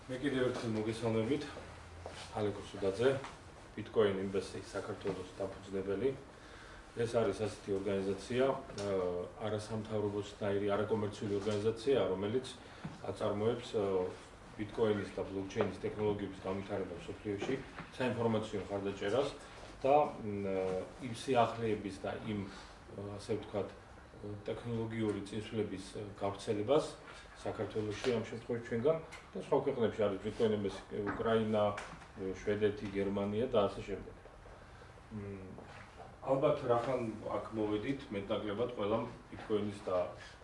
მე კიდევ ერთხელ მოგესალმებით, ალეკო სუდაძე, Bitcoin Investors საქართველოს დაფუძნებელი. ეს არის ასეთი ორგანიზაცია, არასამთავრობოსნაირი, არაკომერციული ორგანიზაცია, რომელიც აწარმოებს Bitcoin-ის და blockchain-ის ტექნოლოგიების განვითარებას მსოფლიოში, საინფორმაციო მხარდაჭერას და იმ სიახლეების და იმ, ასე ვთქვათ, ტექნოლოგიური წინსვლების გავრცელებას საქართველოში ამ შემთხვევაში ჩვენგან და სხვა ქვეყნებში არის Bitcoin-ის უკრაინა, შვედეთი, გერმანია და ასე შემდეგ. ალბათ რახან აქ მოვედით, მეტნაკლებად ყველამ Bitcoin-ის და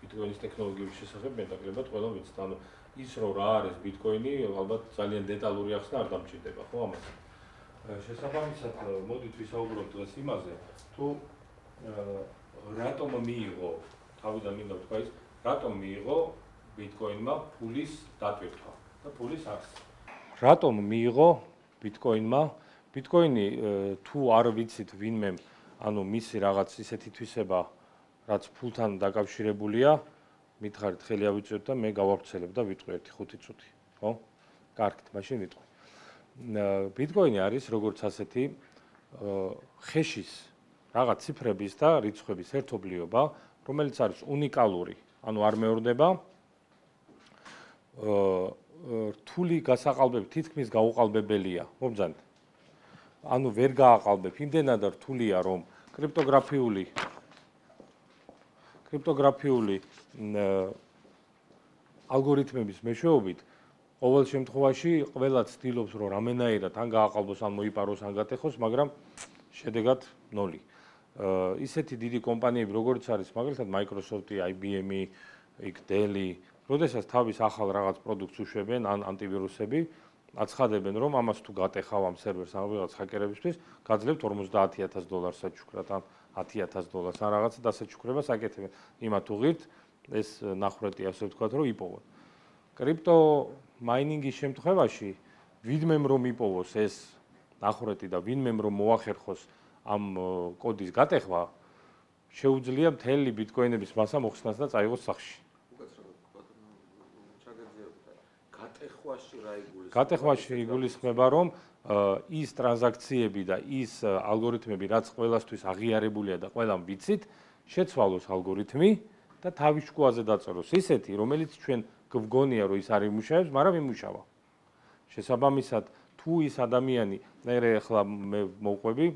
Bitcoin-ის ტექნოლოგიების შესახებ მეტნაკლებად ყველამ ვიცით. ანუ ის რომ რა არის Bitcoin-ი, ალბათ ძალიან დეტალური ახსნა არ დამჭირდება, ხო ამას. შესაბამისად, მოდით ვისაუბროთ დღეს იმაზე, თუ რატომ მიიღო, თავიდან მინდა ვთქვა ის, რატომ მიიღო Bitcoin-მა ფულის დატვირთვა და ფულის არსი. რატომ მიიღო Bitcoin-მა? Bitcoin-ი თუ არ ვიცით ვინმე, ანუ მისი რაღაც ისეთი თვისება, რაც ფულთან დაკავშირებულია, მითხარით ხელი ავიწევთ და მე გავავრცელებ და ვიტყვი 1-5 წუთი, ხო? კარგით, მაშინ ვიტყვი. Bitcoin-ი არის როგორც ასეთი ხეშის რაღაც ციფრების და რიცხვების ერთობლიობა, რომელიც არის უნიკალური, ანუ არ მეორდება. რთული გასაყალბებით თითქმის გაუყალბებელია, მობრძანეთ. ანუ ვერ გააყალბებ, იმდენად რთულია, რომ კრიპტოგრაფიული ალგორითმების მეშვეობით ყოველ შემთხვევაში ყველა ცდილობს, რომ რამენაირად ან გააყალბოს, ან მოიპაროს, ან გატეხოს, მაგრამ შედეგად 0. ისეთი დიდი კომპანიები, როგორც არის მაგალითად Microsoft-ი, IBM-ი, Dell-ი, როდესაც თავის ახალ რაღაც პროდუქტს უშვებენ, ან ანტივირუსები, აცხადებენ, რომ ამას თუ გატეხავ ამ სერვერს ან რაღაც ჰაკერებისთვის, გაძლევთ $50,000 საჩუქრად, ან $10,000, ან რაღაცა დასაჩუქრებას აკეთებენ. იმათ უღირთ, ეს ნახრეტი, ასე ვთქვათ, რომ იპოვონ. კრიპტო მაინინგის შემთხვევაში, ვინმემ რომ იპოვოს ეს ნახრეტი და ვინმემ რომ მოახერხოს ამ კოდის გატეხვა, შეუძლია მთელი Bitcoin-ების მასა მოხსნას და წაიღოს სახში. გატეხვაში იგულისხმება, რომ ის ტრანზაქციები და ის ალგორითმები, რაც ყველასთვის აღიარებულია და ყველამ ვიცით, შეცვალოს ალგორითმი და თავის შუაზე დაწეროს ისეთი, რომელიც ჩვენ გვგონია, რომ ის არ იმუშავებს, მაგრამ იმუშავა. შესაბამისად, თუ ის ადამიანი, მე ახლა მე მოვყვები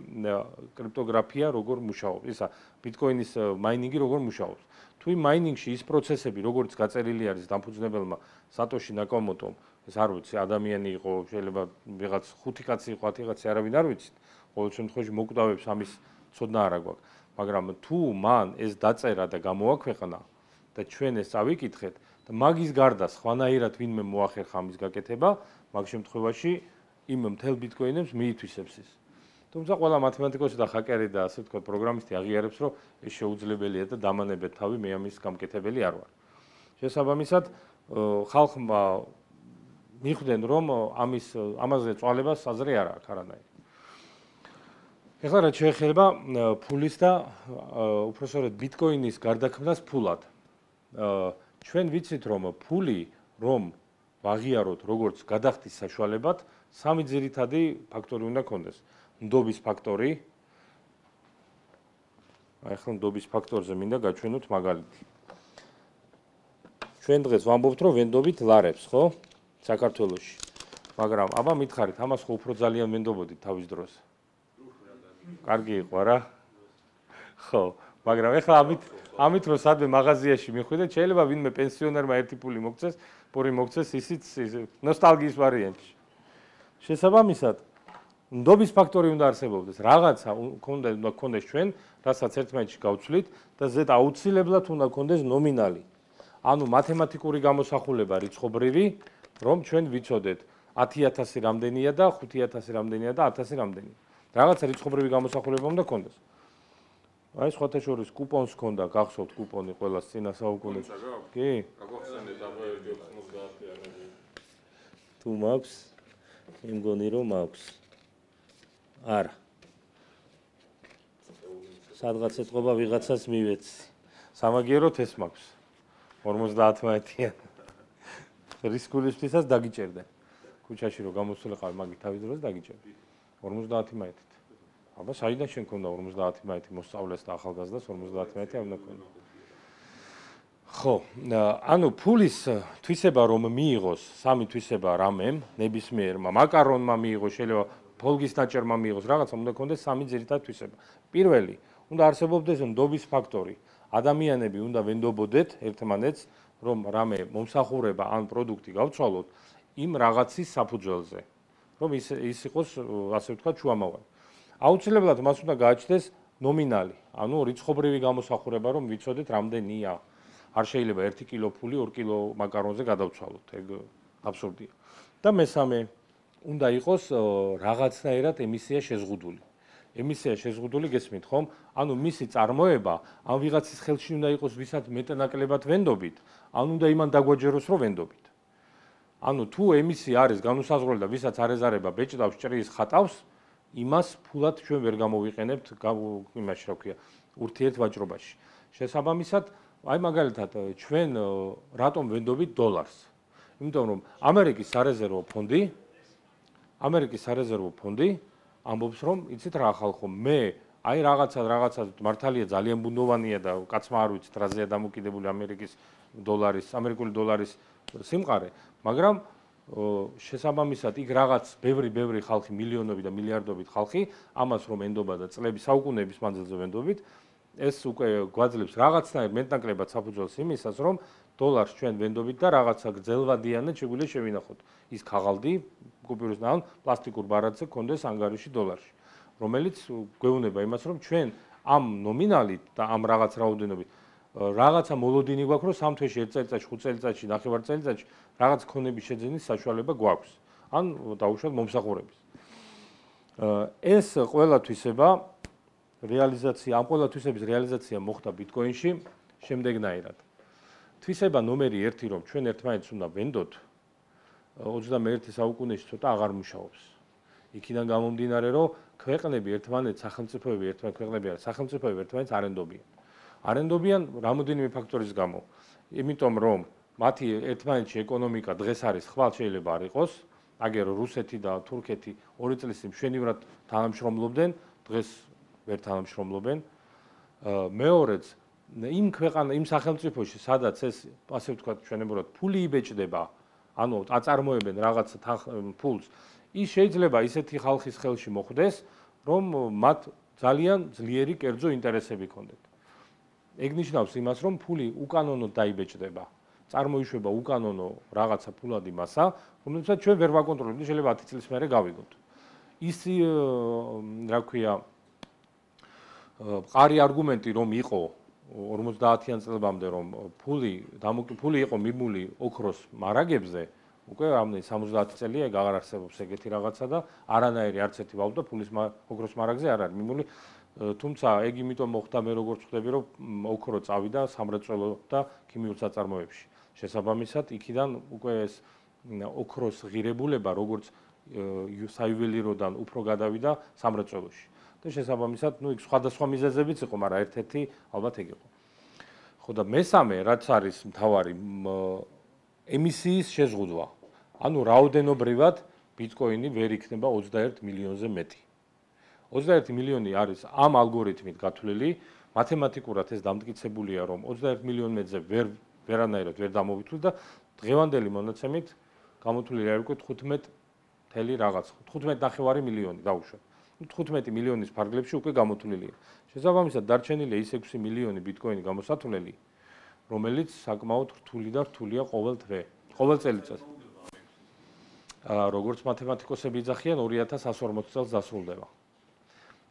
კრიპტოგრაფია როგორ მუშაობს, ისა Bitcoin-ის მაინინგი როგორ მუშაობს. თუ იმ მაინინგში ის პროცესები, როგორც გაწერილი არის დამფუძნებელმა სატოში ნაკამოტომ, ეს არ ვიცი, ადამიანი იყო, შეიძლება ვიღაც 5 კაცი იყო, 10 კაცი, არავინ არ ვიცით. ყოველ შემთხვევაში მოკვდავებს ამის ცოდნა არ აქვს. მაგრამ თუ მან ეს დაწერა და გამოაქვეყნა და ჩვენ ეს წავიკითხეთ და მაგის გარდა სხვანაირად ვინმე მოახერხა ამის გაკეთება, მაგ შემთხვევაში იმ მთელ Bitcoin-ებს მიითვისებს ის. თუმცა ყველა მათემატიკოსი და ჰაკერი და ასე ვთქვათ, პროგრამისტი აღიარებს, რომ ეს შეუძლებელია და დამანებეთ თავი, მე ამის გამკეთებელი არ ვარ. შესაბამისად, ხალხმა მიხვდნენ, რომ ამაზე წვალებას აზრი არ აქვს არანაირი. ეხლა რაც შეეხება ფულის და უпроსორედ Bitcoin-ის გარდაქმნას ფულად. ჩვენ ვიცით, რომ ფული, რომ ვაღიაროთ როგორც გადახდის საშუალებად, 3 ძირითადი ფაქტორი უნდა ქონდეს. ნდობის ფაქტორი. ახლა ნდობის ფაქტორზე მინდა გაჩვენოთ მაგალითი. ჩვენ დღეს ვამბობთ, რომ ვენდობით ლარებს, ხო? საქართველოში. მაგრამ აბა მითხარით, ამას ხო უფრო ძალიან ვენდობოდით თავის დროს. კარგი იყო რა? ხო, მაგრამ ეხლა ამით რომ სადმე მაღაზიაში მიხვიდეთ, შეიძლება ვინმე პენსიონერმა ერთი ფული მოგცეს, ისიც ნოსტალგიის ვარიანტში. შესაბამისად, ნდობის ფაქტორი უნდა არსებობდეს, რაღაცა უნდა გქონდეს ჩვენ, რასაც ერთმანეთში გავცვლით და ზედ აუცილებლად უნდა გქონდეს ნომინალი. ანუ მათემატიკური გამოსახულება რიცხობრივი, რომ ჩვენ ვიცოდეთ 10,000 რამდენია და 5,000 რამდენია და 1,000 რამდენია. რაღაცა რიცხობრივი გამოსახულება უნდა გქონდეს. აი სხვათა შორის კუპონს ჰქონდა, გახსოვთ კუპონი ყველას წინა საუკუნეში. კი? გაგახსენეთ აბა 90-იანი. თუ მაქვს, იმგონი რომ მაქვს. არა. სადღაც ეთყობა ვიღაცას მივეცი. სამაგიეროდ ეს მაქვს. 50-იანი. რისკულისთვისაც დაგიჭერდა. ქუჩაში რო გამოსულიყავი მაგი თავის დროს დაგიჭერდი 50 მაითით. აბა საიდან შენ ქონდა 50 მაითი მოსწავლეს და ახალგაზრდას 50 მაითი არ უნდა ქონდა. ხო, ანუ ფულის თვისება რომ მიიღოს, სამი თვისება რამემ, ნებისმიერმა მაკარონმა მიიღოს, შეიძლება ფოლგის დაჭერმა მიიღოს, რაღაცა უნდა ქონდეს სამი ძირითადი თვისება. პირველი, უნდა არსებობდეს ნდობის ფაქტორი. ადამიანები უნდა ვენდობოდეთ ერთმანეთს, რომ რამე მომსახურება ან პროდუქტი გავცვალოთ იმ რაღაცის საფუძველზე, რომ ის იყოს, ასე ვთქვათ, შუამავალი. აუცილებლად მას უნდა გააჩნდეს ნომინალი, ანუ რიცხობრივი გამოსახურება, რომ ვიცოდეთ რამდენია. არ შეიძლება 1 კილო ფული 2 კილო მაკარონზე გადავცვალოთ, ეგ აბსურდია. და მესამე, უნდა იყოს რაღაცნაირად ემისია შეზღუდული. ემისია შეზღუდული გესმით ხომ? ანუ მისი წარმოება ან ვიღაცის ხელში უნდა იყოს, ვისაც მეტნაკლებად ვენდობით, ან უნდა იმან დაგვაჯეროს, რომ ვენდობით. ანუ თუ ემისია არის განუსაზღვრელი და ვისაც არ ეზარება ბეჭდავს, ჭრის, ხატავს, იმას ფულად ჩვენ ვერ გამოვიყენებთ იმაში, რა ქვია, ურთიერთვაჭრობაში. შესაბამისად, აი მაგალითად ჩვენ რატომ ვენდობით დოლარს? იმიტომ რომ ამერიკის სარეზერვო ფონდი ამბობს რომ იცით რა ხალხო მე აი რაღაცა მართალია ძალიან ბუნდოვანია და კაცმა არ ვიცით რაზეა დამოკიდებული ამერიკული დოლარის სიმყარე, მაგრამ შესაბამისად იქ რაღაც ბევრი ხალხი, მილიონობით და მილიარდობით ხალხი ამას რომ ენდობა და წლების საუკუნეების მანძილზე ვენდობით, ეს უკვე გვაძლევს რაღაცნაირ მეტნაკლებად საფუძველს იმისას, რომ დოლარს ჩვენ ვენდობით და რაღაცა გრძელვადიანად შეგვიძლია შევინახოთ. ის ქაღალდი კუპიურის ან პლასტიკურ ბარათზე გქონდეს ანგარიში დოლარში, რომელიც გვეუბნება იმას, რომ ჩვენ ამ ნომინალით და ამ რაღაც რაოდენობით რაღაცა მოლოდინი გვაქვს, რომ 3 თვეში, 1 წელიწადში, 5 წელიწადში, 9 წელიწადში რაღაც ქონების შეძენის საშუალება გვაქვს. ან დაუშვათ მომსახურების. ეს ყველა თვისება ამ ყველა თვისების რეალიზაცია მოხდა ბიტკოინში შემდეგნაირად. თვისება ნომერი 1, რომ ჩვენ ერთმანეთს უნდა ვენდოთ, 21 საუკუნეში ცოტა აღარ მუშაობს. იქიდან გამომდინარე, რომ სახელმწიფოები ერთმანეთს არენდობიან რამოდენიმე ფაქტორის გამო. იმიტომ რომ მათი ერთმანეთში ეკონომიკა დღეს არის ხვალ შეიძლება არ იყოს, აგერ რუსეთი და თურქეთი 2 წლის წინ მშვენივრად თანამშრომლობდნენ, დღეს ვერ თანამშრომლობენ. მეორეც, იმ სახელმწიფოში, სადაც ეს, ასე ვთქვათ, ჩვენებურად ფული იბეჭდება, ანუ აწარმოებენ რაღაც ფულს, ის შეიძლება ისეთი ხალხის ხელში მოხვდეს, რომ მათ ძალიან ძლიერი კერძო ინტერესები ჰქონდეთ. ეგ ნიშნავს იმას, რომ ფული უკანონოდ დაიბეჭდება, წარმოიშვება უკანონო რაღაცა ფულადი მასა, რომელსაც ჩვენ ვერ ვაკონტროლებთ, შეიძლება 10 წლის მერე გავიგოთ. ის რა ქვია, მყარი არგუმენტი რომ იყო 50-იან წლებამდე, რომ ფული იყო მიმული ოქროს მარაგებზე, უკვე რამდენი 70 წელია აღარ არსებობს ეგეთი რაღაცა და არანაირი არც ერთი ვალუტა ფულის ოქროს მარაგზე არ არის მიმული. თუმცა ეგ იმიტომ მოხდა, მე როგორც ხვდები, რომ ოქრო წავიდა სამრეწველო და ქიმიურ საწარმოებში. შესაბამისად, იქიდან უკვე ეს ოქროს ღირებულება როგორც საიუველიროდან უფრო გადავიდა სამრეწველოში. და შესაბამისად, იქ სხვადასხვა მიზეზებიც იყო, მაგრამ ერთ-ერთი ალბათ ეგ იყო. ხო და მესამე, რაც არის მთავარი, ემისიის შეზღუდვა. ანუ რაოდენობრივად ბიტკოინი ვერ იქნება 21 მილიონზე მეტი. 21 მილიონი არის ამ ალგორითმით გათვლილი, მათემატიკურად ეს დამტკიცებულია, რომ 21 მილიონზე ვერანაირად ვერ დამოვითვლი და დღევანდელი მონაცემით გამოთვლილი არ უკვე 15.9 მილიონი დაუშვათ. 15 მილიონის ფარგლებში უკვე გამოთვლილია. შესაბამისად, დარჩენილია ის 6 მილიონი ბიტკოინი გამოსათვლელი, რომელიც საკმაოდ რთულია ყოველ წელიწადს. როგორც მათემატიკოსები იძახიან, 2140 წელს დასრულდება.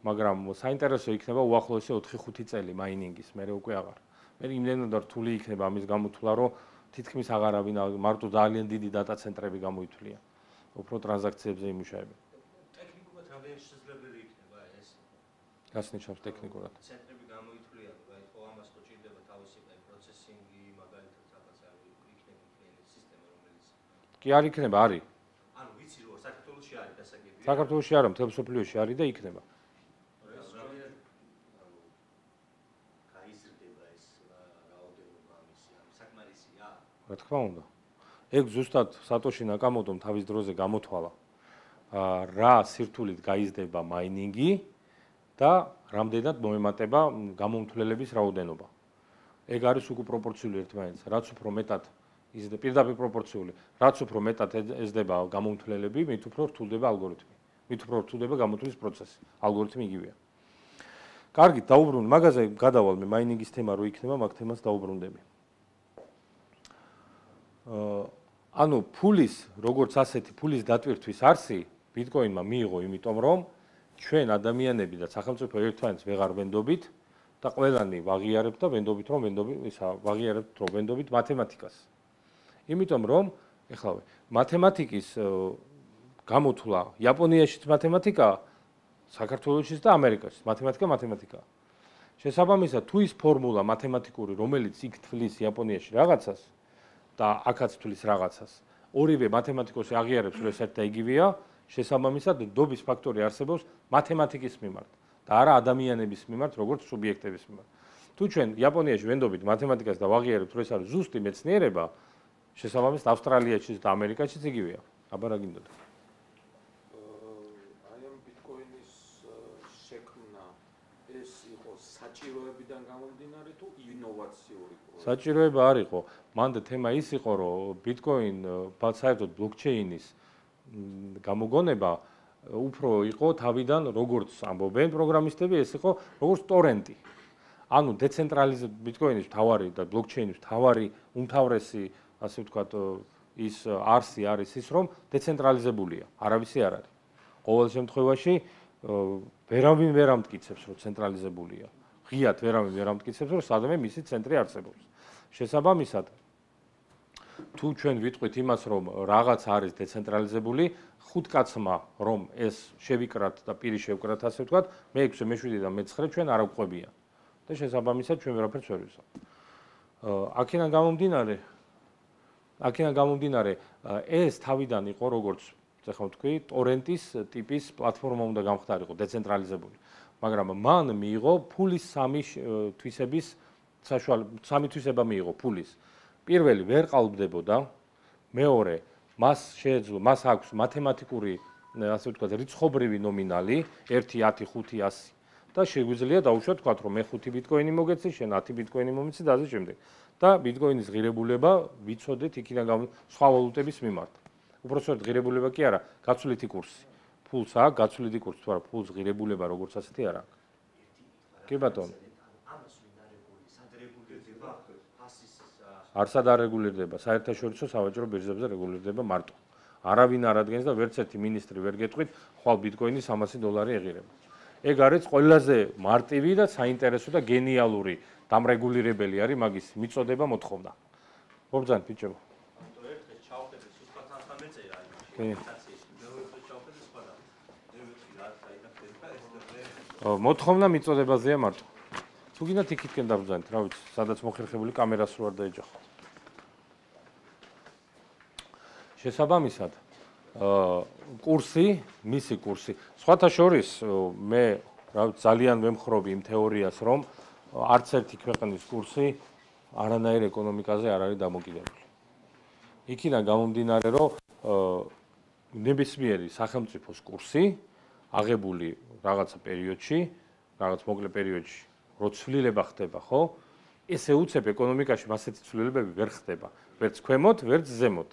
მაგრამ საინტერესო იქნება უახლოესი 4-5 წელი მაინინგის, მე უკვე აღარ. მე იმდენად რთული იქნება ამის გამოთვლა, რომ თითქმის აღარავინ მარტო ძალიან დიდი დატა ცენტრები გამოითვლიან. უფრო ტრანზაქციებზე იმუშავებენ. ტექნიკურად რამდენი შესაძლებელი იქნება ეს? რას ნიშნავს ტექნიკურად? ცენტრები გამოითვლიან, ხო ამას ხო ჭირდება თავისი პროცესინგი, მაგალითად რაღაცა იქნება სისტემა, რომელიც კი არ იქნება, არის. ანუ ვიცი რომ საქართველოში არის დასაგებია. საქართველოში არა, მთელ მსოფლიოში არის და იქნება. რა თქმა უნდა. ეგ ზუსტად სატოში ნაკამოტომ თავის დროზე გამოთვალა რა სირთულით გაიზრდება მაინინგი და რამდენად მოემატება გამომთვლელების რაოდენობა. ეგ არის უკვე პროპორციული ერთმანეთს, რაც უფრო მეტად იზრდება პირდაპირ პროპორციული, რაც უფრო მეტად ეზრდება გამომთვლელები, მით უფრო რთულდება ალგორითმი. მით უფრო რთულდება გამოთვლის პროცესი. ალგორითმი იგივეა. კარგი, დაუბრუნდით. მაგაზე გადავალ მე მაინინგის თემა რო იქნება, მაგ თემას დაუბრუნდები. ანუ ფულის, როგორც ასეთი ფულის დატვირთვის არსი ბიტკოინმა მიიღო, იმიტომ რომ ჩვენ ადამიანები და სახელმწიფო ერთმანეთს ვეღარ ვენდობით და ყველანი ვაღიარებთ და ვენდობით რომ ვენდობით მათემატიკას. იმიტომ რომ ეხლა მათემატიკის გამოთვლა იაპონიაშიც მათემატიკაა, საქართველოშიც და ამერიკაშიც მათემატიკა. შესაბამისად, თუ ის ფორმულა მათემატიკური, რომელიც იქ თვლის იაპონიაში რაღაცას და აქაც თვლის რაღაცას, ორივე მათემატიკოსი აღიარებს, რომ ეს ერთ და იგივეა, შესაბამისად, ნდობის ფაქტორი არსებობს მათემატიკის მიმართ და არა ადამიანების მიმართ, როგორც სუბიექტების მიმართ. თუ ჩვენ იაპონიაში ვენდობით მათემატიკას და ვაღიარებთ, რომ ეს არის ზუსტი მეცნიერება, შესაბამისად, ავსტრალიაშიც და ამერიკაშიც იგივეა. აბა რა გინდოდა? აი ამ ბიტკოინის შექმნა ეს იყო საჭიროებიდან გამომდინარე თუ ინოვაციური პროექტი? საჭიროება არ იყო. მანდ თემა ის იყო, რომ ბიტკოინ საერთოდ ბლოკჩეინის გამოგონება უფრო იყო თავიდან, როგორც ამბობენ პროგრამისტები, ეს იყო როგორც ტორენტი. ანუ ბიტკოინის მთავარი და ბლოკჩეინის მთავარი უმთავრესი, ასე ვთქვათ, ის არსი არის ის, რომ დეცენტრალიზებულია, არავისი არ არის. ყოველ შემთხვევაში ვერავინ ვერ ამტკიცებს, რომ ცენტრალიზებულია. ღიად ვერავინ ვერ ამტკიცებს, რომ სადმე მისი ცენტრი არსებობს. შესაბამისად, თუ ჩვენ ვიტყვით იმას, რომ რაღაც არის დეცენტრალიზებული, ხუთ კაცმა რომ ეს შევიკრათ და პირი შევკრათ, ასე ვთქვათ, მე-6, მე-7 და მე-9 ჩვენ არ აგვყვებიან. და შესაბამისად ჩვენ ვერაფერს ვერ ვისვამ. აქედან გამომდინარე, ეს თავიდან იყო როგორც ეხლა ვთქვი, ტორენტის ტიპის პლატფორმა უნდა გამხდარიყო, დეცენტრალიზებული. მაგრამ მან მიიღო ფულის სამი თვისება მიიღო ფულის. პირველი ვერ ყალბდებოდა, მეორე მას აქვს მათემატიკური, ასე ვთქვათ, რიცხობრივი ნომინალი 1, 10, 5, 100 და შეგვიძლია დავუშვათ, ვთქვათ, რომ მე 5 ბიტკოინი მოგეცი, შენ 10 ბიტკოინი მომიცი და ასე შემდეგ. და ბიტკოინის ღირებულება ვიცოდეთ იქიდან სხვა ვალუტების მიმართ. უпростоრად ღირებულება კი არა, გაცვლითი კურსი. ფულს აქვს გაცვლითი კურსი, თუ არა ფულს ღირებულება როგორც ასეთი არ აქვს. კი ბატონო. არსად არ რეგულირდება, საერთაშორისო სავაჭრო ბირჟებზე რეგულირდება მარტო. არავინ არ ადგენს და ვერც ერთი მინისტრი ვერ გეტყვით, ხვალ ბიტკოინი $300 ეღირება. ეგ არის ყველაზე მარტივი და საინტერესო და გენიალური დამრეგულირებელი არის მაგის მიწოდება მოთხოვნა. მოგძანთ ბიჭებო. მოთხოვნა მიწოდებაზეა მარტო. თუ გინდათ იქითკენ დაბრძანეთ, რა ვიცი, სადაც მოხერხებული კამერას რო არ დაეჯახო. შესაბამისად, მისი კურსი. სხვათა შორის მე ძალიან ვემხრობი იმ თეორიას, რომ არც ერთი ქვეყნის კურსი არანაირ ეკონომიკაზე არ არის დამოკიდებული. იქიდან გამომდინარე, რომ ნებისმიერი სახელმწიფოს კურსი აღებული რაღაცა პერიოდში, რაღაც მოკლე პერიოდში, რო ცვლილება ხდება, ხო? ესე უცებ ეკონომიკაში მასეთი ცვლილებები ვერ ხდება, ვერც ქვემოთ, ვერც ზემოთ.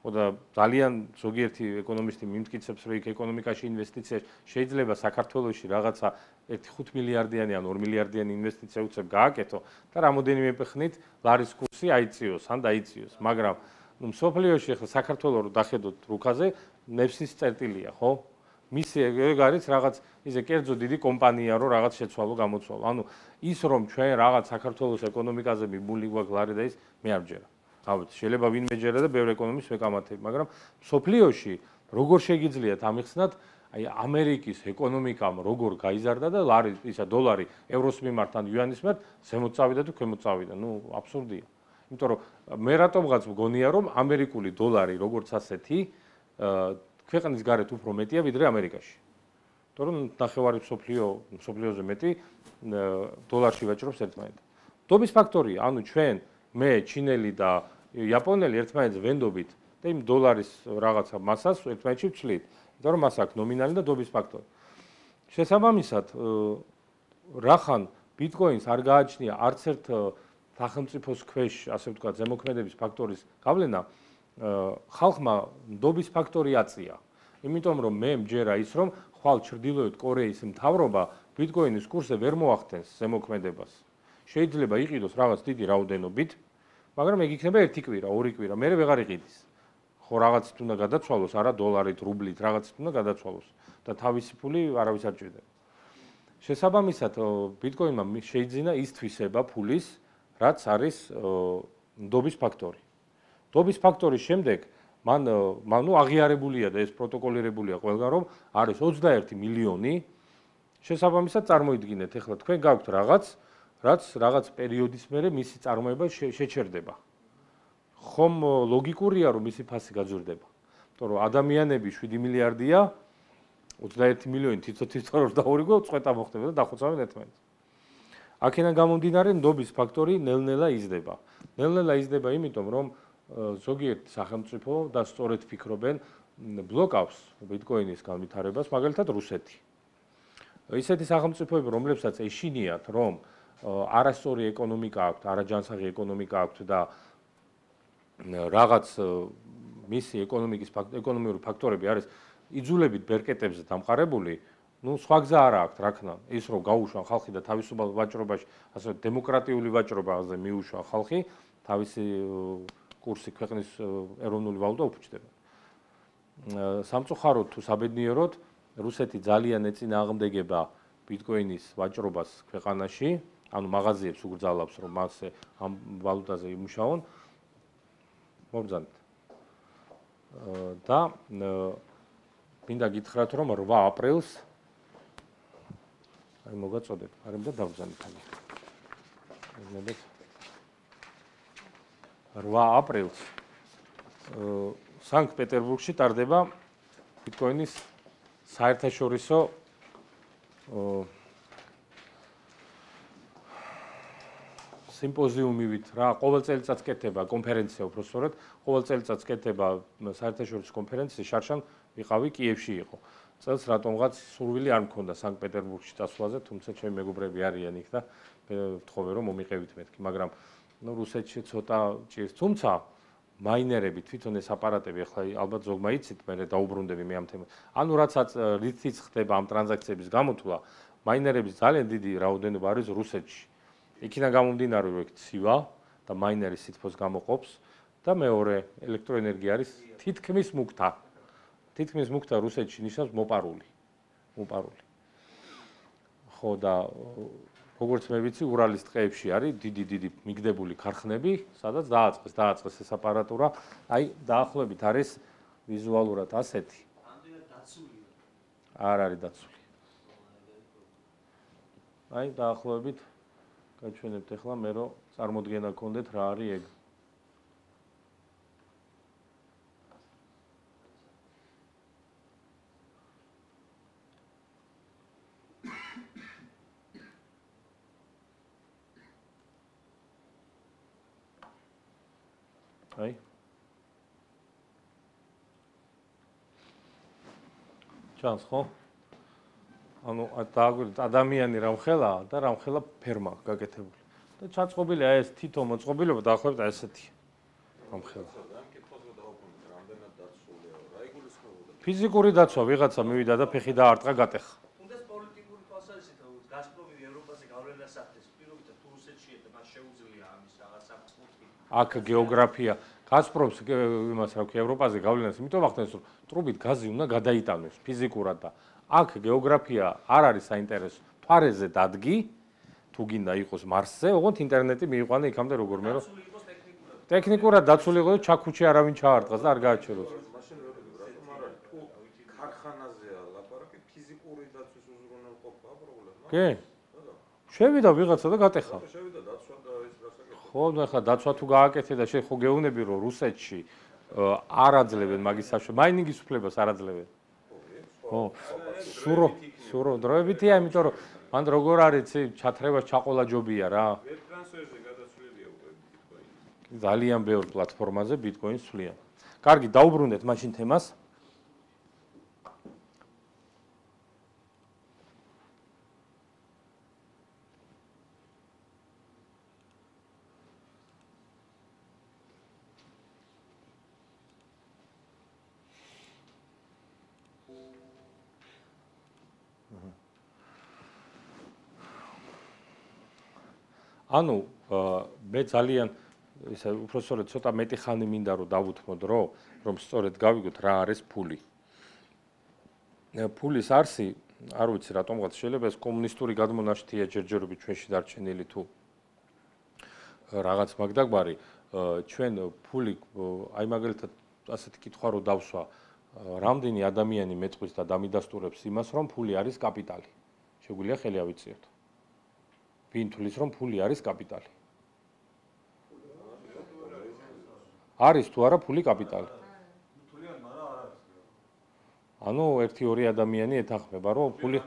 და ძალიან ზოგიერთი ეკონომისტი მიმტკიცებს, რომ იქ ეკონომიკაში ინვესტიცია შეიძლება საქართველოში რაღაცა 1.5 მილიარდიანი ან 2 მილიარდიანი ინვესტიცია უცებ გააკეთო და რამოდენიმე ხნით ლარის კურსი აიწიოს ან დაიწიოს, მაგრამ მსოფლიოში ახლა საქართველოს რო დახედოთ რუკაზე, ნებსის წერტილია, ხო? მისი ეგ არის რაღაც ისე კერძო დიდი კომპანია, რომ რაღაც შეცვალო, გამოცვალო. ანუ ის რომ ჩვენ რაღაც საქართველოს ეკონომიკაზე მიბული გვაქვს ლარი და ის მე არ ვჯერა. ავეთ, შეიძლება ვინმე ჯერა და ბევრ ეკონომისტს ვეკამათებ, მაგრამ მსოფლიოში როგორ შეგიძლიათ ამიხსნათ, აი ამერიკის ეკონომიკამ როგორ გაიზარდა და ლარი, ისა დოლარი ევროს მიმართ ან იუანის მიმართ ზემოთ წავიდა თუ ქვემოთ წავიდა. ნუ აბსურდია. იმიტომ რომ მე რატომღაც მგონია, რომ ამერიკული დოლარი როგორც ასეთი ქვეყნის გარეთ უფრო მეტია ვიდრე ამერიკაში. იმიტომ რომ ნახევარი მსოფლიოზე მეტი დოლარში ვაჭრობს ერთმანეთს. დობის ფაქტორია, ანუ ჩვენ, მე, ჩინელი და იაპონელი ერთმანეთს ვენდობით და იმ დოლარის რაღაცა მასას ერთმანეთში ვცვლით, იმიტომ რომ მას აქვს ნომინალი და დობის ფაქტორი. შესაბამისად, რახან ბიტკოინს არ გააჩნია არც ერთ სახელმწიფოს ქვეშ, ასე ვთქვათ, ზემოქმედების ფაქტორის გავლენა, ხალხმა ნდობის ფაქტორი აწია. იმიტომ რომ მე მჯერა ის რომ ხვალ ჩრდილოეთ კორეის მთავრობა ბიტკოინის კურსზე ვერ მოახდენს ზემოქმედებას. შეიძლება იყიდოს რაღაც დიდი რაოდენობით, მაგრამ ეგ იქნება ერთი კვირა, ორი კვირა, მერე ვეღარ იყიდის. ხო რაღაცით უნდა გადაცვალოს, არა დოლარით, რუბლით, რაღაცით უნდა გადაცვალოს და თავისი ფული არავის არ ჭირდება. შესაბამისად, ბიტკოინმა შეიძინა ის თვისება ფულის, რაც არის ნდობის ფაქტორი. ნდობის ფაქტორის შემდეგ მან აღიარებულია და ეს პროტოკოლირებულია ყველგან, რომ არის 21 მილიონი. შესაბამისად, წარმოიდგინეთ, ეხლა თქვენ გაქვთ რაღაც, რაც რაღაც პერიოდის მერე მისი წარმოება შეჩერდება. ხომ ლოგიკურია, რომ მისი ფასი გაძვირდება. იმიტომ რომ ადამიანები 7 მილიარდია, 21 მილიონი თითო-თითო და ორიგო წვეტა მოხდება და დახოცავენ ერთმანეთს. აქედან გამომდინარე, ნდობის ფაქტორი ნელ-ნელა იზრდება. ნელ-ნელა იზრდება იმიტომ, რომ ზოგიერთ სახელმწიფო და სწორედ ფიქრობენ ბლოკავს ბიტკოინის განვითარებას, მაგალითად რუსეთი. ისეთი სახელმწიფოები, რომლებსაც ეშინიათ, რომ არასწორი ეკონომიკა აქვთ, არაჯანსაღი ეკონომიკა აქვთ და რაღაც მისი ეკონომიკური ფაქტორები არის იძულებით ბერკეტებზე დამყარებული, ну სხვა გზა არ აქვს, რა ქნა, ის რომ გაუშვან ხალხი და თავისუფალ ვაჭრობაში, ასე დემოკრატიული ვაჭრობაზე მიუშვან ხალხი, თავისი კურსი ქვეყნის ეროვნული ვალუტა უფუჭდება. სამწუხაროდ თუ საბედნიეროდ, რუსეთი ძალიან ეწინააღმდეგება ბიტკოინის ვაჭრობას ქვეყანაში, ანუ მაღაზიებს უგრძალავს, რომ მასე ამ ვალუტაზე იმუშაონ. მობრძანეთ. და მინდა გითხრათ, რომ 8 აპრილს აი მოგაწოდეთ, არ მინდა დავბრძანეთ ამით. 8 აპრილს სანქტ-პეტერბურგში ტარდება ბიტკოინის საერთაშორისო სიმპოზიუმივით რა, ყოველ წელიწადს კეთდება კონფერენცია, უფრო სწორედ, ყოველ წელიწადს კეთდება საერთაშორისო კონფერენცია, შარშან ვიყავი კიევში იყო. წელს რატომღაც სურვილი არ მქონდა სანქტ-პეტერბურგში წასვლაზე, თუმცა ჩემი მეგობრები არიან იქ და ვთხოვე რომ მომიყევით მეთქი, მაგრამ რუსეთში ცოტა ჭირს. თუმცა მაინერები თვითონ ეს აპარატები ახლა ალბათ ზოგმა იცით, მე დაუბრუნდები მე ამ თემას. ანუ რითიც ხდება ამ ტრანზაქციების გამოთვლა, მაინერების ძალიან დიდი რაოდენობა არის რუსეთში. იქიდან გამომდინარე, რომ ეგ ცივა და მაინერი სითბოს გამოყოფს და მეორე ელექტროენერგია არის თითქმის მუქთა. თითქმის მუქთა რუსეთში ნიშნავს მოპარული. ხო და როგორც მე ვიცი, ურალის ტყეებში არის დიდი მიგდებული ქარხნები, სადაც დააწყეს ეს აპარატურა. აი, დაახლოებით არის ვიზუალურად ასეთი. ამდენად დაცულია. არ არის დაცული. აი, დაახლოებით გაჩვენებთ ახლა მე რომ წარმოდგენა გქონდეთ რა არის ეგ. აი ჩანს ხო? ანუ დააგვირთ ადამიანი რამხელა და რამხელა ფერმა გაკეთებული. და ჩაწყობილია ეს თითო მოწყობილობა დაახლოებით ესეთი. რამხელა. ფიზიკური დაცვა ვიღაცა მივიდა და ფეხი დაარტყა გატეხა. თუნდაც პოლიტიკური თვალსაზრისით გაზპრომი ევროპაზე გავლენას ახდენს, პირობითად თუ რუსეთშია და მას შეუძლია ამის რაღაცა კუთხით. აქ გეოგრაფია გაზპრომს იმას რა ქვია ევროპაზე გავლენას, იმიტომ ახდენს რომ ტრუბით გაზი უნდა გადაიტანოს ფიზიკურად და აქ გეოგრაფია არ არის საინტერესო. თვარეზე დადგი, თუ გინდა იყოს მარსზე, ოღონდ ინტერნეტი მიიყვანე იქამდე როგორმე რომ ტექნიკურად დაცული იყო და ჩაქუჩი არავინ ჩაარტყას და არ გააჩეროს. მაშინ ვერ რატომ არ არის თუ ქარხანაზეა ლაპარაკი ფიზიკური დაცვის უზრუნველყოფა პრობლემა? კი. შევიდა ვიღაცა და გატეხა. შევიდა დაცვა და ეს რასაკეთებს? ხო, ახლა დაცვა თუ გააკეთე და ხო გეუბნები რომ რუსეთში არ აძლევენ მაგის საშუალებას, მაინინგის უფლებას არ აძლევენ. ხო, სურო დროებითია, იმიტომ რომ მან როგორ არის ჩათრევას ჩაყოლა ჯობია რა. ვებ ტრანსფერზე გადაცვლილია უკვე ბიტკოინი. ძალიან ბევრ პლატფორმაზე ბიტკოინს ცვლიან. კარგი, დაუბრუნდეთ მაშინ თემას. ანუ მე ძალიან ისე უფრო სწორედ ცოტა მეტი ხანი მინდა რომ დავუთმოდ რომ სწორედ გავიგოთ რა არის ფული. ფულის არსი, არ ვიცი რატომღაც შეიძლება ეს კომუნისტური გადმონაშთია ჯერჯერობით ჩვენში დარჩენილი თუ რაღაც მაგდაგბარი, ჩვენ ფული აი მაგალითად ასეთი კითხვა რო დავსვა, რამდენი ადამიანი მეტყვის და დამიდასტურებს იმას, რომ ფული არის კაპიტალი. შეგვიძლია ხელი ავიწიოთ. ვინ თulis რომ ფული არის კაპიტალი? არის თუ არა ფული კაპიტალი? თვლიან, მაგრამ არ არის. ანუ 1-2 ადამიანი ეთანხმება რომ ფული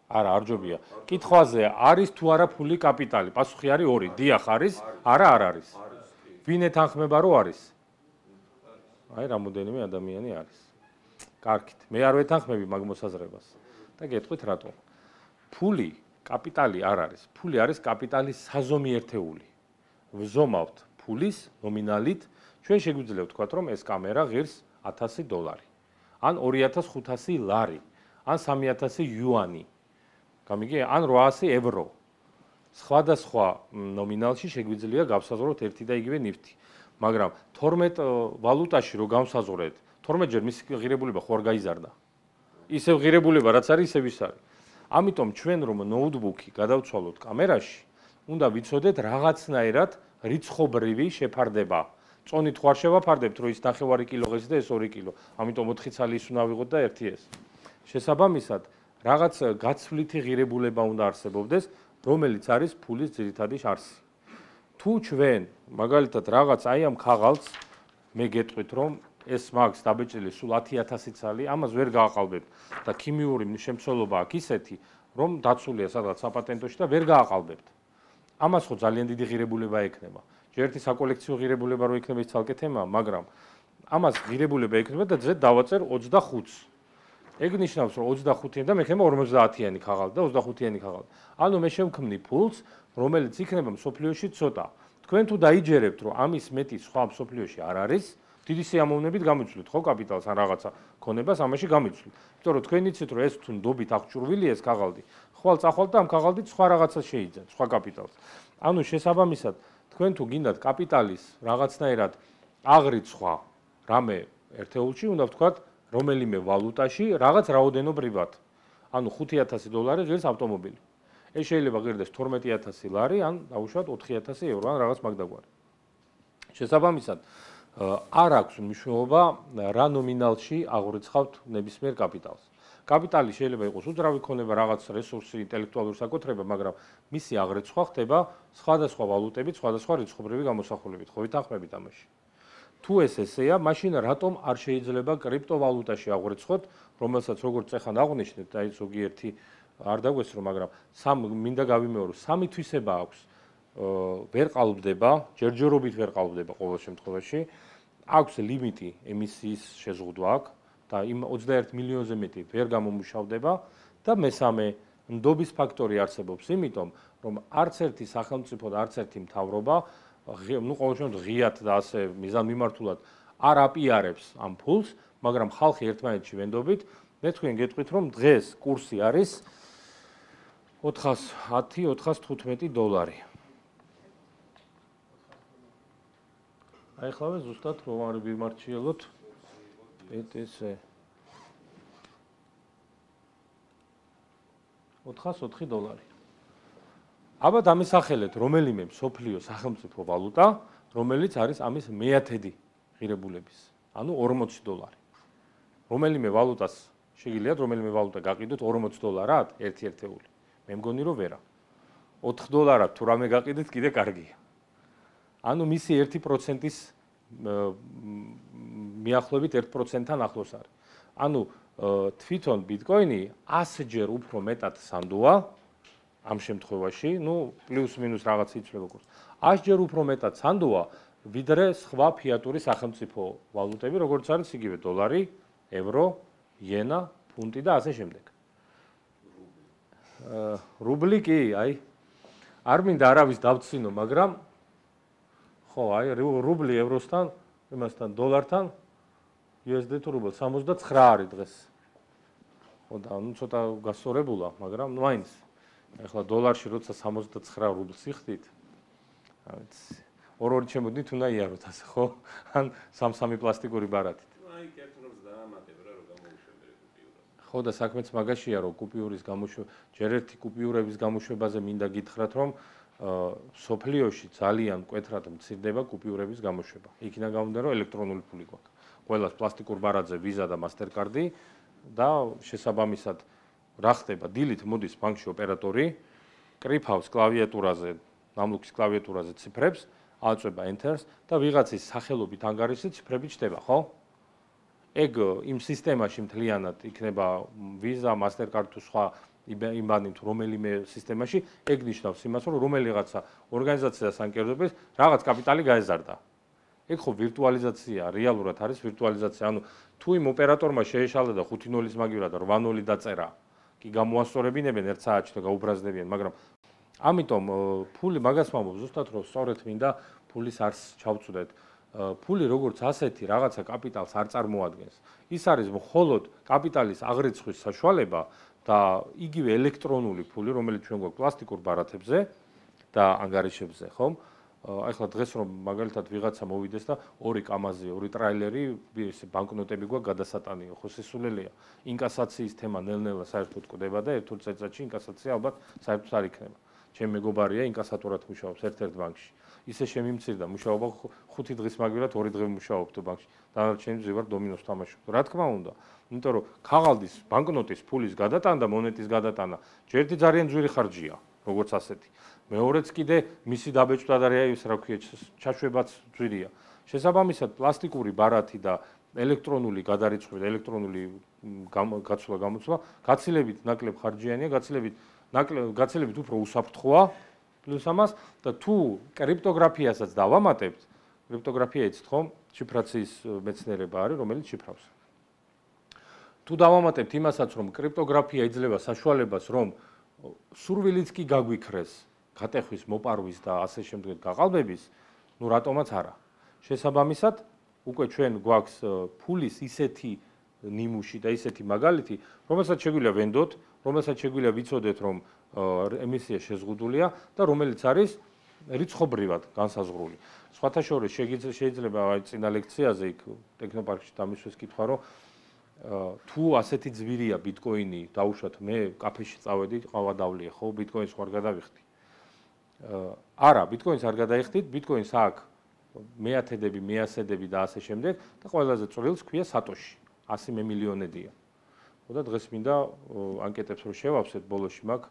არა, არ ჯობია. კითხვაზე არის თუ არა ფული კაპიტალი? პასუხი არის 2. დიახ არის, არა არ არის. ვინ ეთანხმება რომ არის? აი რამოდენიმე ადამიანი არის. კარგით, მე არ ვეთანხმები მაგ მოსაზრებას. და გეტყვით რატო? ფული კაპიტალი არ არის. ფული არის კაპიტალის საზომი ერთეული. ვზომავთ ფულის ნომინალით, ჩვენ შეგვიძლია ვთქვათ, რომ ეს კამერა ღირს $1000, ან 2500 ლარი, ან 3000 იუანი. გამიგე? ან 800 ევრო. სხვადასხვა ნომინალში შეგვიძლია გავსაზღვროთ ერთი და იგივე ნივთი. მაგრამ 12 ვალუტაში რო გავსაზღვრეთ, 12 ჯერ მისი ღირებულება ხო არ გაიზარდა. ისევ ღირებულება რაც არის, ისევ ის არის. ამიტომ ჩვენ რომ ნოუთბუქი გადავცვალოთ კამერაში, უნდა ვიცოდეთ რაღაცნაირად რიცხობრივი შეფარდება. წონით ხო არ შევაფარდებთ, რომ ის 9 კილო ღირს და ეს 2 კილო. ამიტომ 4 ცალი ის უნდა ავიღოთ და 1 ეს. შესაბამისად, რაღაც გაცვლითი ღირებულება უნდა არსებობდეს, რომელიც არის ფულის ძირითადი არსი. თუ ჩვენ მაგალითად რაღაც აი ამ ქაღალდს მე გეტყვით, რომ ეს მაგს დაბეჭდილი სულ 10000 ცალი, ამას ვერ გააყალბებთ და ქიმიური შემცველობა აქვს ისეთი, რომ დაცულია სადღაც საპატენტოში და ვერ გააყალბებთ. ამას ხო ძალიან დიდი ღირებულება ექნება. ჯერ ერთი საკოლექციო ღირებულება რო იქნება ის ცალკე თემაა, მაგრამ ამას ღირებულება ექნება და ძრეთ დავაწერ 25-ს. ეგ ნიშნავს, რომ 25-იანი და მე ხება 50-იანი ქაღალდი და 25-იანი ქაღალდი. ანუ მე შევქმნი ფულს, რომელიც იქნება მსოფლიოში ცოტა. თქვენ თუ დაიჯერებთ, რომ ამის მეტი სხვა მსოფლიოში არ არის, დიდი სიამოვნებით გამიცვლით ხო კაპიტალს ან რაღაცა ქონებას ამაში გამიცვლით. იმიტომ რომ თქვენ იცით, რომ ეს თუ ნდობით აღჭურვილია ეს ქაღალდი, ხვალ წახვალ და ამ ქაღალდით სხვა რაღაცას შეიძენთ, სხვა კაპიტალს. ანუ შესაბამისად, თქვენ თუ გინდათ კაპიტალის რაღაცნაირად აღრიცხვა რამე ერთეულში, უნდა ვთქვათ, რომელიმე ვალუტაში რაღაც რაოდენობრივად. ანუ $5000 ღირს ავტომობილი. ეს შეიძლება ღირდეს 12000 ლარი, ან დაუშვათ 4000 ევრო, ან რაღაც მაგდაგვარი. შესაბამისად, არ აქვს მნიშვნელობა რა ნომინალში აღურიცხავთ ნებისმიერ კაპიტალს. კაპიტალი შეიძლება იყოს უძრავი ქონება, რაღაც რესურსი, ინტელექტუალური საკუთრება, მაგრამ მისი აღრიცხვა ხდება სხვადასხვა ვალუტებით, სხვადასხვა რიცხობრივი გამოსახულებით. ხო ვითანხმებით ამაში? თუ ეს ესეა, მაშინ რატომ არ შეიძლება კრიპტოვალუტაში აღრიცხოთ, რომელსაც როგორც ეხან აღვნიშნეთ, აი ზოგიერთი არ დაგვესრო, მაგრამ მინდა გავიმეორო, 3 თვისება აქვს. ვერ ყალბდება, ჯერჯერობით ვერ ყალბდება ყოველ შემთხვევაში. აქვს ლიმიტი ემისიის შეზღუდვა აქვს და იმ 21 მილიონზე მეტი ვერ გამომუშავდება და მესამე ნდობის ფაქტორი არსებობს, იმიტომ რომ არც ერთი სახელმწიფო და არც ერთი მთავრობა, ну ყოველ შემთხვევაში ღიად და ასე მიზანმიმართულად არ აპიარებს ამ ფულს, მაგრამ ხალხი ერთმანეთში ვენდობით, მე თქვენ გეტყვით, რომ დღეს კურსი არის $410-415. აი ხლავე ზუსტად რომ არ ვიმარჩიელოთ PTC $404. აბა დამისახელეთ რომელიმე მსოფლიო სახელმწიფო ვალუტა, რომელიც არის ამის მეათედი ღირებულების, ანუ $40. რომელიმე ვალუტას შეგიძლიათ რომელიმე ვალუტა გაყიდოთ $40-ად ერთი ერთეული. მე მგონი რომ ვერა. $4 თუ რამე გაყიდეთ კიდე კარგია. ანუ მისი 1%-ის მიახლოებით 1%-თან ახლოს არის. ანუ თვითონ ბიტკოინი 100-ჯერ უფრო მეტად სანდოა, ამ შემთხვევაში, ну, პლუს-მინუს რაღაც იცვლება კურსი. 100 ჯერ უფრო მეტად სანდოა, ვიდრე სხვა ფიატური სახელმწიფო ვალუტები, როგორც არის იგივე დოლარი, ევრო, იენა, ფუნტი და ასე შემდეგ. რუბლი კი, აი, არ მინდა არავის დავცინო, მაგრამ ხო, აი, რუბლი ევროსთან, იმასთან, დოლართან USD თუ რუბლი 69 არის დღეს. ხო და ну ცოტა გასწორებულა, მაგრამ ну აინც ეხლა დოლარში როცა 69 რუბლს იხდით, აი ორ-ორი ჩემოდით უნდა იაროთ ასე, ხო? ან 3-3 პლასტიკური ბარათით. აი კეთრობს დაამატებ რა რომ გამოუშვებერე კუპიურას. ხო და საქმეც მაგაშია რომ კუპიურის გამოშვება, ჯერ ერთი კუპიურების გამოშვებაზე მინდა გითხრათ რომ სოფლიოში ძალიან მკვეთრად მცირდება კუპიურების გამოშვება. იქიდან გამომდინარე რომ ელექტრონული ფული გვაქვს. ყველას პლასტიკურ ბარათზე ვიზა და მასტერკარდი და შესაბამისად რა ხდება? დილით მოდის ბანკში ოპერატორი, კრიფავს კლავიატურაზე, ნამლუქის კლავიატურაზე ციფრებს, აწვება enter-ს და ვიღაცის სახელობით ანგარიშზე ციფრები ჩდება, ხო? ეგ იმ სისტემაში მთლიანად იქნება ვიზა, მასტერკარდი თუ სხვა იმანი თუ რომელიმე სისტემაში, ეგ ნიშნავს იმას, რომ რომელიღაცა ორგანიზაციას ანკერდებს რაღაც კაპიტალი გაეზარდა. ეგ ხო ვირტუალიზაცია, რეალურად არის ვირტუალიზაცია. ანუ თუ იმ ოპერატორმა შეეშალა და 5 0-ის მაგივრად 8 0 დაწერა, კი გამოასწორებინებენ ერთ საათში და გაუბრაზდებიან, მაგრამ ამიტომ ფული მაგას ვამბობ ზუსტად რომ სწორედ მინდა ფულის არს ჩავწუდეთ. ფული როგორც ასეთი რაღაცა კაპიტალს არ წარმოადგენს. ის არის მხოლოდ კაპიტალის აღრიცხვის საშუალება და იგივე ელექტრონული ფული, რომელიც ჩვენ გვაქვს პლასტიკურ ბარათებზე და ანგარიშებზე, ხომ? აი ხლა დღეს რომ მაგალითად ვიღაცა მოვიდეს და 2 კამაზი, 2 ტრაილერი, ესე ბანკნოტები გვაქვს გადასატანიო, ხო სესულელია. ინკასაციის თემა ნელ-ნელა საერთოდ კვდება და ერთ-ერთ წელიწადში ინკასაცია ალბათ საერთოდ არ იქნება. ჩემი მეგობარია ინკასატორად მუშაობს ერთ-ერთ ბანკში. ისე შემიმცირდა მუშაობა 5 დღის მაგივრად 2 დღე მუშაობთ ბანკში. დანარჩენი ძვირ დომინოს თამაშობ. რა თქმა უნდა, იმიტომ რომ ქაღალდის, ბანკნოტის, ფულის გადატანა და მონეტის გადატანა ჯერდი ძალიან ძვირი ხარჯია, როგორც ასეთი. მეორეც კიდე მისი დაბეჭდა და ის რა ქვია, ჩაშვებაც ძვირია. შესაბამისად, პლასტიკური ბარათი და ელექტრონული გადარიცხვა და ელექტრონული გაცვლა-გამოცვლა გაცილებით ნაკლებ ხარჯიანია, გაცილებით უფრო უსაფრთხოა პლუს ამას და თუ კრიპტოგრაფიასაც დავამატებთ, კრიპტოგრაფია იცით ხომ? შიფრაციის მეცნიერება არის, რომელიც შიფრავს. თუ დავამატებთ იმასაც, რომ კრიპტოგრაფია იძლევა საშუალებას, რომ სურვილიც კი გაგვიქრეს, გატეხვის, მოპარვის და ასე შემდეგ გაყალბების, ну რატომაც არა. შესაბამისად, უკვე ჩვენ გვაქვს ფულის ისეთი ნიმუში და ისეთი მაგალითი, რომელსაც შეგვიძლია ვენდოთ, რომელსაც შეგვიძლია ვიცოდეთ, რომ ემისია შეზღუდულია და რომელიც არის რიცხობრივად განსაზღვრული. სხვათა შორის შეიძლება აი წინა ლექციაზე იქ ტექნოპარკში დამისვეს კითხვა, რომ თუ ასეთი ძვირია ბიტკოინი, დაუშვათ მე კაფეში წავედი, ყავა დავლია, ხო, ბიტკოინს ხარ გადავიხდი. არა, ბიტკოინს არ გადაიხდით, ბიტკოინს აქვს მეათედები, მეასედები და ასე შემდეგ და ყველაზე წვრილს ქვია სატოში. 100 მილიონედია. ხო და დღეს მინდა ანკეტებს რო შევავსეთ, ბოლოში მაქვს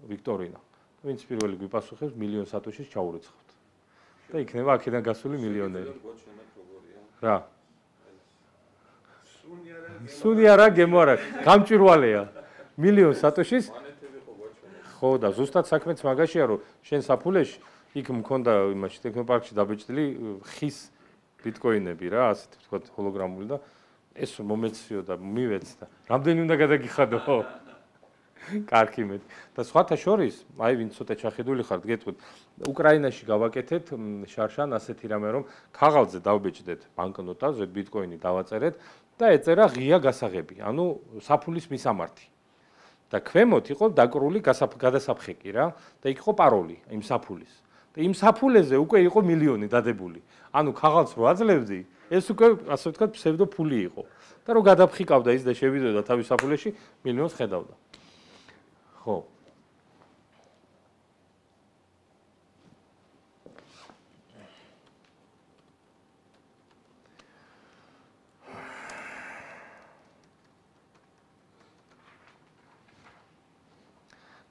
ვიქტორინა. ვინც პირველი გვიპასუხებს, მილიონ სატოშის ჩაურიცხავთ. და იქნება აქედან გასული მილიონერი. რა? სუნი არა, გემო არა, გამჭვირვალეა. მილიონ სატოშის ხო და ზუსტად საქმეც მაგაშია, რომ შენ საფულეში იქ მქონდა იმაში ტექნოპარკში დაბეჭდილი ხის ბიტკოინები რა, ასეთ ვთქვათ ჰოლოგრამული და ეს მომეციო და მივეც და რამდენი უნდა გადაგიხადო? კარგი მე. და სხვათა შორის, აი ვინც ცოტა ჩახედული ხართ, გეტყვით, უკრაინაში გავაკეთეთ შარშან ასეთი რამე, რომ ქაღალდზე დავბეჭდეთ ბანკნოტაზე, ბიტკოინი დავაწერეთ და ეწერა ღია გასაღები, ანუ საფულის მისამართი. და ქვემოთ იყო დაკრული გადასაფხეკი რა და იქ იყო პაროლი იმ საფულის. და იმ საფულეზე უკვე იყო მილიონი დადებული. ანუ ქაღალდს რო აძლევდი, ეს უკვე ასე ვთქვათ ფსევდო ფული იყო. და რო გადაფხიკავდა ის და შევიდოდა თავის საფულეში, მილიონს ხედავდა. ხო.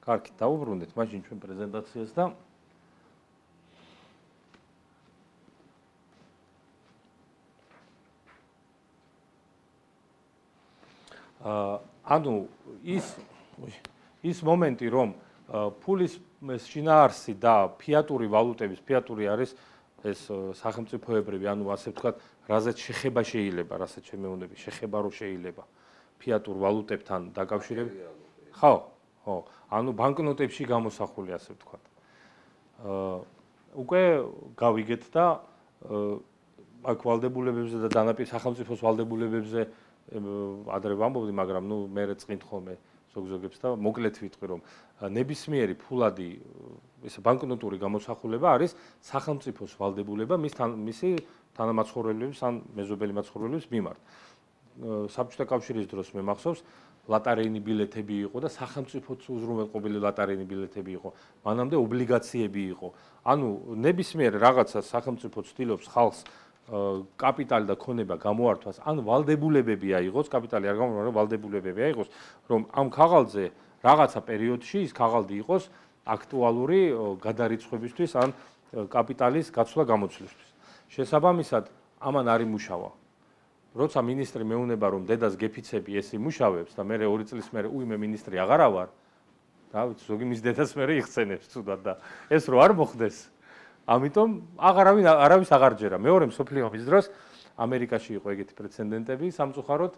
კარგი, დავუბრუნდეთ მაშინ ჩვენ პრეზენტაციას და ანუ ის მომენტი, რომ ფულის შინაარსი და ფიატური ვალუტების, ფიატური არის ეს სახელმწიფოებრივი, ანუ ასე ვთქვათ, რაზეც შეხება შეიძლება, რასაც შემეუნები, შეხება რო შეიძლება ფიატურ ვალუტებთან დაკავშირებით. ხო, ხო, ანუ ბანკნოტებში გამოსახული, ასე ვთქვათ. უკვე გავიგეთ და აქ ვალდებულებებზე და დანაპირ სახელმწიფოს ვალდებულებებზე ადრე ვამბობდი, მაგრამ მე წqინთ ხოლმე ზოგზოგებს და მოკლედ ვიტყვი, რომ ნებისმიერი ფულადი ესე ბანკნოტური გამოსახულება არის სახელმწიფოს ვალდებულება მისი თანამაცხოვრებლების ან მეზობელი მაცხოვრებლების მიმართ. საბჭოთა კავშირის დროს მე მახსოვს ლატარიენი ბილეთები იყო და სახელმწიფოც უზრუნველყოფილი ლატარიენი ბილეთები იყო. მანამდე ობლიგაციები იყო. ანუ ნებისმიერ რაღაცას სახელმწიფო ცდილობს ხალხს კაპიტალი და ქონება გამოართვას, ან ვალდებულებები აიღოს, კაპიტალი არ გამოართვა, ვალდებულებები აიღოს, რომ ამ ქაღალდზე რაღაცა პერიოდში ის ქაღალდი იყოს აქტუალური გადარიცხვებისთვის ან კაპიტალის გაცვლა-გამოცვლისთვის. შესაბამისად, ამან არ იმუშავა. როცა მინისტრი მეუნება, რომ დედას გეფიცები ეს იმუშავებს და მე 2 წლის მერე მე მინისტრი აღარა ვარ, და ზოგი მის დედას მერე იხსენებს თუდად და ეს რო არ მოხდეს, ამიტომ არავის აღარ ჯერა. მეორე მსოფლიო ომის დროს ამერიკაში იყო ეგეთი პრეცედენტები სამწუხაროდ,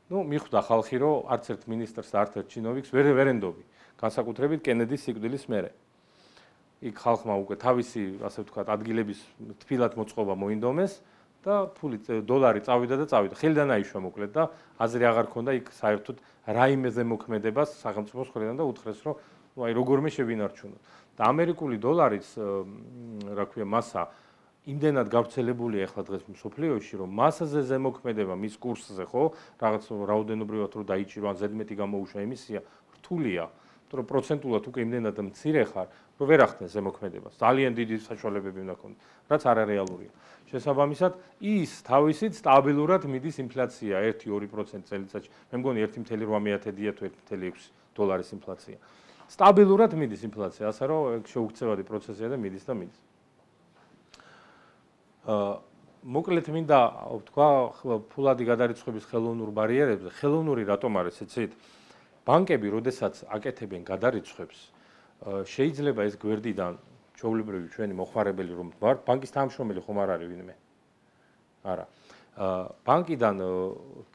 მიხვდა ხალხი, რომ არც ერთ მინისტრს და არც ერთ ჩინოვიკს ვერ ენდობი, განსაკუთრებით კენედის სიკვდილის მერე. იქ ხალხმა უკვე თავისი, ასე ვთქვათ, ადგილების თბილად მოწყობა მოინდომეს და დოლარი წავიდა და წავიდა. ხელიდან აიშვა მოკლედ და აზრი აღარ ქონდა იქ საერთოდ რაიმე ზემოქმედებას სახელმწიფოს მხრიდან და უთხრეს, რომ აი როგორმე შევინარჩუნოთ. და ამერიკული დოლარის რა ქვია მასა იმდენად გავრცელებულია ახლა დღეს მსოფლიოში, რომ მასაზე ზემოქმედება მის კურსზე, ხო, რაღაც რაოდენობრივად რო დაიჭირო ან ზედმეტი გამოუშვა ემისია, რთულია. იმიტომ რომ პროცენტულად უკვე იმდენად მცირე ხარ, რომ ვერ ახდენს ზემოქმედებას. ძალიან დიდი საშუალებები უნდა ქონდეს, რაც არარეალურია. შესაბამისად, ის თავისით სტაბილურად მიდის ინფლაცია 1-2% წელიწადში. მე მგონი 1.8-დია თუ 1.6 დოლარის ინფლაცია. სტაბილურად მიდის ინფლაცია, ასე რომ შეუქცევადი პროცესია და მიდის და მიდის. მოკლედ მინდა ვთქვა ფულადი გადარიცხვების ხელოვნურ ბარიერებზე. ხელოვნური რატომ არის, იცით? ბანკები, როდესაც აკეთებენ გადარიცხვებს, შეიძლება ეს გვერდიდან ჩვეულებრივი ჩვენი მოხმარებელი რომ ვარ, ბანკის თანამშრომელი ხომ არ არის ვინმე? არა. ბანკიდან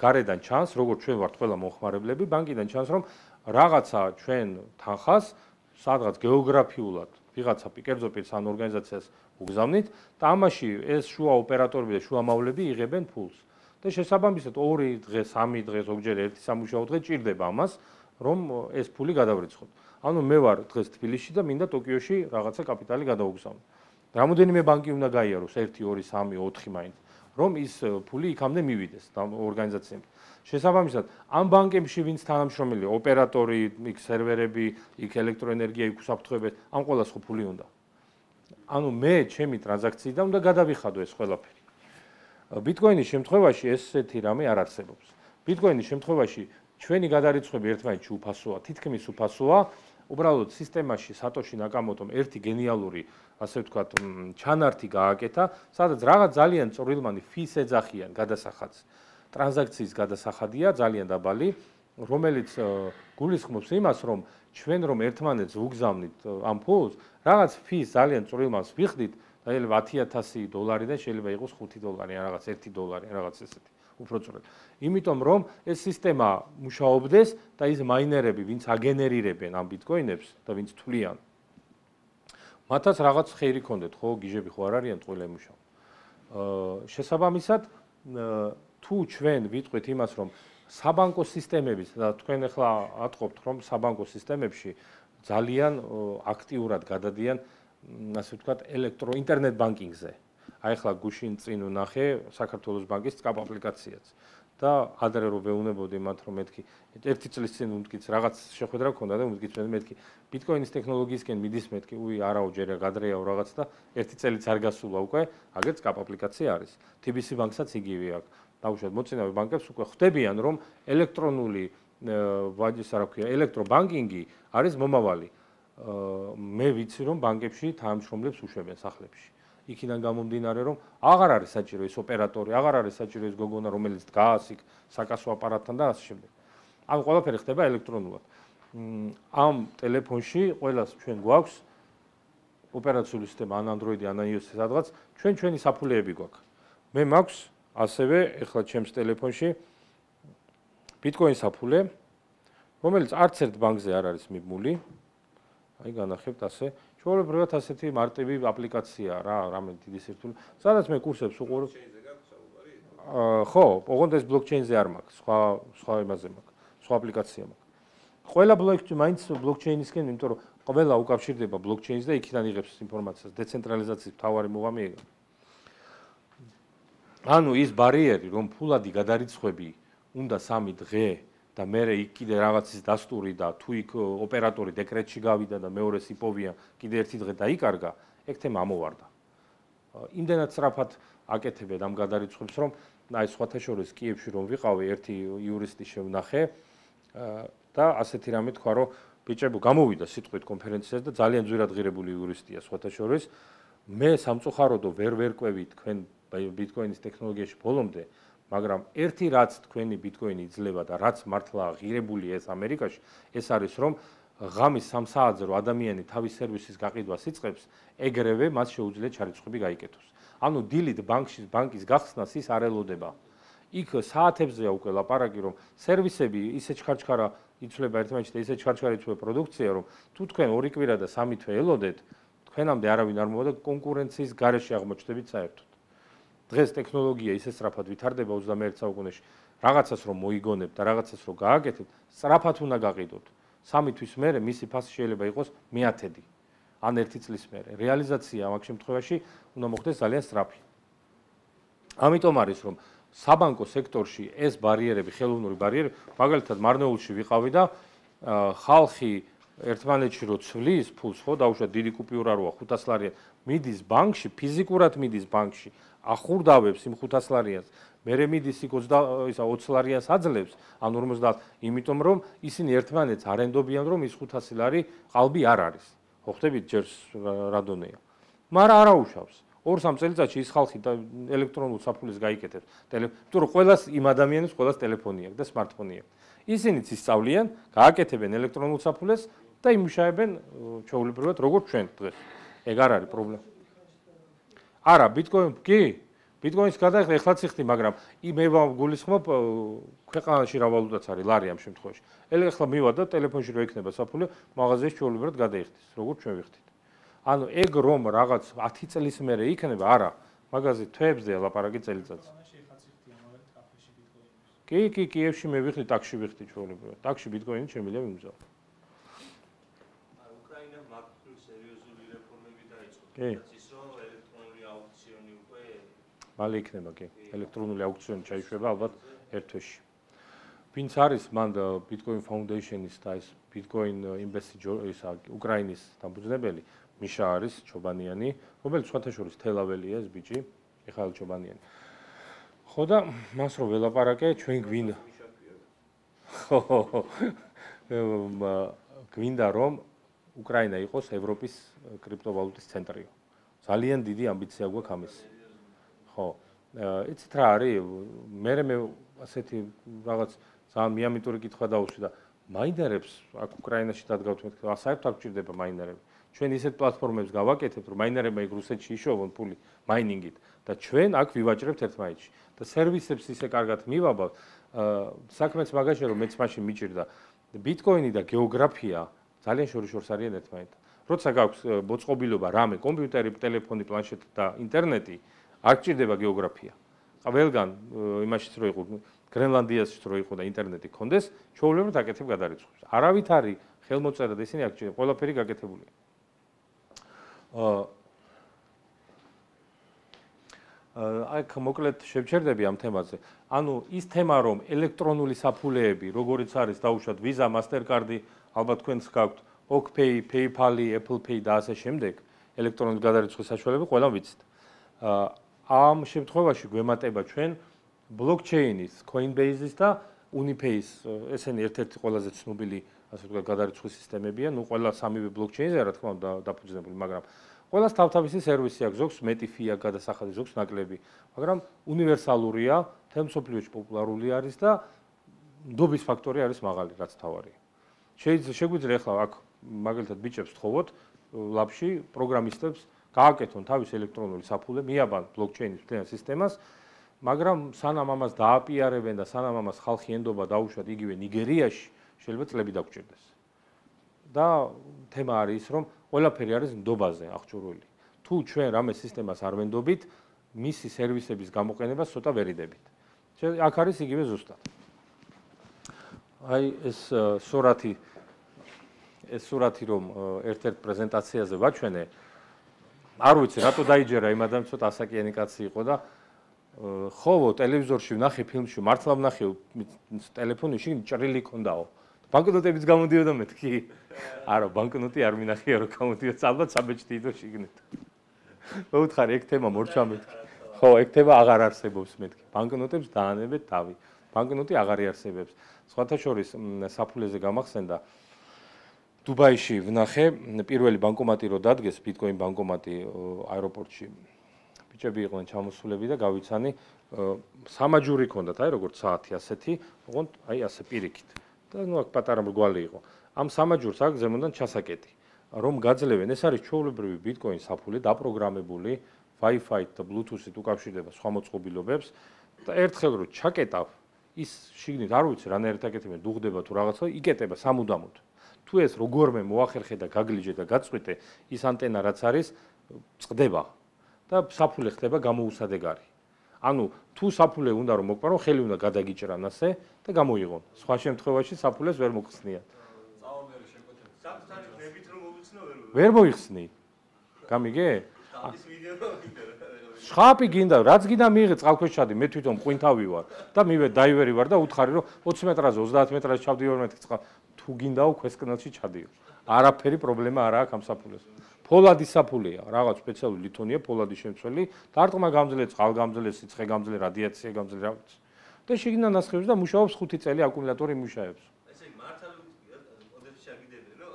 გარედან ჩანს, როგორც ჩვენ ვართ ყველა მოხმარებლები, ბანკიდან ჩანს, რომ რაღაცა ჩვენ თანხას სადღაც გეოგრაფიულად ვიღაცა კერძო პირს ან ორგანიზაციას უგზავნით და ამაში ეს შუა ოპერატორები და შუა მავლები იღებენ ფულს. და შესაბამისად 2 დღე, 3 დღე, ზოგჯერ 1 სამუშაო დღე ჭირდება ამას, რომ ეს ფული გადავრიცხოთ. ანუ მე ვარ დღეს თბილისში და მინდა ტოკიოში რაღაცა კაპიტალი გადაუგზავნო. რამოდენიმე ბანკი უნდა გაიაროს 1, 2, 3, 4 მაინც, რომ ის ფული იქამდე მივიდეს და ორგანიზაციებთან. შესაბამისად, ამ ბანკებში ვინც თანამშრომელი, ოპერატორი, იქ სერვერები, იქ ელექტროენერგია, იქ უსაფრთხოებები, ამ ყველას ხო ფული უნდა. ანუ მე ჩემი ტრანზაქციიდან უნდა გადავიხადო ეს ყველაფერი. ბიტკოინის შემთხვევაში ესეთი რამე არ არსებობს. ბიტკოინის შემთხვევაში ჩვენი გადარიცხვები ერთმანეთში უფასოა, თითქმის უფასოა. უბრალოდ სისტემაში სატოში ნაკამოტომ ერთი გენიალური, ასე ვთქვათ, ჩანართი გააკეთა, სადაც რაღაც ძალიან წვრილმანი ფის ეძახიან გადასახადს. ტრანზაქციის გადასახადია ძალიან დაბალი, რომელიც გულისხმობს იმას, რომ ჩვენ რომ ერთმანეთს ვუგზავნით ამ ფულს, რაღაც ფის ძალიან წვრილმანს ვიხდით, შეიძლება 10,000 დოლარიდან შეიძლება იყოს 5 დოლარი, რაღაც 1 დოლარი, რაღაც ესეთი. უფრო სწორად. იმიტომ რომ ეს სისტემა მუშაობდეს და ის მაინერები, ვინც აგენერირებენ ამ ბიტკოინებს და ვინც თვლიან, მათაც რაღაც ხეირი ქონდეთ, ხო, გიჟები ხო არ არიან ყველა იმუშავ. შესაბამისად, თუ ჩვენ ვიტყვით იმას, რომ საბანკო სისტემების და თქვენ ახლა ატყობთ, რომ საბანკო სისტემებში ძალიან აქტიურად გადადიან, ასე ვთქვათ, ინტერნეტ ბანკინგზე. აი ახლა გუშინ წინ ვნახე საქართველოს ბანკის SCAP აპლიკაციაც და ადრე რო ვეუბნებოდი მათ, რომ მეთქი 1 წლის წინ მtkიც რაღაც შეხვედრა ქონდა და მtkიც მეთქი ბიტკოინის ტექნოლოგიისკენ მიდის მეთქი, არაო ჯერა გადრეაო რაღაც და 1 წელიც არ გასულა უკვე, აგერ SCAP აპლიკაცია არის. TBC ბანკსაც იგივე აქვს. დაუშვათ მოწინავე ბანკებს უკვე ხვდებიან, რომ ელექტრონული ვაჯის რა ქვია, ელექტრობანკინგი არის მომავალი. მე ვიცი, რომ ბანკებში თანამშრომლებს უშვებენ სახლებში. იქიდან გამომდინარე, რომ აღარ არის საჭირო ეს ოპერატორი, აღარ არის საჭირო ეს გოგონა, რომელიც დგას იქ საკასო აპარატთან და ასე შემდეგ. ანუ ყველაფერი ხდება ელექტრონულად. ამ ტელეფონში ყველას ჩვენ გვაქვს ოპერაციული სისტემა ან Android-ი ან iOS-ი სადღაც ჩვენი საფულეები გვაქვს. მე მაქვს ასევე ეხლა ჩემს ტელეფონში Bitcoin საფულე, რომელიც არც ერთ ბანკზე არ არის მიბმული. აი განახებთ ასე. ჩვეულებრივად ასეთი მარტივი აპლიკაციაა რა, რამე დიდი სირთულე. სადაც მე კურსებს უყურებ. ხო, ოღონდ ეს ბლოკჩეინზე არ მაქვს, სხვა იმაზე მაქვს, სხვა აპლიკაცია მაქვს. ყველა ბლოკჩეინი მაინც ბლოკჩეინისკენ, იმიტომ რომ ყველა უკავშირდება ბლოკჩეინს და იქიდან იღებს ინფორმაციას, დეცენტრალიზაციის მთავარი მუღამი ეგა. ანუ ის ბარიერი, რომ ფულადი გადარიცხვები უნდა 3 დღე და მე იქ კიდე რაღაცის დასტური და თუ იქ ოპერატორი დეკრეტში გავიდა და მეორეს იპოვია, კიდე 1 დღე დაიკარგა, ეგ თემა ამოვარდა. იმდენად სწრაფად აკეთებენ ამ გადარიცხვებს, რომ აი სხვათა შორის კიევში რომ ვიყავი, ერთი იურისტი შევნახე და ასეთი რამე თქვა, რომ ბიჭებო გამოვიდა სიტყვით კონფერენციაზე და ძალიან ძვირად ღირებული იურისტია სხვათა შორის. მე სამწუხაროდო ვერ ყვევი თქვენ ბიტკოინის ტექნოლოგიაში ბოლომდე, მაგრამ ერთი რაც თქვენი ბიტკოინი იძლევა და რაც მართლა ღირებული ეს ამერიკაში, ეს არის რომ ღამის 3 საათზე რომ ადამიანი თავის სერვისის გაყიდვას იწყებს, ეგრევე მას შეუძლია ჩარიცხვები გაიკეთოს. ანუ დილით ბანკის გახსნას ის არ ელოდება. იქ საათებზეა უკვე ლაპარაკი, რომ სერვისები ისე ჩქარჩქარა იცვლება ერთმანეთში და ისე ჩქარჩქარა იცვლება პროდუქცია, რომ თუ თქვენ 2 კვირა და 3 თვე ელოდეთ, თქვენამდე არავინ არ მოვა და კონკურენციის გარეშე აღმოჩნდებით საერთოდ. დღეს ტექნოლოგია ისე სწრაფად ვითარდება 21 საუკუნეში, რაღაცას რომ მოიგონებთ და რაღაცას რომ გააკეთებთ, სწრაფად უნდა გაყიდოთ. 3 თვის მერე მისი ფასი შეიძლება იყოს მე-10 ან 1 წლის მერე. რეალიზაცია ამ შემთხვევაში უნდა მოხდეს ძალიან სწრაფი. ამიტომ არის რომ საბანკო სექტორში ეს ბარიერები, ხელოვნური ბარიერები, მაგალითად მარნეულში ვიყავი და ხალხი ერთმანეთში რო ცვლის ფულს, ხო, დაუშვათ დიდი კუპიურა როა 500 ლარიანი, მიდის ბანკში, ფიზიკურად მიდის ბანკში, ახურდავებს იმ 500 ლარიანს, მერე მიდის იქ 20 ლარიანს აძლევს, ან 50, იმიტომ რომ ისინი ერთმანეთს არ ენდობიან, რომ ის 500 ლარი ყალბი არ არის. ხო ხტებით ჯერ რადონეა. მაგრამ არა უშავს. 2-3 წელიწადში ის ხალხი ელექტრონულ საფულეს გაიკეთებს. იმიტომ რომ ყველას იმ ადამიანებს ყველას ტელეფონი აქვს და smartphone-ი აქვს. ისინიც ისწავლიან, გააკეთებენ ელექტრონულ საფულეს და იმუშავებენ ჩვეულებრივად როგორც ჩვენ დღეს. ეგ არ არის პრობლემა. არა, ბიტკოინ კი, ბიტკოინის გადაიხდა ეხლაც იხდი, მაგრამ მე გულისხმობ ქვეყანაში რა ვალუტაც არის, ლარი ამ შემთხვევაში. ეხლა მივა და ტელეფონში რო ექნება საფულე, მაღაზიაში ჩვეულებრივად გადაიხდის, როგორც ჩვენ ვიხდით. ანუ ეგ რომ რაღაც 10 წლის მერე იქნება, არა, მაღაზი თვეებზეა ლაპარაკი წელიწადს. კი, კიევში მე ვიხდი, ტაქსში ვიხდი ჩვეულებრივად. ტაქსში ბიტკოინი შემიძლია ვიმგზავნო. უკრაინა მართლ სერიოზული რეფორმები დაიწყო. კი. ის რომ ელექტრონული აუქციონი უკვე მალე იქნება, კი. ელექტრონული აუქციონი ჩაიშვება ალბათ 1 თვეში. ვინც არის მან Bitcoin Foundation-ის და ეს Bitcoin Invest უკრაინის დამფუძნებელი მიშა არის ჩობანიანი, რომელიც სხვათა შორის თელაველია ეს ბიჭი, მიხაილ ჩობანიანი. ხო და მას რო ველაპარაკე, ჩვენ გვინდა. ხო. გვინდა რომ უკრაინა იყოს ევროპის კრიპტოვალუტის ცენტრი. ძალიან დიდი ამბიცია გვაქვს ამის. ხო. იცით რა არის? მე ასეთი რაღაც ძალიან მიამიტური კითხვა დაუსვი და მაინერებს აქ უკრაინაში დადგავთ მეთქვა, საერთოდ არ გჭირდება მაინერები. ჩვენ ისეთ პლატფორმებს გავაკეთებთ, რომ მაინერებმა იქ რუსეთში იშოვონ ფული მაინინგით და ჩვენ აქ ვივაჭრებთ ერთმანეთში. და სერვისებს ისე კარგად მივაბავ, საქმეც მაგაშია რომ მეც მაშინ მიჭირდა. ბიტკოინი და გეოგრაფია ძალიან შორიშორს არიან ერთმანეთთან. როცა გაქვს მოწყობილობა რამე, კომპიუტერი, ტელეფონი, პლანშეტი და ინტერნეტი, არ გჭირდება გეოგრაფია. ყველგან იმაშიც რო იყო, გრენლანდიაშიც რო იყო და ინტერნეტი ქონდეს, ჩვეულებრივად აკეთებ გადარიცხვებს. არავით არის ხელმოწერა და ისინი არ გჭირდება, ყველაფერი გაკეთებულია. აქ მოკლედ შევჩერდები ამ თემაზე. ანუ ის თემა რომ ელექტრონული საფულეები, როგორიც არის დაუშვათ Visa, Mastercard-ი, ალბათ თქვენს გაქვთ OkPay, PayPal-ი, Apple Pay და ასე შემდეგ, ელექტრონული გადარიცხვის საშუალებები ყველამ ვიცით. ამ შემთხვევაში გვემატება ჩვენ blockchain-ის, Coinbase-ის და Unipay-ის, ესენი ერთ-ერთი ყველაზე ცნობილი, ასე ვთქვათ, გადარიცხვის სისტემებია, ნუ ყველა სამივე blockchain-ზე რა თქმა უნდა დაფუძნებული, მაგრამ ყველას თავთავისი სერვისი აქვს, ზოგს მეტი ფი აქვს გადასახადი, ზოგს ნაკლები, მაგრამ უნივერსალურია, მთელ მსოფლიოში პოპულარული არის და ნდობის ფაქტორი არის მაღალი, რაც თავარია. შეგვიძლია ახლა აქ მაგალითად ბიჭებს თხოვოთ ლაბში პროგრამისტებს გააკეთონ თავის ელექტრონული საფულე, მიაბან ბლოკჩეინის მთლიან სისტემას, მაგრამ სანამ ამას დააპიარებენ და სანამ ამას ხალხი ენდობა დაუშვათ იგივე ნიგერიაში, შეიძლება წლები დაგჭირდეს. და თემა არის ის, რომ ყველაფერი არის ნდობაზე აღჭურვილი. თუ ჩვენ რამე სისტემას არ ვენდობით, მისი სერვისების გამოყენებას ცოტა ვერიდებით. აქ არის იგივე ზუსტად. აი ეს სურათი რომ ერთ-ერთ პრეზენტაციაზე ვაჩვენე, არ ვიცი რატო დაიჯერა იმ ადამიანს, ცოტა ასაკიანი კაცი იყო და ხოლო ტელევიზორში ვნახე ფილმში, მართლა ვნახე ტელეფონში ჭრილი ქონდაო. ბანკნოტებიც გამოდიოდა მეთქი. არა, ბანკნოტი არ მინახია რომ გამოდიოდა, ალბათ საბეჭდი იდო შიგნით. მოუთხარი ეგ თემა მორჩა მეთქი. ხო, ეგ თემა აღარ არსებობს მეთქი. ბანკნოტებს დაანებეთ თავი. ბანკნოტი აღარ იარსებებს. სხვათა შორის საფულეზე გამახსენდა დუბაიში ვნახე პირველი ბანკომატი რო დადგეს, ბიტკოინ ბანკომატი აეროპორტში. ბიჭები იყვნენ ჩამოსულები და გავიცანი სამაჯური ქონდათ, აი როგორც საათი ასეთი, ოღონდ აი ასე პირიქით. და ნუ აქ პატარა მრგვალი იყო. ამ სამაჯურს აქ ზემოდან ჩასაკეტი. რომ გაძლევენ, ეს არის ჩვეულებრივი ბიტკოინ საფულე დაპროგრამებული, Wi-Fi და Bluetooth-ით უკავშირდება სხვა მოწყობილობებს და ერთხელ რო ჩაკეტავ, ის შიგნით არ ვიცი რანაირად აკეთებენ, დუღდება თუ რაღაცა, იკეტება სამუდამოდ. თუ ეს როგორმე მოახერხე და გაგლიჯე და გაწყვიტე, ის ანტენა რაც არის, წყდება და საფულე ხდება გამოუსადეგარი. ანუ თუ საფულე უნდა რომ მოკპარო, ხელი უნდა გადაგიჭრან ასე და გამოიღონ. სხვა შემთხვევაში საფულეს ვერ მოგხსნიათ. წაომერი შეკვეთება. საფთარი ნებით რომ მოვიცნო ვერ მოიხსნი. გამიგე? ის ვიდეო გინდა. შხაპი გინდა, რაც გინდა მიიღე წყალქვეშადი, მე თვითონ ყვინთავი ვარ და მივე დაივერი ვარ და უთხარი რომ 20 მეტრაზე, 30 მეტრაზე ჩავდივარ მეთქი წყალ. თუ გინდაო ქვესკნელში ჩადიო. არაფერი პრობლემა არ აქვს ამ საფულეს. ფოლადი საფულეა, რაღაც სპეციალური ლითონია, ფოლადი შემცველი, დარტყმა გამძლე, წყალგამძლე, სიცხე გამძლე, რადიაცია გამძლე, რა ვიცი. და შიგნიდან ნასხევს და მუშაობს 5 წელი აკუმულატორი მუშაობს. ესე იგი მართალ ოდებს შეგიდებენ, ნო?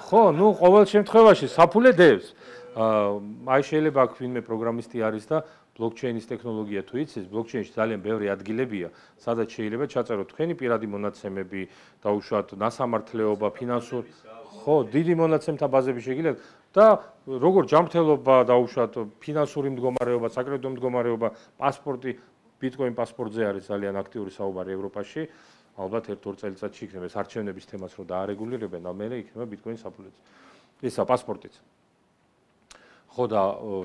ხო, ნუ ყოველ შემთხვევაში საფულე დევს. აი შეიძლება აქ ვინმე პროგრამისტი არის და ბლოკჩეინის ტექნოლოგია თუ იცის, ბლოკჩეინში ძალიან ბევრი ადგილებია, სადაც შეიძლება ჩაწეროთ თქვენი პირადი მონაცემები, დაუშვათ ნასამართლეობა, ფინანსური, ხო, დიდი მონაცემთა ბაზები შეგიძლიათ და როგორ ჯანმრთელობა, დაუშვათ ფინანსური მდგომარეობა, საკრედიტო მდგომარეობა, პასპორტი, ბიტკოინ პასპორტზე არის ძალიან აქტიური საუბარი ევროპაში. ალბათ 1-2 წელიწადში იქნება ეს არჩევნების თემას რო დაარეგულირებენ, ამერე იქნება ბიტკოინ საფულეც. ისა პასპორტიც. ხო და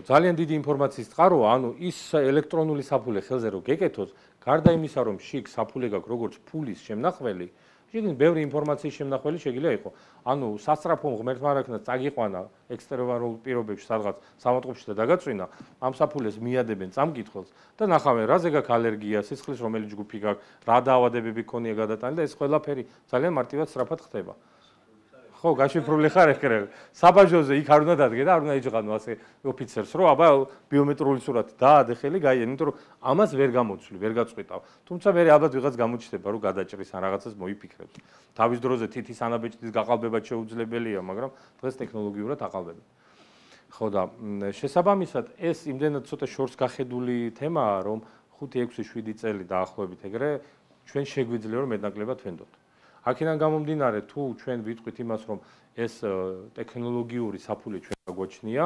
ძალიან დიდი ინფორმაციის წყაროა, ანუ ის ელექტრონული საფულე ხელზე რო გეკეთოს, გარდა იმისა რომ შიგ საფულე გაქვს როგორც ფულის შემნახველი, შიგნით ბევრი ინფორმაციის შემნახველი შეიძლება იყოს. ანუ სასწრაფო ღმერთმარაგნას წაგიყვანა ექსტერვარულ პირობებში სადღაც სამოწყობში და დაგაწვინა, ამ საფულეს მიადებენ წამკითხველს და ნახავენ რაზე გაქვს ალერგია, სისხლის რომელი ჯგუფი გაქვს, რა დაავადებები ქონია გადატანილი და ეს ყველაფერი ძალიან მარტივად სწრაფად ხდება. ხო, გაშიფრული ხარ ეკრე. საბაჟოზე იქ არ უნდა დადგე და არ უნდა იჭყანო ასე ოფიცერს, რომ აბა ბიომეტრიული სურათი დაადე ხელი, გაიენ, იმიტომ რომ ამას ვერ გამოცვლი, ვერ გაწყვეტავ. თუმცა მე ალბათ ვიღაც გამოჩნდება, რომ გადაჭრის ან რაღაცას მოიფიქრებს. თავის დროზე თითის ანაბეჭდის გაყალბება შეუძლებელია, მაგრამ დღეს ტექნოლოგიურად აყალბებენ. ხო და შესაბამისად ეს იმდენად ცოტა შორს გახედული თემაა, რომ 5-6-7 წელი დაახლოებით ეგრე ჩვენ შეგვიძლია რომ მეტნაკლებად ვენდოთ. აქედან გამომდინარე, თუ ჩვენ ვიტყვით იმას, რომ ეს ტექნოლოგიური საფულე ჩვენ გაგვაჩნია,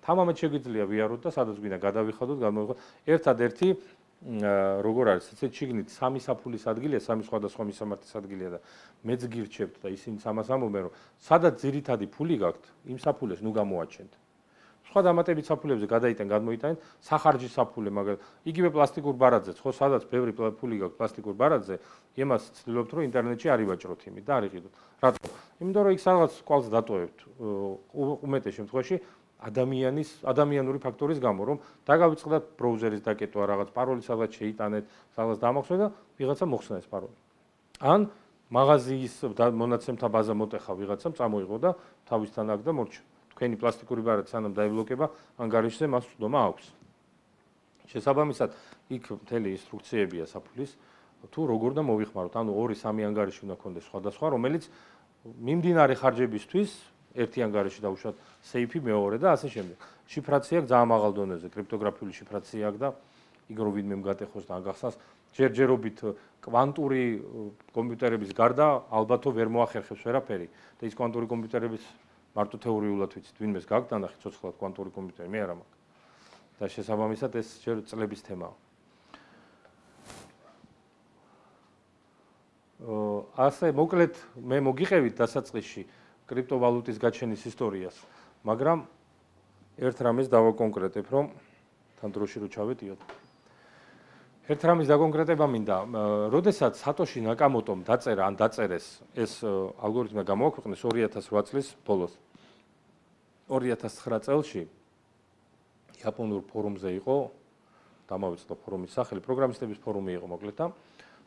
თამამად შეგვიძლია ვიაროთ და სადაც გვინდა გადავიხადოთ, გამოვიღოთ. ერთადერთი როგორ არის, ესეც შიგნით 3 საფულის ადგილია, 3 სხვადასხვა მისამართის ადგილია და მეც გირჩევთ და ისინი ამას ამბობენ, რომ სადაც ძირითადი ფული გაქვთ, იმ საფულეს ნუ გამოაჩენთ. სხვა დამატებით საფულებზე გადაიტან, გადმოიტანეთ, სახარჯის საფულე, მაგრამ იგივე პლასტიკურ ბარათზეც, ხო, სადაც ბევრი ფული გაქვთ პლასტიკურ ბარათზე, იმას ცდილობთ, რომ ინტერნეტში არ ივაჭროთ იმით და არ იყიდოთ. რატო? იმიტომ რომ იქ სადღაც კვალს დატოვებთ. უმეტეს შემთხვევაში ადამიანური ფაქტორის გამო, რომ დაგავიწყდათ ბრაუზერის დაკეტვა, რაღაც პაროლი სადღაც შეიტანეთ, სადღაც დამახსოვრეთ და ვიღაცა მოხსნა ეს პაროლი. ან მაღაზიის მონაცემთა ბაზა მოტეხა ვიღაცამ, წამოიღო და თავისთან აქ და მორჩა. თქვენი პლასტიკური ბარათი სანამ დაიბლოკება, ანგარიშზე მას უდომა აქვს. შესაბამისად, იქ მთელი ინსტრუქციებია საფულის, თუ როგორ და მოვიხმაროთ, ანუ 2-3 ანგარიში უნდა გქონდეს სხვადასხვა, რომელიც მიმდინარე ხარჯებისთვის ერთი ანგარიში დაუშვათ სეიფი მეორე და ასე შემდეგ. შიფრაცია აქვს ძალიან მაღალ დონეზე, კრიპტოგრაფიული შიფრაცია აქვს და იგ რო ვინმე მგატეხოს და აგახსნას, ჯერჯერობით კვანტური კომპიუტერების გარდა ალბათო ვერ მოახერხებს ვერაფერი და ის კვანტური კომპიუტერების მარტო თეორიულად ვიცით, ვინმეს გაგდან და ხიცოცხლად კვანტური კომპიუტერი მე არ მაქვს. და შესაბამისად ეს ჯერ წლების თემაა. ასე მოკლედ მე მოგიყევით დასაწყისში კრიპტოვალუტის გაჩენის ისტორიას, მაგრამ ერთ რამეს დავაკონკრეტებ, რომ თან დროში რო ჩავედიოთ. ერთ რამის დაკონკრეტება მინდა, როდესაც სატოში ნაკამოტომ დაწერა ან დაწერეს ეს ალგორითმი გამოაქვეყნეს 2008 წლის ბოლოს. 2009 წელს იაპონურ ფორუმზე იყო, დამავიწყდა ფორუმის სახელი, პროგრამისტების ფორუმი იყო მოკლედ და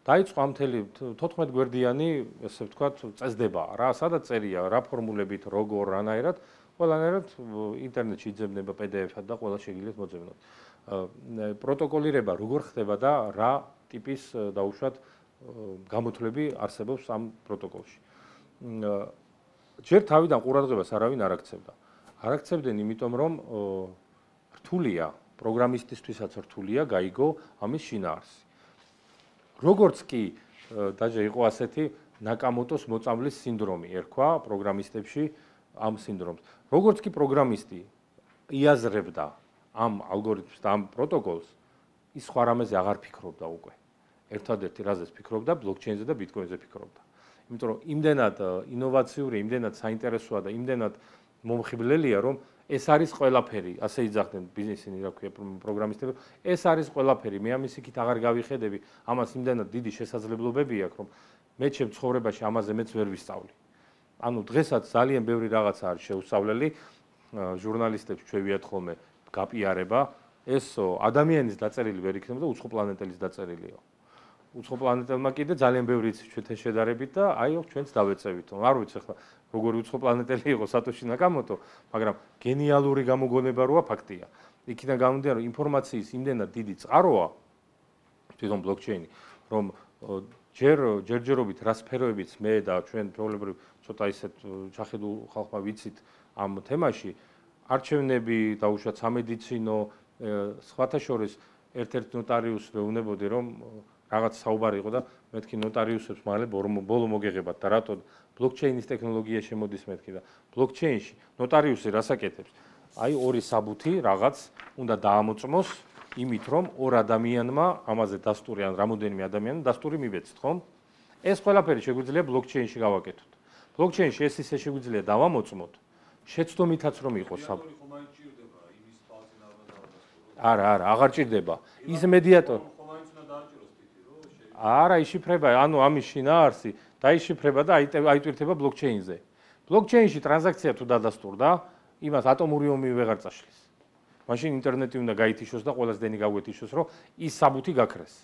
დაიწყო ამ მთელი 14 გვერდიანი, ესე ვთქვათ, წესდება რა, სადაც წერია, რა ფორმულებით, როგორ, რანაირად, ყველანაირად ინტერნეტში იძებნება PDF-ად და ყველა შეგიძლიათ მოძებნოთ. პროტოკოლირება როგორ ხდება და რა ტიპის დაუშვათ გამოთვლები არსებობს ამ პროტოკოლში. ჯერ თავიდან ყურადღებას არავინ არ აქცევდა. არ აქცევდნენ იმიტომ, რომ რთულია, პროგრამისტისთვისაც რთულია გაიგო ამის შინაარსი. როგორც კი დაჟე იყო ასეთი ნაკამოტოს მოწამვლის სინდრომი, ერქვა პროგრამისტებში ამ სინდრომს. როგორც კი პროგრამისტი იაზრებდა ამ ალგორითმს და ამ პროტოკოლს, ის სხვა რამეზე აღარ ფიქრობდა უკვე. ერთადერთი რაზეც ფიქრობდა, ბლოკჩეინზე და ბიტკოინზე ფიქრობდა. იმიტომ რომ იმდენად ინოვაციური, იმდენად საინტერესოა და იმდენად მომხიბლელია, რომ ეს არის ყველაფერი, ასე იძახდნენ ბიზნესინი, რა ქვია, პროგრამისტები, ეს არის ყველაფერი, მე ამის იქით აღარ გავიხედები, ამას იმდენად დიდი შესაძლებლობები აქვს, რომ მე ჩემ ცხოვრებაში ამაზე მეც ვერ ვისწავლი. ანუ დღესაც ძალიან ბევრი რაღაცა არის შეუსწავლელი, ჟურნალისტებს ჩვევიათ ხოლმე გაპიარება, ეს ადამიანის დაწერილი ვერ იქნება და უცხო პლანეტელის დაწერილია. უცხო პლანეტელმა კიდე ძალიან ბევრი იცის ჩვენთან შედარებით და აი ჩვენც დავეწევით. არ ვიცი ახლა როგორი უცხო პლანეტელი იყო სატოში ნაკამოტო, მაგრამ გენიალური გამოგონება როა ფაქტია. იქიდან გამომდინარე, რომ ინფორმაციის იმდენად დიდი წყაროა თვითონ ბლოკჩეინი, რომ ჯერჯერობით რა სფეროებიც მე და ჩვენ ჩვეულებრივ ცოტა ისეთ ჩახედულ ხალხმა ვიცით ამ თემაში, არჩევნები, დაუშვათ სამედიცინო, სხვათა შორის ერთ-ერთ ნოტარიუსს ვეუბნებოდი, რომ რაღაც საუბარი იყო და მეთქი ნოტარიუსებს მალე ბოლო მოგეღებათ და რატო ბლოკჩეინის ტექნოლოგია შემოდის მეთქი და ბლოკჩეინში ნოტარიუსი რას აკეთებს? აი ორი საბუთი რაღაც უნდა დაამოწმოს იმით, რომ ორ ადამიანმა ამაზე დასტური ან რამოდენიმე ადამიანმა დასტური მივეცით, ხომ? ეს ყველაფერი შეგვიძლია ბლოკჩეინში გავაკეთოთ. ბლოკჩეინში ეს ისე შეგვიძლია დავამოწმოთ, შეცდომითაც რომ იყოს საბუთი. არა, აღარ ჭირდება. ის მედიატორი არა, იშიფრება, ანუ ამის შინაარსი დაიშიფრება და აიტვირთება ბლოკჩეინზე. ბლოკჩეინში ტრანზაქცია თუ დადასტურდა, იმას ატომური ომი ვეღარ წაშლის. მაშინ ინტერნეტი უნდა გაითიშოს და ყველას დენი გაგვეთიშოს, რომ ის საბუთი გაქრეს.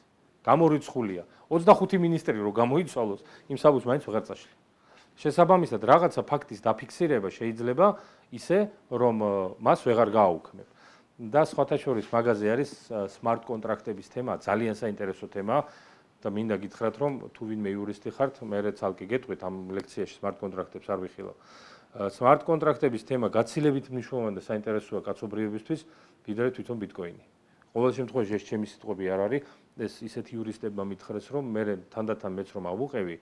გამორიცხულია. 25 მინისტრი რო გამოიცვალოს, იმ საბუთს მაინც ვეღარ წაშლი. შესაბამისად, რაღაცა ფაქტის დაფიქსირება შეიძლება ისე, რომ მას ვეღარ გააუქმებ. და სხვათა შორის მაგაზე არის smart კონტრაქტების თემა, ძალიან საინტერესო თემა. და მინდა გითხრათ, რომ თუ ვინმე იურისტი ხართ, მე ცალკე გეტყვით ამ ლექციაში smart კონტრაქტებს არ ვიხილავ. smart კონტრაქტების თემა გაცილებით მნიშვნელოვანი და საინტერესოა კაცობრიობისთვის, ვიდრე თვითონ ბიტკოინი. ყოველ შემთხვევაში ეს ჩემი სიტყვები არ არის, ეს ისეთი იურისტებმა მითხრეს, რომ მე თანდათან მეც რომ ავუყევი,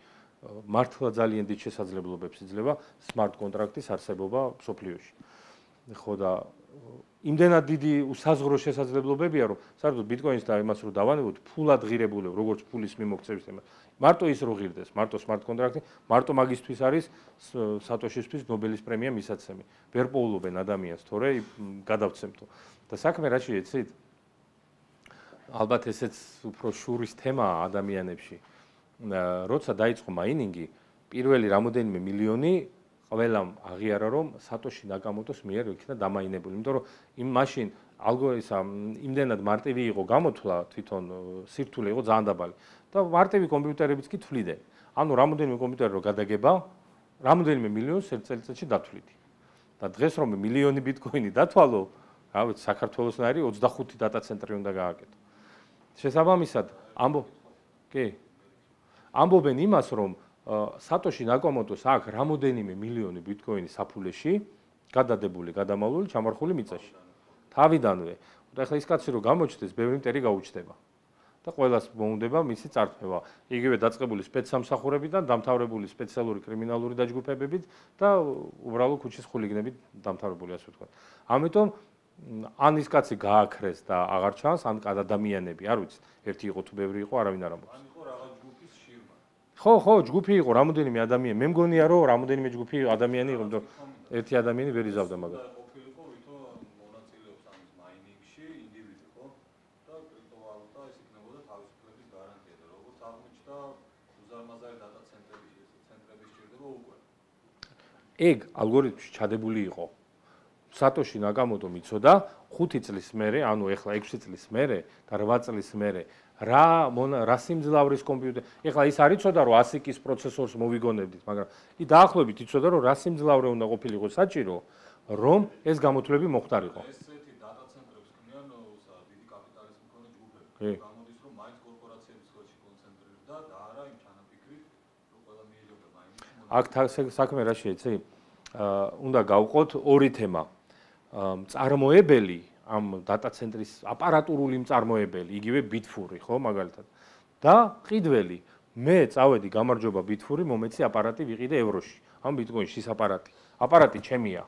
მართლა ძალიან დიდ შესაძლებლობებს იძლევა smart კონტრაქტის არსებობა მსოფლიოში. ხო და იმდენად დიდი უსაზღვრო შესაძლებლობებია, რომ საერთოდ ბიტკოინს და იმას რო დავანებოთ, ფულად ღირებულებ, როგორც ფულის მიმოქცევის თემა. მარტო ის რო ღირდეს, მარტო smart კონტრაქტი, მარტო მაგისთვის არის სატოშისთვის ნობელის პრემია მისაცემი. ვერ პოულობენ ადამიანს, თორე გადავცემთო. და საქმე რა შეეცით? ალბათ ესეც უფრო შურის თემაა ადამიანებში. როცა დაიწყო მაინინგი, პირველი რამოდენიმე მილიონი ყველამ აღიარა, რომ სატოში ნაკამოტოს მიერ იქნა დამაინებული, იმიტომ რომ იმ მაშინ ალგორითმი იმდენად მარტივი იყო გამოთვლა, თვითონ სირთულე იყო ძალიან დაბალი და მარტივი კომპიუტერებიც კი თვლიდნენ. ანუ რამოდენიმე კომპიუტერი რო გადაგება, რამოდენიმე მილიონს ერთ წელიწადში დათვლიდი. და დღეს რომ მილიონი ბიტკოინი დათვალო, რა ვიცი, საქართველოსნაირი 25 დატა ცენტრი უნდა გააკეთო. შესაბამისად, ამბობენ იმას, რომ სატოში ნაკამოტოს აქვს რამოდენიმე მილიონი ბიტკოინი საფულეში, გადადებული, გადამალული, ჩამარხული მიწაში. თავიდანვე. და ახლა ის კაცი რო გამოჩნდეს, ბევრი მტერი გაუჩნდება. და ყველას მოუნდება მისი წართმევა. იგივე დაწყებული სპეცსამსახურებიდან, დამთავრებული სპეციალური კრიმინალური დაჯგუფებებით და უბრალო ქუჩის ხულიგნებით დამთავრებული, ასე ვთქვათ. ამიტომ ან ის კაცი გააქრეს და აღარ ჩანს, ან ადამიანები, არ ვიცი, ერთი იყო თუ ბევრი იყო, არავინ არ ამბობს. ან იყო რაღაც ჯგუფის შირმა. ხო, ჯგუფი იყო, რამოდენიმე ადამიანი. მე მგონია, რომ რამოდენიმე ჯგუფი ადამიანი იყო, იმიტომ ერთი ადამიანი ვერ იზავდა მაგას. ყოფილიყო ვითომ მონაწილეობს ამის მაინინგში ინდივიდი, ხო? და კრიპტოვალუტა ეს იქნებოდა თავისუფლების გარანტია და როგორც აღმოჩნდა, უზარმაზარი დატა ცენტრები სჭირდება უკვე. ეგ ალგორითმში ჩადებული იყო. სატოში ნაკამოტომ იცოდა 5 წლის მერე, ანუ ეხლა 6 წლის მერე და 8 წლის მერე რა სიმძლავრის კომპიუტერი. ეხლა ის არ იცოდა რომ ASIC-ის პროცესორს მოვიგონებდით, მაგრამ დაახლოებით იცოდა რომ რა სიმძლავრე უნდა ყოფილიყო საჭირო, რომ ეს გამოთვლები მოხდარიყო. ესეთი დატა ცენტრებს ქმნიან დიდი კაპიტალის მქონე ჯგუფები. გამოდის რომ მაინც კორპორაციების ხელში კონცენტრირდა და არა იმ ჩანაფიქრით, რომ ყველა მიიღებდა მაინინგში. აქ საქმე რა შეიცი? უნდა გავყოთ ორი თემა. მწარმოებელი ამ დატა ცენტრის აპარატურული მწარმოებელი, იგივე ბიტფური, ხო, მაგალითად. და ყიდველი, მე წავედი გამარჯობა ბიტფური, მომეცი აპარატი ვიყიდე ევროში. ამ ბიტკოინში ის აპარატი ჩემია.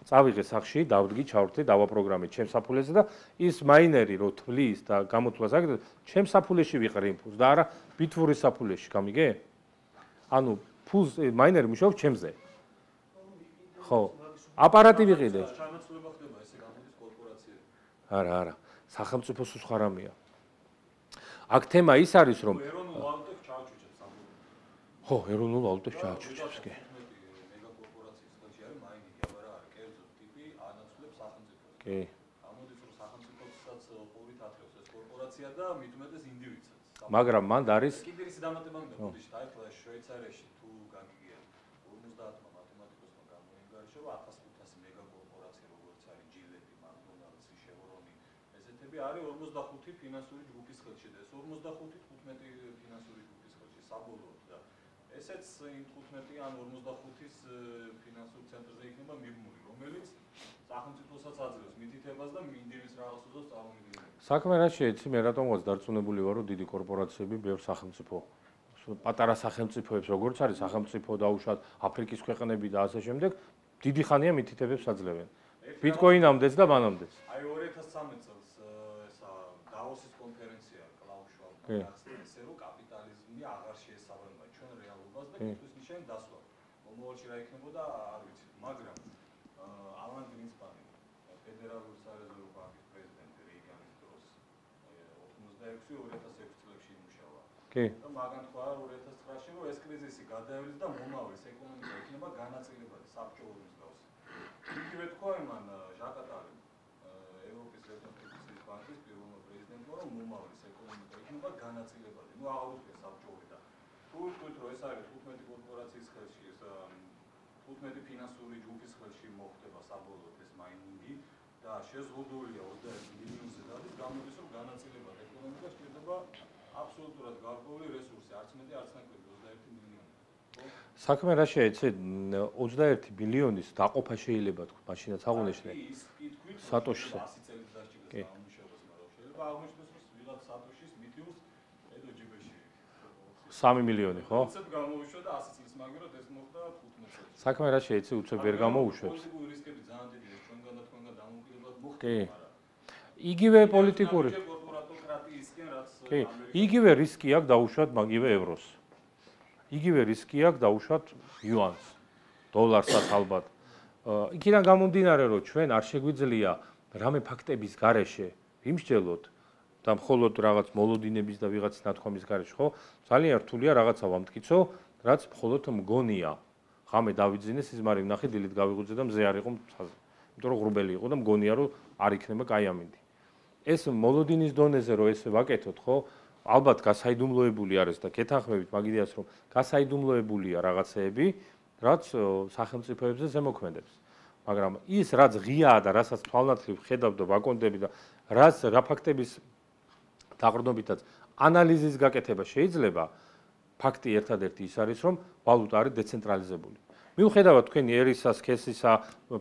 წავიღე სახში, დავდგი, ჩავრთე, დავაპროგრამე ჩემს საფულეზე და ის მაინერი რო თვლის და გამოთვლას აკეთებს, ჩემს საფულეში ვიყრე იმ ფულს და არა ბიტფურის საფულეში, გამიგე? ანუ ფულს მაინერი მუშაობს ჩემზე. ხო, აპარატი ვიყიდე. ჩანაცვლება ხდება ესე გამოდის კორპორაციები. არა, სახელმწიფოს სხვა რამეა. აქ თემა ის არის, რომ ეროვნულ ვალუტებს ჩააჩუჩებს ამბობენ. ხო, ეროვნულ ვალუტებს ჩააჩუჩებს, კი. მეგაკორპორაციის ხელში არის მაინინგი, აბა რა არის, კერძო ტიპი ანაცვლებს სახელმწიფოს. კი. გამოდის რომ სახელმწიფოსაც ყურით ათრევს ეს კორპორაცია და მით უმეტეს ინდივიდსაც. მაგრამ მანდ არის კიდე ის დამატება მინდა ბუდიში, აი ხო შვეიცარიაში თუ გაგიგია 50-მა მათემატიკოსმა გამოინგარიშა 1500 მეგაკორპორაცია როგორც არის ჯილეტი, მაკდონალდსი, შევრონი, ესეთები არის 45 ფინანსური ჯგუფის ხელში და ეს 45 15 ფინანსური ჯგუფის ხელში საბოლოოდ და ესეც იმ 15 ან 45-ის ფინანსურ ცენტრზე იქნება მიბმული, რომელიც სახელმწიფოსაც აძლევს მითითებას და ინდივიდის რაღაც უზოს წარმომადგენლებს. საქმე რა შეიცი, მე რატომღაც დარწმუნებული ვარ, რომ დიდი კორპორაციები ბევრ სახელმწიფო პატარა სახელმწიფოებს, როგორც არის სახელმწიფო დაუშვათ აფრიკის ქვეყნები და ასე შემდეგ, დიდი ხანია მითითებებს აძლევენ. ბიტკოინამდეც და მანამდეც. აი 2013 წელს ესა დავოსის კონფერენცია კლაუს შვაბმა გახსნა, რომ კაპიტალიზმი აღარ შეესაბამება ჩვენ რეალობას და კითხვის ნიშანი დასვა. მომავალში რა იქნებოდა არ ვიცით, მაგრამ ალან გრინსპანი ფედერალური სარეზერვო ბანკის პრეზიდენტი რეიგანის დროს 96-2006 წლებში იმუშავა. კი. და მაგან თქვა 2009-ში რომ ეს კრიზისი გადაივლის და მომავლის ეკონომიკა იქნება განაწილებადი საბჭოური მსგავსი. იგივე თქვა იმან ჟაკატალემ ევროპის რესპუბლიკის ბანკის პირველმა პრეზიდენტმა რომ მომავლის ეკონომიკა იქნება განაწილებადი. ნუ აღუდგეს საბჭოური და თუ ვიტყვით რომ ეს არის 15 კორპორაციის ხელში, ეს 15 ფინანსური ჯგუფის ხელში მოხდება საბოლოოდ ეს მაინინგი და შეზღუდულია 21 მილიონზე და ის გამოდის რომ განაწილებად ეკონომიკა სჭირდება აბსოლუტურად გარკვეული რესურსი, არც მეტი, არც ნაკლები 21 მილიონი. საქმე რა შეიცი, 21 მილიონის დაყოფა შეიძლება თქვა, მაშინაც აღუნიშნე. სატოშიზე. 100 წელი დასჭირდება ამუშავებას, მაგრამ შეიძლება აღმოჩნდეს რომ ვიღაც სატოშის მიტიულს ედო ჯიბეში. 3 მილიონი, ხო? უცებ გამოუშვა და 100 წლის მაგერად ეს მოხდა 15 წელს. საქმე რა შეიცი, უცებ ვერ გამოუშვებს. პოლიტიკური რისკები ძალიან დიდია, ჩვენგან და თქვენგან დამოუკიდებლად მოხდა. კი. იგივე პოლიტიკური. კორპორატოკრატიისკენ რაც კი, იგივე რისკი აქვს დაუშვათ მაგივე ევროს. იგივე რისკი აქვს დაუშვათ იუანს, დოლარსაც ალბათ. იქიდან გამომდინარე, რომ ჩვენ არ შეგვიძლია რამე ფაქტების გარეშე ვიმსჯელოთ და მხოლოდ რაღაც მოლოდინების და ვიღაც ნათქვამის გარეშე, ხო? ძალიან რთულია რაღაცა ვამტკიცო, რაც მხოლოდ მგონია. ღამე დავიძინე, სიზმარი ვნახე, დილით გავიღვიძე და მზე არ იყო მთაზე. იმიტომ რომ ღრუბელი იყო და მგონია რომ არ იქნება კაი ამინდი. ეს მოლოდინის დონეზე რომ ესე ვაკეთოთ, ხო? ალბათ გასაიდუმლოებული არის და კეთახმებით მაგიდიას რომ გასაიდუმლოებულია რაღაცეები, რაც სახელმწიფოებზე ზემოქმედებს. მაგრამ ის რაც ღიაა და რასაც თვალნათლივ ხედავ და ვაკონდები და რა ფაქტების დაყრდნობითაც ანალიზის გაკეთება შეიძლება, ფაქტი ერთადერთი ის არის, რომ ვალუტა არის დეცენტრალიზებული. მიუხედავად თქვენი ერისა, სქესისა,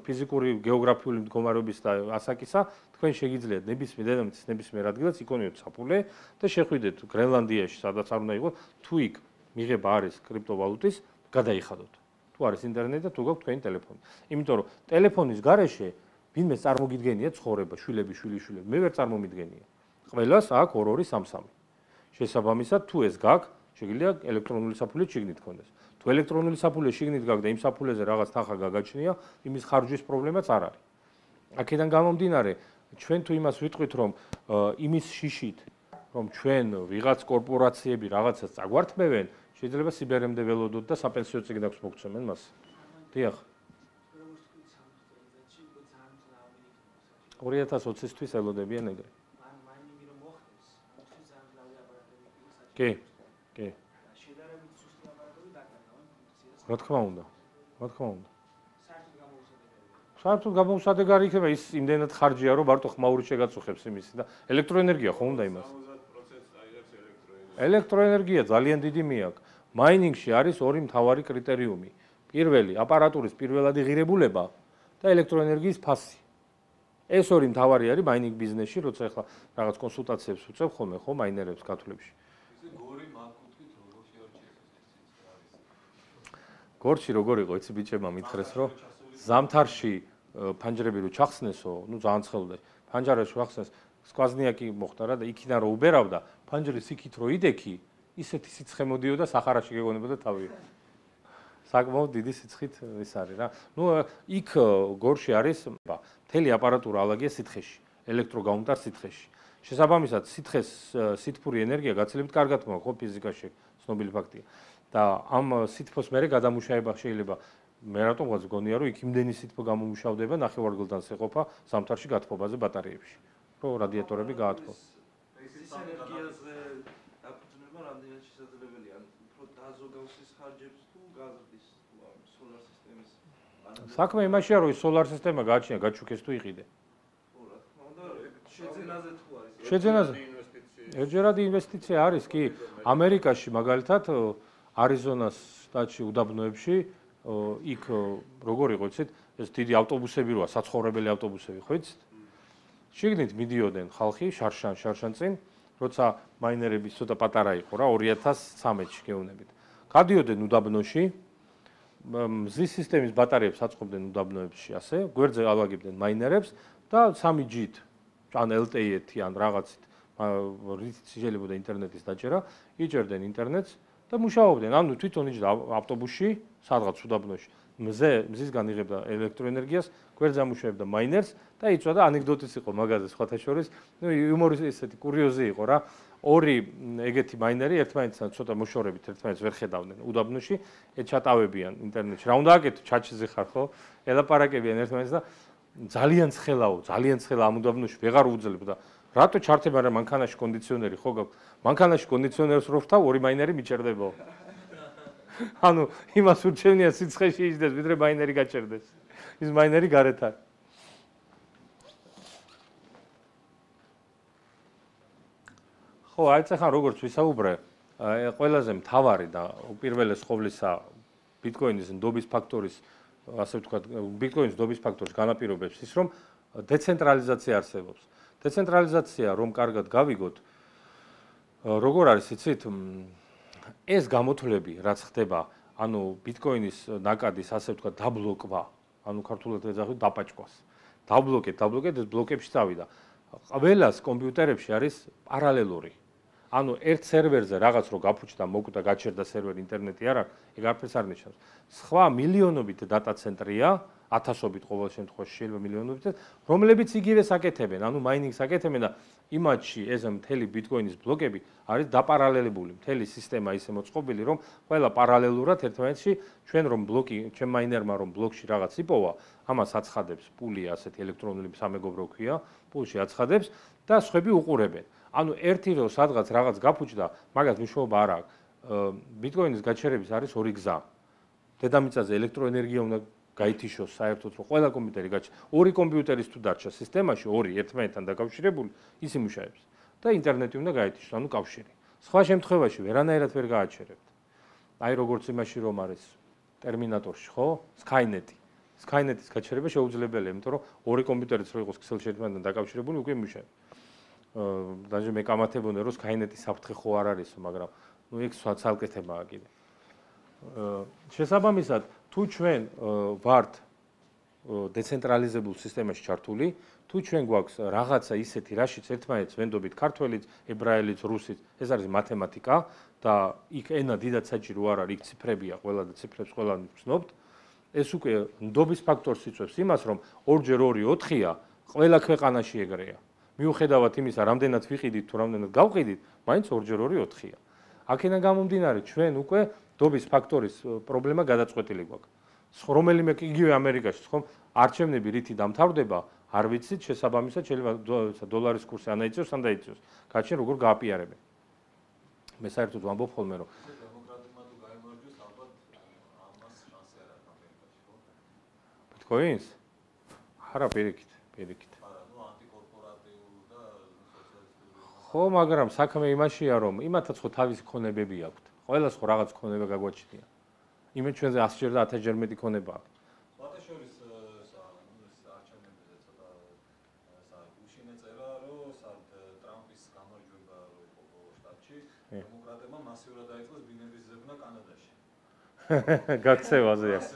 ფიზიკური, გეოგრაფიული მდგომარეობის და ასაკისა, თქვენ შეგიძლიათ ნებისმიერ დედამიწის ნებისმიერ ადგილას იქონიოთ საფულე და შეხვიდეთ გრენლანდიაში, სადაც არ უნდა იყოს, თუ იქ მიღება არის კრიპტოვალუტის, გადაიხადოთ. თუ არის ინტერნეტი და თუ გაქვთ თქვენი ტელეფონი. იმიტომ რომ ტელეფონის გარეშე ვინმე წარმოგიდგენია ცხოვრება, შვილები, შვილიშვილები, მე ვერ წარმომიდგენია. ყველას აქვს 2-2, 3-3. შესაბამისად, თუ ეს გაქვს, შეგიძლია ელექტრონული საფულე შიგნით გქონდეს. თუ ელექტრონული საფულე შიგნით გაქვს და იმ საფულეზე რაღაც თანხა გაგაჩნია, იმის ხარჯვის პრობლემაც არ არის. აქედან გამომდინარე, ჩვენ თუ იმას ვიტყვით, რომ იმის შიშით, რომ ჩვენ ვიღაც კორპორაციები რაღაცას წაგვართმევენ, შეიძლება სიბერემდე ველოდოთ და საპენსიო წიგნს მოგცემენ მას. დიახ. 2020-ისთვის ელოდებიან ეგრე. კი, კი. რა თქმა უნდა. რა თქმა უნდა. საერთოდ გამოუსადეგარი იქნება ის იმდენად ხარჯია, რომ მარტო ხმაური შეგაწუხებს იმისი და ელექტროენერგია ხო უნდა იმას. ელექტროენერგია ძალიან დიდი მიაქვს. მაინინგში არის ორი მთავარი კრიტერიუმი. პირველი, აპარატურის პირველადი ღირებულება და ელექტროენერგიის ფასი. ეს ორი მთავარი არის მაინინგ ბიზნესში, როცა ახლა რაღაც კონსულტაციებს უწევ ხოლმე ხო მაინერებს კათოლებში. გორში როგორ იყო, იცი ბიჭებმა მითხრეს, რომ ზამთარში ფანჯრები რო ჩახსნესო, ну ძალიან ცხელდა. ფანჯარაში ვახსნეს, სკვაზნიაკი მოხდა რა და იქიდან რო უბერავდა, ფანჯრის იქით რო იდექი, ისეთი სიცხე მოდიოდა სახარაში გეგონებოდა თავი. საკმაოდ დიდი სიცხით ის არის რა. ну იქ გორში არის მთელი აპარატურა ალაგია სითხეში, ელექტროგაუმტარ სითხეში. შესაბამისად, სითხეს სითფური ენერგია გაცილებით კარგად მოაქვს, ხო ფიზიკაში ცნობილი ფაქტია. და ამ სითფოს მერე გადამუშავება შეიძლება მე რატომღაც გონია რომ იქ იმდენი სითფო გამომუშავდება ნახევარგულდანს ეყოფა ზამთარში გათბობაზე ბატარეებში რომ რადიატორები გაათბო. ეს ენერგიაზე დაფუძნება რამდენად შესაძლებელია უფრო დაზოგავსის ხარჯებს თუ გაზრდის თუ ამ სოლარ სისტემის საქმე იმაშია რომ სოლარ სისტემა გააჩნია გაჩუქეს თუ იყიდე. ხო რა თქმა უნდა შეძენაზე თუ არის. შეძენაზე ერთჯერადი ინვესტიცია არის კი ამერიკაში მაგალითად არიზონას შტატში უდაბნოებში იქ როგორ იყო იცით ეს დიდი ავტობუსები როა საცხოვრებელი ავტობუსები ხო იცით შიგნით მიდიოდნენ ხალხი შარშან წინ როცა მაინერები ცოტა პატარა იყო რა 2013-ში გეუბნებით გადიოდნენ უდაბნოში მზის სისტემის ბატარეებს აწყობდნენ უდაბნოებში ასე გვერდზე ალაგებდნენ მაინერებს და 3G-ით ან LTE-ით ან რაღაცით რითიც შეიძლება ინტერნეტის დაჭერა იჭერდნენ ინტერნეტს და მუშაობდნენ. ანუ თვითონ იჯდა ავტობუსში, სადღაც უდაბნოში. მზისგან იღებდა ელექტროენერგიას, გვერდზე ამუშავებდა მაინერს და იწვა და ანეკდოტიც იყო მაგაზე სხვათა შორის. ნუ იუმორის ესეთი კურიოზი იყო რა. ორი ეგეთი მაინერი ერთმანეთთან ცოტა მოშორებით ერთმანეთს ვერ ხედავდნენ უდაბნოში, ჩატავებიან ინტერნეტში. რა უნდა აკეთო? ჩაჩიზე ხარ ხო? ელაპარაკებიან ერთმანეთს და ძალიან ცხელა ამ უდაბნოში ვეღარ უძლებდა. რატო ჩართება რა მანქანაში კონდიციონერი ხო გაქვს? მანქანაში კონდიციონერს რო ვთავ, ორი მაინერი მიჭერდება. ანუ იმას ურჩევნია სიცხეში იჯდეს, ვიდრე მაინერი გაჭერდეს. ის მაინერი გარეთ არის. ხო, აი ეხლა როგორც ვისაუბრე, ყველაზე მთავარი და უპირველეს ყოვლისა ბიტკოინის ნდობის ფაქტორის, ასე ვთქვათ, ბიტკოინის ნდობის ფაქტორის განაპირობებს ის, რომ დეცენტრალიზაცია არსებობს. დეცენტრალიზაცია რომ კარგად გავიგოთ როგორ არის იცით ეს გამოთვლები რაც ხდება ანუ ბიტკოინის ნაკადის ასე ვთქვათ დაბლოკვა ანუ ქართულად ეძახით დაპაჭკვას დაბლოკეთ ეს ბლოკებში წავიდა ყველას კომპიუტერებში არის პარალელური ანუ ერთ სერვერზე რაღაც რო გაფუჭდა მოკვდა გაჩერდა სერვერი ინტერნეტი არ აქვს ეგ არაფერს არ ნიშნავს სხვა მილიონობით დატა ცენტრია ათასობით ყოველ შემთხვევაში შეიძლება მილიონობით რომლებიც იგივეს აკეთებენ ანუ მაინინგს აკეთებენ და იმათში ეს მთელი ბიტკოინის ბლოკები არის დაპარალელებული მთელი სისტემა ისე მოწყობილი რომ ყველა პარალელურად ერთმანეთში ჩვენ რომ ბლოკი ჩვენ მაინერმა რომ ბლოკში რაღაც იპოვა ამას აცხადებს პული ასეთი ელექტრონული სამეგობრო ქვია პულში აცხადებს და სხვები უყურებენ ანუ ერთი რო სადღაც რაღაც გაფუჭდა მაგას მნიშვნელობა არ აქვს ბიტკოინის გაჩერების არის ორი გზა დედამიწაზე ელექტროენერგია უნდა გაითიშოს საერთოდ რომ ყველა კომპიუტერი ორი კომპიუტერის თუ დარჩა სისტემაში ორი ერთმანეთთან დაკავშირებული ის იმუშავებს და ინტერნეტი უნდა გაითიშოს ანუ კავშირი სხვა შემთხვევაში ვერანაირად ვერ გააჩერებთ აი როგორც იმაში რომ არის ტერმინატორში ხო სკაინეტი Skynet-ის გაჩერება შეუძლებელია, იმიტომ რომ ორი კომპიუტერიც რო იყოს ქსელში ერთმანეთთან დაკავშირებული, უკვე იმუშავებს. Даже მე კამათებონე რომ Skynet-ის საფრთხე ხო არ არისო, მაგრამ ეგ ცალკე თემაა კიდე. შესაბამისად, თუ ჩვენ ვართ დეცენტრალიზებულ სისტემაში ჩართული, თუ ჩვენ გვაქვს რაღაცა ისეთი, რაშიც ერთმანეთს ვენდობით ქართველიც, ებრაელიც, რუსიც, ეს არის მათემატიკა და იქ ენა დიდად საჭირო არ არის, იქ ციფრებია ყველა და ციფრებს ყველა ვცნობთ. ეს უკვე ნდობის ფაქტორს იწვევს იმას, რომ 2 × 2 4-ია, ყველა ქვეყანაში ეგრეა. მიუხედავად იმისა, რამდენად ვიყიდით თუ რამდენად გავყიდით, მაინც 2 × 2 4-ია. აქედან გამომდინარე, ჩვენ უკვე ნდობის ფაქტორის პრობლემა გადაწყვეტილი გვაქვს. რომელიმე იგივე ამერიკაში, ხომ, არჩევნები რითი დამთავრდება, არ ვიცით, შესაბამისად შეიძლება დოლარის კურსი ან აიწევს, ან დაიწევს. გაჩენ როგორ გააპიარებენ. მე საერთოდ ვამბობ ხოლმე, რომ დემოკრატებმა თუ გაიმარჯვეს, ალბათ ამას შანსი არ აქვს ამერიკაში, ხო? ბიტკოინს? არა, პირიქით. არა, ნუ ანტიკორპორატიული და სოციალისტური. ხო, მაგრამ საქმე იმაშია, რომ იმათაც ხო თავისი ქონებები აქვთ. ყველას ხო რაღაც ქონება გაგვაჩნია. იმენ ჩვენზე 100-ჯერ და 1000-ჯერ მეტი ქონება აქვს. სხვადასხვის არჩევნებზე ცოტა უშინე წერა, რომ ტრამპის გამარჯვება რო იყო ბოლო შტატში, დემოკრატებმა მასიურად დაიწყეს ბინების ზებნა კანადაში. გაქცევაზე აქვს.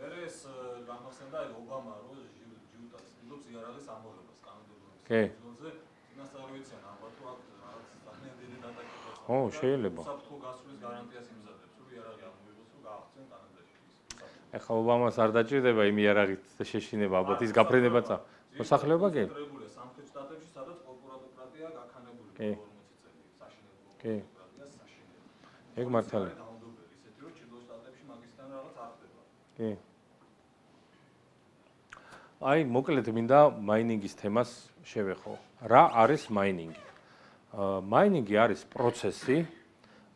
მერე ეს გამახსენდა ობამა რო ჯუტას იდობს იარაღის ამოღებას კანონდობლობის ზონზე, წინასწარ ვიციან ალბათ თუ აქ რაღაც ძალიან დიდი დატაკება. ხო, შეიძლება. საფრთხო გასვლის გარანტიას იმზადებს, რომ იარაღი ამოიღოს, რომ გააღწიონ კანადაში. ეხლა ობამას არ დაჭირდება იმ იარაღით შეშინება, ალბათ ის გაფრენება მოსახლეობა კი? სამხრეთ შტატებში, სადაც კორპორატოკრატია გაქანებული 40 წელი, საშინელი კორპორატოკრატია საშინელი. ეგ მართალია. ისეთი რომ ჩრდილო შტატებში მაგისთან რაღაც არ ხდება. კი. აი, მოკლედ მინდა მაინინგის თემას შევეხო. რა არის მაინინგი? მაინინგი არის პროცესი,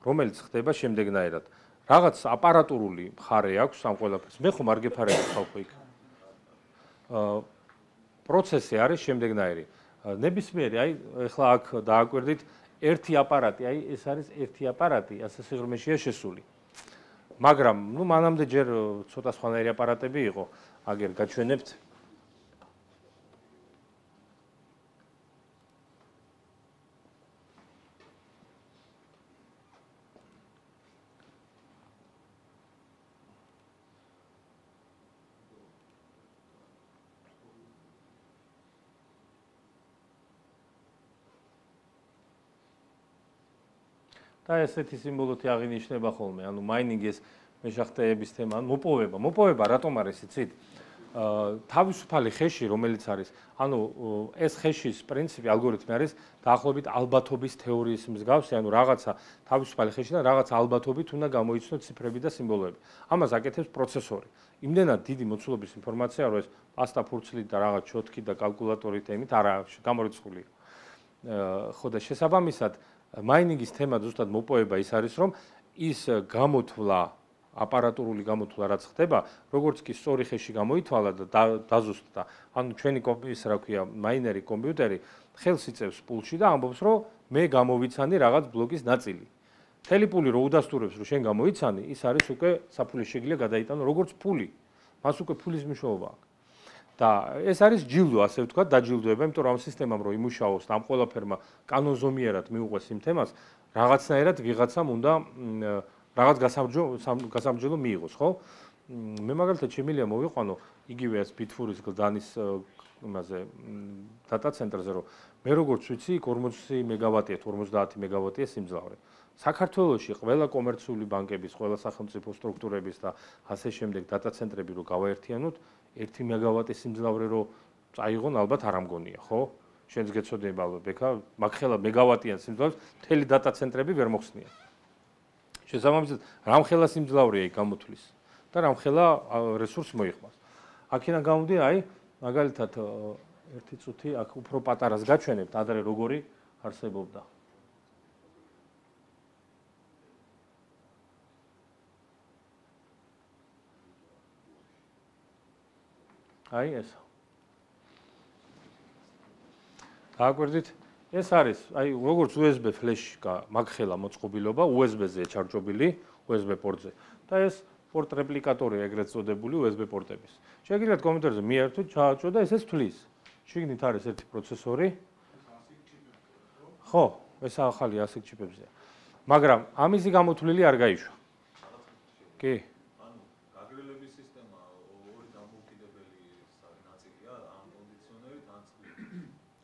რომელიც ხდება შემდეგნაირად. რაღაც აპარატურული მხარე აქვს ამ ყველაფერს. მე ხომ არ გეფარებთ ხალხო იქ. პროცესი არის შემდეგნაირი. ნებისმიერი, აი, ეხლა აქ დააკვირდით ერთი აპარატი, აი, ეს არის ერთი აპარატი, ასე სიღრმეშია შესული. მაგრამ, ნუ მანამდე ჯერ ცოტა სხვანაირი აპარატები იყო, აგერ გაჩვენებთ. და ესეთი სიმბოლოთი აღინიშნება ხოლმე, ანუ მაინინგი ეს მეშახტეების თემა, ანუ მოპოვება რატომ არის იცით? თავისუფალი ხეში, რომელიც არის, ანუ ეს ხეშის პრინციპი, ალგორითმი არის დაახლოებით ალბათობის თეორიის მსგავსი, ანუ რაღაცა თავისუფალი ხეშიდან რაღაცა ალბათობით უნდა გამოიცნოთ ციფრები და სიმბოლოები. ამას აკეთებს პროცესორი. იმდენად დიდი მოცულობის ინფორმაცია, რომ ეს პასტა ფურცლით და რაღაც ჩოთკით და კალკულატორით ემით არა გამორიცხულია. ხო და შესაბამისად მაინინგის თემა ზუსტად მოპოვება ის არის, რომ ის გამოთვლა, აპარატურული გამოთვლა რაც ხდება, როგორც კი სწორი ხეში გამოითვალა და დაზუსტდა, ანუ ჩვენი ის რა ქვია, მაინერი კომპიუტერი ხელს იწევს პულში და ამბობს, რომ მე გამოვიცანი რაღაც ბლოკის ნაწილი. მთელი პული რო udasturებს, რომ შენ გამოიცანი, ის არის უკვე საფულის შეგიძლია გადაიტანო როგორც ფული. მას უკვე ფულის მნიშვნელობა აქვს. და ეს არის ჯილდო, ასე ვთქვათ, დაჯილდოება, იმიტომ რომ ამ სისტემამ რო იმუშაოს და ამ ყველაფერმა კანონზომიერად მიუყვეს იმ თემას, რაღაცნაირად ვიღაცამ უნდა რაღაც გასამჯელო მიიღოს, ხო? მე მაგალითად შემიძლია მოვიყვანო იგივე ეს ბიტფურის გლდანის იმაზე დატა ცენტრზე, რომ მე როგორც ვიცი, 40 მეგავატია, 50 მეგავატია სიმძლავრე. საქართველოში ყველა კომერციული ბანკების, ყველა სახელმწიფო სტრუქტურების და ასე შემდეგ დატა ცენტრები რო გავაერთიანოთ, 1 მეგავატის სიმძლავრე რო წაიღონ, ალბათ არ ამგონია, ხო? შენც გეცოდება ალბათ, ბექა, მაგ ხელა მეგავატიან სიმძლავრეს მთელი დატა ცენტრები ვერ მოხსნიან. შესაბამისად, რამხელა სიმძლავრეა იქ გამოთვლის და რამხელა რესურს მოიხმარს. აქედან გამომდინარე, აი, მაგალითად, ერთი წუთი აქ უფრო პატარას გაჩვენებთ, ადრე როგორი არსებობდა. აი ეს. დააკვირდით, ეს არის, აი, როგორც USB ფლეში მაგხელა მოწყობილობა, USB-ზე ჩარჯობილი, USB პორტზე. და ეს პორტ რეპლიკატორი ეგრეთ წოდებული USB პორტების. შეგიძლიათ კომპიუტერზე მიერთოთ, ჩააჭროთ და ესეც თვლის. შიგნით არის ერთი პროცესორი. ხო, ეს ახალი ASIC ჩიპებზეა. მაგრამ ამისი გამოთვლილი არ გაიშვა. კი. ანუ გაგრილების სისტემა ორი დამოუკიდებელი ნაწილია, ამ კონდიციონერით ან წყლით.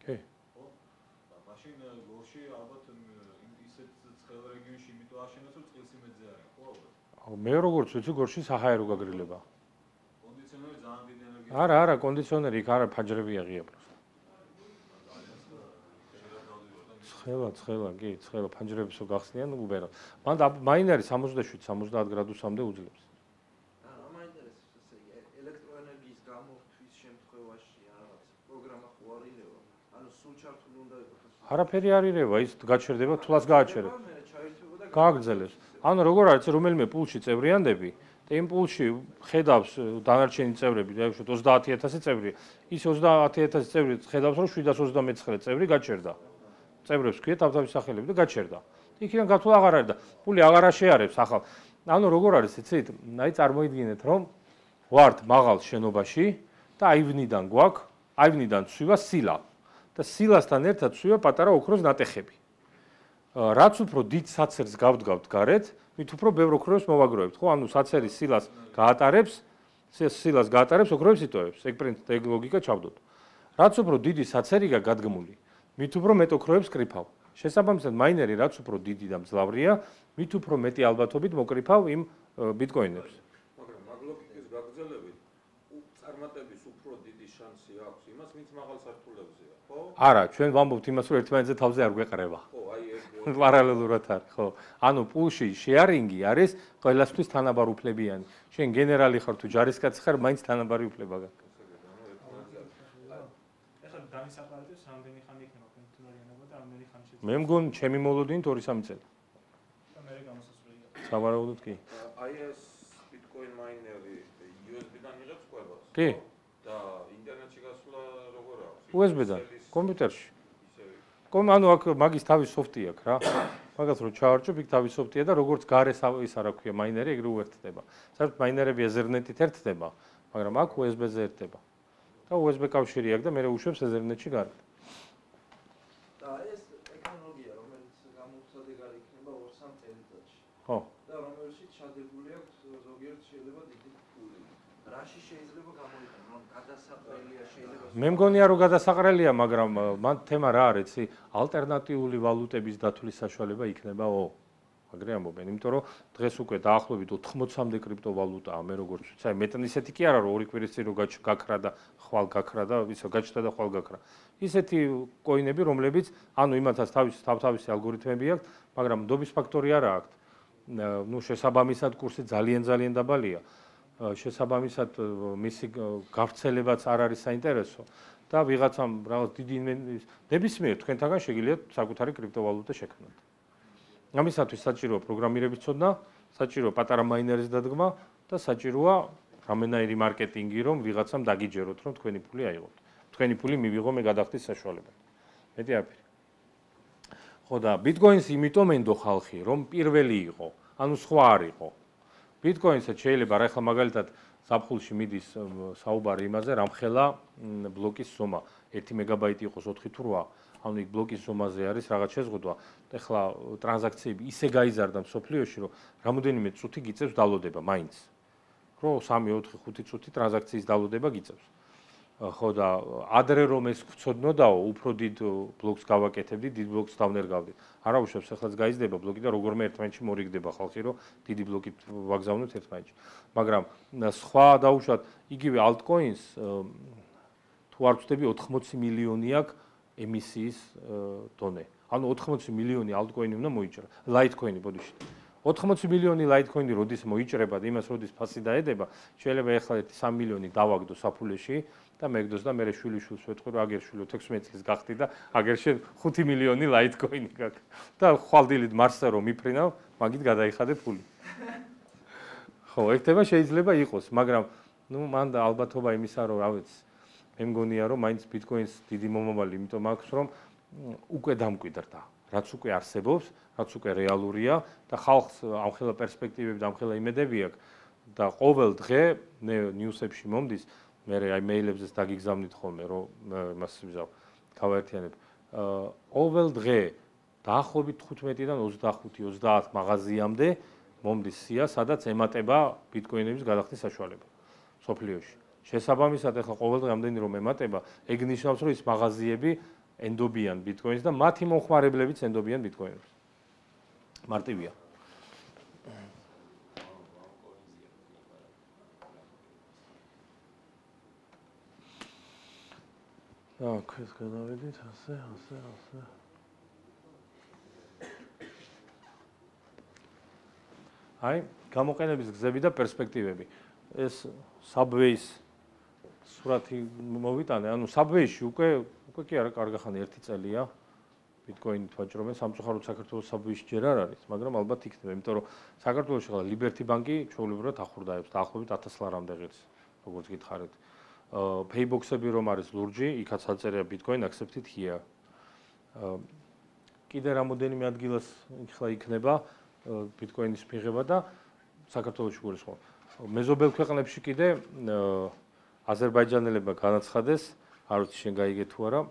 კი. ხო? და მაშინ გორში ალბათ ისეთ ცხელ რეგიონში იმიტომ აშენოს, რომ წყლის იმედზე არის, ხო ალბათ? მე როგორც ვიცი, გორში საჰაერო გაგრილება. კონდიციონერი ძალიან დიდი ენერგია. არა, კონდიციონერი იქ არა, ფაჯრები აღია პროსტა. ცხელა, კი, ცხელა ფანჯრებს რო გახსნიან უბერა. მან მაინერი 67-70 გრადუსამდე უძლებს. რა მაინტერესებს ესე ელექტროენერგიის გამორთვის შემთხვევაში რაღაც პროგრამა ხო არ ილევა? ანუ სულ ჩართული უნდა იყოს. არაფერი არ ირევა, ის გაჩერდება, თულას გააჩერებს. გააგრძელებს. ანუ როგორ არის რომელიმე პულში წევრიანდები და იმ პულში ხედავს დანარჩენი წევრები, დაიშვათ 30000 წევრი, ის 30000 წევრი ხედავს, რომ 729 წევრი გაჩერდა. წევრებს ქვია თავთავის სახელები და გაჩერდა. იქიდან გათვლა აღარ არის და პული აღარ შეარებს ახალ. ანუ როგორ არის იცით? აი წარმოიდგინეთ, რომ ვართ მაღალ შენობაში და აივნიდან გვაქვს, აივნიდან ცვივა სილა და სილასთან ერთად ცვივა პატარა ოქროს ნატეხები. რაც უფრო დიდ საცერს გავდგავთ გარეთ, მით უფრო ბევრ ოქროს მოვაგროვებთ, ხო? ანუ საცერის სილას გაატარებს, ოქროებს იტოვებს. ეგ ლოგიკა ჩავდოთ. რაც უფრო დიდი საცერია გადგმული, მით უფრო მეტ ოქროებს კრიფავ. შესაბამისად, მაინერი რაც უფრო დიდი და მძლავრია, მით უფრო მეტი ალბათობით მოკრიფავ იმ ბიტკოინებს. მაგრამ მაგ ლოგიკის გაგრძელებით წარმატების უფრო დიდი შანსი აქვს იმას, ვინც მაღალ სართულებზეა, ხო? არა, ჩვენ ვამბობთ იმას, რომ ერთმანეთზე თავზე არ გვეყრება. ხო, აი ეს პარალელურად არის, ხო. ანუ პულში შეარინგი არის ყველასთვის თანაბარ უფლებიანი. შენ გენერალი ხარ თუ ჯარისკაცი ხარ, მაინც თანაბარი უფლება გაქვს. ეხლა დამისაყარებდეს რამდენი ხანი იქნება კონტინერიანობა და რამდენი ხანი შეიძლება. მე მგონი ჩემი მოლოდინით 2-3 წელი. და მე გამოსასწორია. სავარაუდოდ კი. აი ეს ბიტკოინ მაინერი USB-დან იღებს ყველას. კი. და ინტერნეტში გასვლა როგორ აქვს? USB-დან, კომპიუტერში. ანუ აქ მაგის თავის სოფტი აქვს რა. მაგას რო ჩაარჩობ, იქ თავის სოფტია და როგორც გარე ის არა ქვია მაინერი, ეგრე უერთდება. საერთოდ მაინერები Ethernet-ით ერთდება, მაგრამ აქ USB-ზე ერთდება. და USB კავშირი აქვს და მე უშვებს Ethernet-ში გარეთ. და ეს ტექნოლოგია, რომელიც გამოცადეგარი იქნება 2-3 წელიწადში. ხო. და რომელშიც ჩადებული აქვს ზოგიერთ შეიძლება დიდი ფული. რაში შეიძლება გამოიყენო, რომ გადასაყრელია შეიძლება. მე მგონია რომ გადასაყრელია, მაგრამ მან თემა რა არის, იცი, ალტერნატიული ვალუტების დათვლის საშუალება იქნებაო. აგრე ამბობენ, იმიტომ რომ დღეს უკვე დაახლოებით 80-მდე კრიპტოვალუტაა, მე როგორც ვიცი, აი მეტან ისეთი კი არა, რომ ორი კვირის წინ რო გაქრა და ხვალ გაქრა და ისე გაჩნდა და ხვალ გაქრა. ისეთი კოინები, რომლებიც ანუ იმათაც თავთავისი ალგორითმები აქვს, მაგრამ ნდობის ფაქტორი არა აქვს. ნუ შესაბამისად კურსი ძალიან დაბალია. შესაბამისად მისი გავრცელებაც არ არის საინტერესო და ვიღაცამ რაღაც დიდი ნებისმიერ თქვენთაგან შეგიძლიათ საკუთარი კრიპტოვალუტა შექმნათ. ამისათვის საჭიროა პროგრამირების ცოდნა, საჭიროა პატარა მაინერის დადგმა და საჭიროა რამენაირი მარკეტინგი, რომ ვიღაცამ დაგიჯეროთ, რომ თქვენი ფული აიღოთ. თქვენი ფული მივიღო მე გადახდის საშუალება. მეტი არაფერი. ხო და ბიტკოინს იმიტომ ენდო ხალხი, რომ პირველი იყო, ანუ სხვა არ იყო. ბიტკოინსაც შეიძლება რა ახლა მაგალითად ზაფხულში მიდის საუბარი იმაზე, რამხელა ბლოკის ზომა 1 მეგაბაიტი იყოს 4 თუ 8, ანუ იქ ბლოკის ზომაზე არის რაღაც შეზღუდვა. ეხლა ტრანზაქციები ისე გაიზარდა მსოფლიოში, რომ რამოდენიმე წუთი გიწევს დალოდება მაინც. რო 3, 4, 5 წუთი ტრანზაქციის დალოდება გიწევს. ხო და ადრე რომ ეს გვცოდნოდაო, უფრო დიდ ბლოკს გავაკეთებდი, დიდ ბლოკს დავნერგავდი. არა უშვებს, ახლაც გაიზრდება ბლოკი და როგორმე ერთმანეთში მორიგდება ხალხი, რომ დიდი ბლოკით ვაგზავნოთ ერთმანეთში. მაგრამ სხვა დაუშვათ, იგივე altcoins თუ არ ვწდები 80 მილიონი აქვს ემისიის დონე. ანუ 80 მილიონი altcoin უნდა მოიჭრა. Litecoin ბოდიში. 80 მილიონი Litecoin როდის მოიჭრება და იმას როდის ფასი დაედება, შეიძლება ეხლა 3 მილიონი დავაგდო საფულეში და მეგდოს და მე შვილიშვილს ვეთქვი, რომ აგერ შვილო 16 წლის გახდი და აგერ შენ 5 მილიონი Litecoin გაქვს. და ხვალდილით მარსზე რომ მიფრინავ, მაგით გადაიხადე ფული. ხო, ერთება შეიძლება იყოს, მაგრამ ნუ მან და ალბათობა იმისა, რომ რა ვიცი, მე მგონია, რომ მაინც ბიტკოინს დიდი მომავალი, იმიტომ აქვს, რომ უკვე დამკვიდრდა. რაც უკვე არსებობს, რაც უკვე რეალურია და ხალხს ამხელა პერსპექტივები და ამხელა იმედები აქვს და ყოველ დღე ნიუსებში მომდის, მე აი მეილებზეც დაგიგზავნით ხოლმე, რომ იმას ვიზავ, გავაერთიანებ. ყოველ დღე დაახლოებით 15-დან 25-30 მაღაზიამდე მომდის სია, სადაც ემატება ბიტკოინების გადახდის საშუალება სოფლიოში. შესაბამისად, ახლა ყოველ დღე ამდენი რომ ემატება, ეგ ნიშნავს, რომ ის მაღაზიები ენდობიან ბიტკოინს და მათი მომხმარებლებიც ენდობიან ბიტკოინს. მარტივია. აქ ეს გადავედით, ასე. აი, გამოყენების გზები და პერსპექტივები. ეს Subway-ს სურათი მოვიტანე, ანუ Subway-ში უკვე კი არა, კარგახანი 1 წელია ბიტკოინით ვაჭრობენ, სამწუხაროდ საქართველოს Subway-ში ჯერ არ არის, მაგრამ ალბათ იქნება, იმიტომ რომ საქართველოში ხლა Liberty Bank-ი ჩვეულებრივად ახურდაებს, დაახლოებით 1000 ლარამდე ღირს, როგორც გითხარით. Paybox-ები რომ არის ლურჯი, იქაც აწერია Bitcoin accepted here. კიდე რამოდენიმე ადგილას ხლა იქნება ბიტკოინის მიღება და საქართველოში გულისხმობ. მეზობელ ქვეყნებში კიდე აზერბაიჯანელებმა განაცხადეს, არ ვიცი შენ გაიგე თუ არა,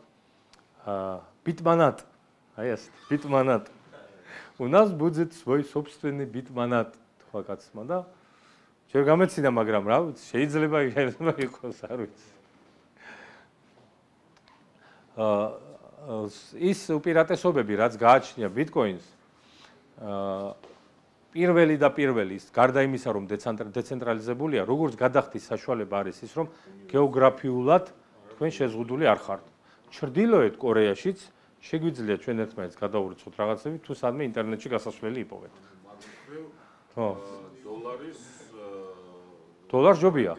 битманат. Აი ეს битманат. У нас будет свой собственный битманат, თქვა კაცმა და ჯერ გამეცინა, მაგრამ რა ვიცი, შეიძლება იყოს, არ ვიცი. ის უპირატესობები, რაც გააჩნია ბიტკოინს, პირველი და პირველი, გარდა იმისა, რომ დეცენტრალიზებულია, როგორც გადახდის საშუალება არის ის, რომ გეოგრაფიულად თქვენ შეზღუდული არ ხართ. ჩრდილოეთ კორეაშიც შეგვიძლია ჩვენ ერთმანეთს გადავურიცხოთ რაღაცები, თუ სადმე ინტერნეტში გასასვლელი იპოვეთ. ხო. დოლარს ჯობია.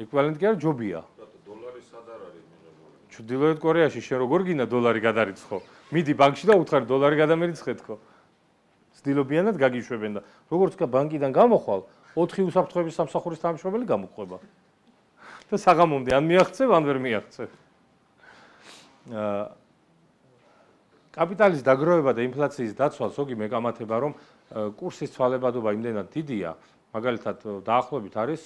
ეკვივალენტი კი არა, ჯობია. დოლარი სად არ არის მიღებული? ჩრდილოეთ კორეაში შენ როგორ გინდა დოლარი გადარიცხო? მიდი ბანკში და უთხარი დოლარი გადამერიცხეთქო. ცდილობიანად გაგიშვებენ და როგორც კი ბანკიდან გამოხვალ, 4 უსაფრთხოების სამსახურის თანამშრომელი გამოყვება. და საღამომდე ან მიაღწევ, ან ვერ მიაღწევ. კაპიტალის დაგროვება და ინფლაციის დაცვა ზოგი მეკამათება, რომ კურსის ცვალებადობა იმდენად დიდია, მაგალითად დაახლოებით არის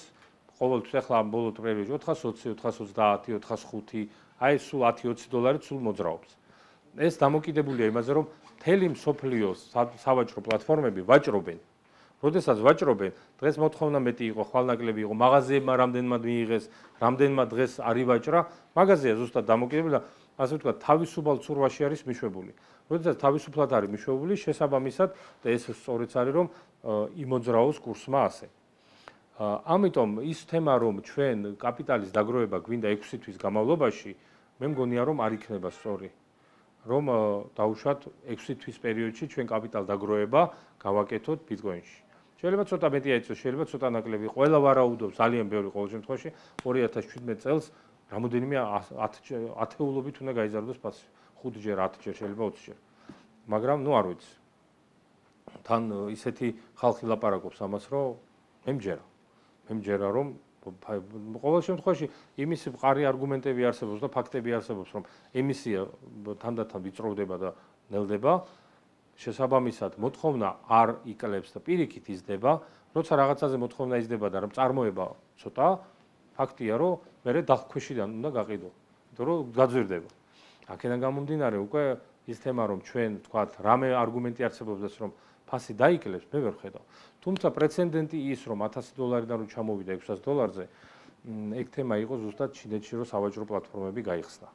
ყოველთვის ახლა ამ ბოლო პერიოდში 420, 430, 405, აი სულ 10-20 დოლარი სულ მოძრაობს. ეს დამოკიდებულია იმაზე, რომ მთელი მსოფლიოს სავაჭრო პლატფორმები ვაჭრობენ. როდესაც ვაჭრობენ, დღეს მოთხოვნა მეტი იყო, ხვალნაკლები იყო, მაღაზიებმა რამდენმა მიიღეს, რამდენმა დღეს არ ივაჭრა, მაღაზია ზუსტად დამოკიდებულია, ასე ვთქვათ, თავისუფალ ცურვაში არის მიშვებული. როდესაც თავისუფლად არის მიშვებული, შესაბამისად და ეს სწორიც არის, რომ იმოძრაოს კურსმა ასე. ამიტომ ის თემა, რომ ჩვენ კაპიტალის დაგროვება გვინდა 6 თვის განმავლობაში, მე მგონია, რომ არ იქნება სწორი. რომ დაუშვათ 6 თვის პერიოდში ჩვენ კაპიტალ დაგროვება გავაკეთოთ ბიტკოინში. შეიძლება ცოტა მეტი აიწოს, შეიძლება ცოტა ნაკლები. ყველა ვარაუდობს, ძალიან ბევრი ყოველ შემთხვევაში 2017 წელს რამოდენიმე 10-ულობით უნდა გაიზარდოს ფასი. 5-ჯერ, 10-ჯერ, შეიძლება 20-ჯერ. მაგრამ ნუ არ ვიცი. თან ისეთი ხალხი ლაპარაკობს ამას, რომ მე მჯერა, რომ ყოველ შემთხვევაში იმის მყარი არგუმენტები არსებობს და ფაქტები არსებობს, რომ ემისია თანდათან ვიწროვდება და ნელდება. შესაბამისად, მოთხოვნა არ იკლებს და პირიქით იზრდება, როცა რაღაცაზე მოთხოვნა იზრდება და რომ წარმოება ცოტა, ფაქტია, რომ მერე დახქვეშიდან უნდა გაყიდო, იმიტომ რომ გაძვირდება. აქედან გამომდინარე, უკვე ის თემა, რომ ჩვენ თქვათ, რამე არგუმენტი არსებობს, რომ ფასი დაიკლებს, მე ვერ ხედავ. თუმცა პრეცედენტი ის, რომ 1000 დოლარიდან რომ ჩამოვიდა 600 დოლარზე, ეგ თემა იყო ზუსტად ჩინეთში, რომ სავაჭრო პლატფორმები გაიხსნა.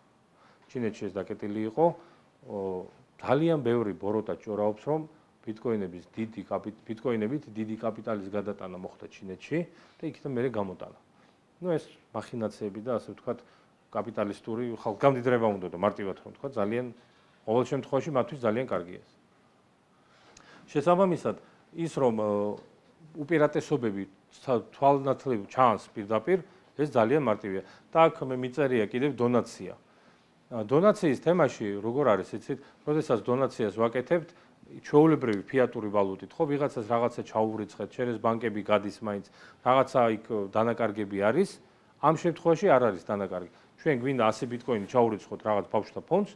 ჩინეთში ეს დაკეტილი იყო, ძალიან ბევრი ბოროტა ჭორაობს, რომ ბიტკოინებით დიდი კაპიტალის გადატანა მოხდა ჩინეთში და იქიდან მერე გამოტანა. ნუ ეს მახინაციები და ასე ვთქვათ, კაპიტალისტური ხალხგამდიდრება უნდა და მარტივად რომ ვთქვათ, ძალიან ყოველ შემთხვევაში მათთვის ძალიან კარგია ეს. შესაბამისად, ის რომ უპირატესობები თვალნათლივ ჩანს პირდაპირ, ეს ძალიან მარტივია. და აქ მე მიწერია კიდევ დონაცია. დონაციის თემაში როგორ არის, იცით, როდესაც დონაციას ვაკეთებთ, ჩვეულებრივი ფიატური ვალუტით, ხო, ვიღაცას რაღაცა ჩაუვრიცხეთ, შენ ეს ბანკები გადის მაინც, რაღაცა იქ დანაკარგები არის, ამ შემთხვევაში არ არის დანაკარგი. ჩვენ გვინდა 100 ბიტკოინი ჩაურიცხოთ რაღაც ბავშვთა ფონდს,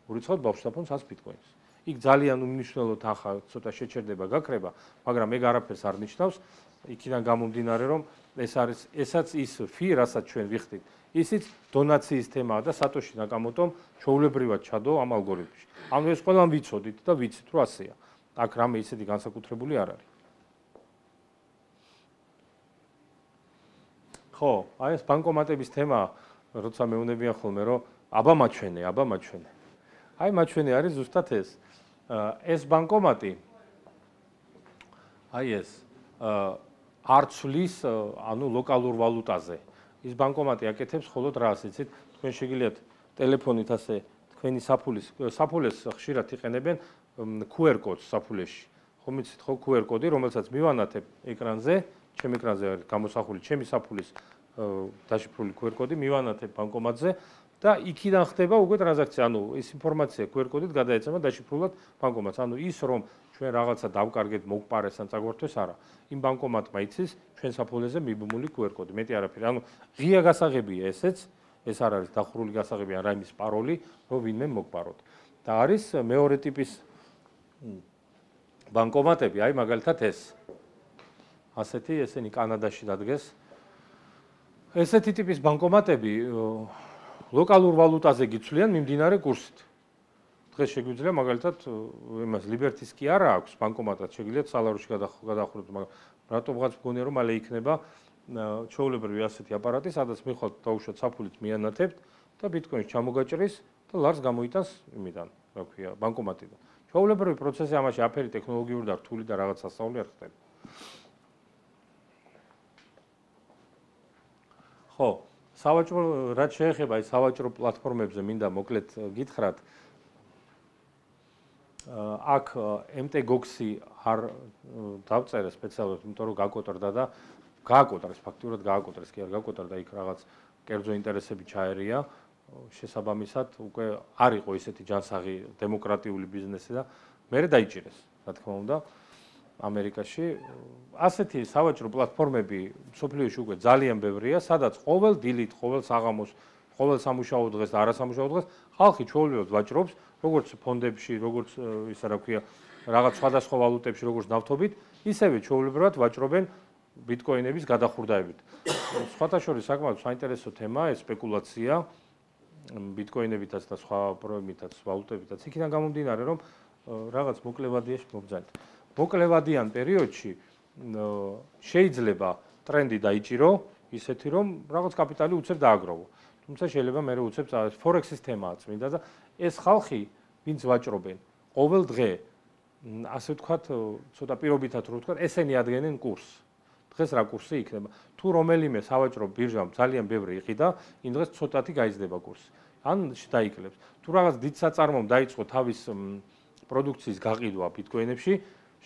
ურიცხოთ ბავშვთა ფონდს 100 ბიტკოინს. იქ ძალიან უმნიშვნელოდ ახლა ცოტა შეჩერდება, გაქრება, მაგრამ ეგ არაფერს არ ნიშნავს. იქიდან გამომდინარე, რომ ესაც ის ფი, რასაც ჩვენ ვიხდით, ისიც დონაციის თემაა და სატოში ნაკამოტომ ჩვეულებრივად ჩადო ამ ალგორითმში. ანუ ეს ყველამ ვიცოდით და ვიცით, რომ ასეა. აქ რამე ისეთი განსაკუთრებული არ არის. ხო, აი ეს ბანკომატების თემა, როცა მეუბნებიან ხოლმე, რომ აბა მაჩვენე. აი მაჩვენე არის ზუსტად ეს. ეს ბანკომატი აი ეს არ ცვლის ანუ ლოკალურ ვალუტაზე. ის ბანკომატი აკეთებს მხოლოდ რას, იცით? თქვენ შეგიძლიათ ტელეფონით ასე თქვენი საფულეს ხშირად იყენებენ QR კოდს საფულეში. ხომ იცით ხო QR კოდი, რომელსაც მივანათებ ეკრანზე, ჩემ ეკრანზე არის გამოსახული ჩემი საფულის დაშიფრული QR კოდი, მივანათებ ბანკომატზე და იქიდან ხდება უკვე ტრანზაქცია. ანუ ეს ინფორმაცია QR კოდით გადაეცემა დაშიფრულად ბანკომატს. ანუ ის რომ ჩვენ რაღაცა დავკარგეთ, მოგპარეს ან წაგვართვეს არა. იმ ბანკომატმა იცის ჩვენ საფულეზე მიბმული QR კოდი. მეტი არაფერი. ანუ ღია გასაღებია ესეც, ეს არ არის დახურული გასაღები ან რაიმის პაროლი, რომ ვინმე მოგპაროთ. და არის მეორე ტიპის ბანკომატები, აი მაგალითად ეს. ასეთი ესენი კანადაში დადგეს. ესეთი ტიპის ბანკომატები ლოკალურ ვალუტაზე გიცვლიან მიმდინარე კურსით. დღეს შეგვიძლია მაგალითად იმას Liberty-ს კი არა აქვს ბანკომატად, შეგიძლიათ სალაროში გადახუროთ, მაგრამ რატომღაც მგონია რომ მალე იქნება ჩვეულებრივი ასეთი აპარატი, სადაც მიხვალთ დაუშვათ საფულით მიანათებთ და ბიტკოინს ჩამოგაჭრის და ლარს გამოიტანს იმიდან, რა ქვია, ბანკომატიდან. ჩვეულებრივი პროცესი ამაში აფერი ტექნოლოგიური და რთული და რაღაც სასწაული არ ხდება. ხო, სავაჭრო რაც შეეხება აი სავაჭრო პლატფორმებზე მინდა მოკლედ გითხრათ. აქ MTGOX-ი არ დავწერე სპეციალურად, იმიტომ რომ გაკოტრდა და გააკოტრეს, ფაქტიურად გააკოტრეს, კი არ გაკოტრდა, იქ რაღაც კერძო ინტერესები ჩაერია. შესაბამისად, უკვე არ იყო ისეთი ჯანსაღი დემოკრატიული ბიზნესი და მერე დაიჭირეს, რა თქმა უნდა, ამერიკაში. ასეთი სავაჭრო პლატფორმები მსოფლიოში უკვე ძალიან ბევრია, სადაც ყოველ დილით, ყოველ საღამოს, ყოველ სამუშაო დღეს და არასამუშაო დღეს ხალხი ჩვეულებრივად ვაჭრობს, როგორც ფონდებში, როგორც ისა რა ქვია, რაღაც სხვადასხვა ვალუტებში, როგორც ნავთობით, ისევე ჩვეულებრივად ვაჭრობენ ბიტკოინების გადახურდაებით. სხვათა შორის საკმაოდ საინტერესო თემაა ეს სპეკულაცია ბიტკოინებითაც და სხვა პროექტებითაც, ვალუტებითაც. იქიდან გამომდინარე, რომ რაღაც მოკლევადიაში მობძანეთ. მოკლევადიან პერიოდში შეიძლება ტრენდი დაიჭირო, ისეთი რომ რაღაც კაპიტალი უცებ დააგროვო. თუმცა შეიძლება მე უცებ ფორექსის თემაა წმინდა და ეს ხალხი, ვინც ვაჭრობენ, ყოველ დღე ასე ვთქვათ, ცოტა პირობითად რო ვთქვათ, ესენი ადგენენ კურსს. დღეს რა კურსი იქნება? თუ რომელიმე სავაჭრო ბირჟამ ძალიან ბევრი იყიდა, იმ დღეს ცოტათი გაიზრდება კურსი. ან დაიკლებს. თუ რაღაც დიდ საწარმომ დაიწყო თავის პროდუქციის გაყიდვა ბიტკოინებში,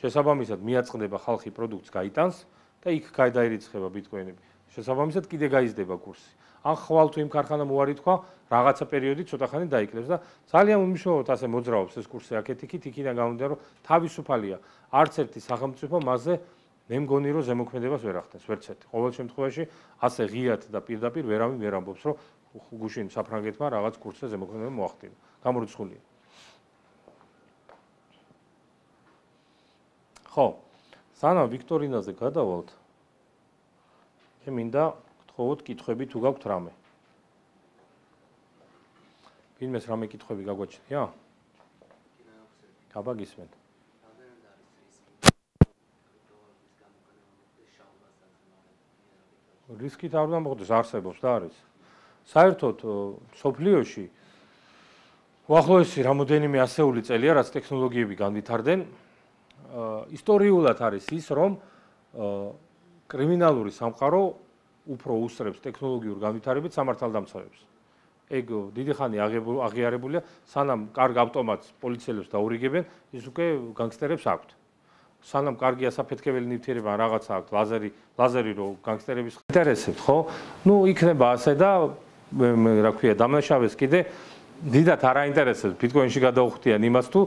შესაბამისად მიაწყდება ხალხი პროდუქტს გაიტანს და იქ გადაირიცხება ბიტკოინები. შესაბამისად კიდე გაიზრდება კურსი. ან ხვალ თუ იმ ქარხანამ უარი თქვა, რაღაცა პერიოდი ცოტა ხანი დაიკლებს და ძალიან უმნიშვნელოდ ასე მოძრაობს ეს კურსი აქეთ-იქით, იქიდან გამომდინარე, რომ თავისუფალია. არც ერთი სახელმწიფო მასზე მე მგონი რომ ზემოქმედებას ვერ ახდენს, ვერც ერთი. ყოველ შემთხვევაში ასე ღიად და პირდაპირ ვერავინ ვერ ამბობს, რომ გუშინ საფრანგეთმა რაღაც კურსზე ზემოქმედება მოახდინა. გამორიცხულია. ხო, სანამ ვიქტორინაზე გადავალთ, მე მინდა გთხოვოთ კითხვები თუ გაქვთ რამე. ვინმეს რამე კითხვები გაგვაჩნია? აბა გისმენთ. რისკით არ უნდა მოხდეს, არსებობს და არის. საერთოდ სოფლიოში უახლოესი რამოდენიმე ასეული წელია, რაც ტექნოლოგიები განვითარდნენ. ისტორიულად არის ის, რომ კრიმინალური სამყარო უფრო უსწრებს ტექნოლოგიურ განვითარებით სამართალდამცავებს. ეგ დიდი ხანი აღიარებულია, სანამ კარგ ავტომატს პოლიციელებს დაურიგებენ, ის უკვე განგსტერებს აქვთ. სანამ კარგი ასაფეთქებელი ნივთიერება რაღაცა აქვთ, ლაზერი რო განგსტერების ინტერესებს, ხო? ნუ იქნება ასე და რა ქვია, დამნაშავეს კიდე დიდათ არ აინტერესებს ბიტკოინში გადაუხდიან იმას თუ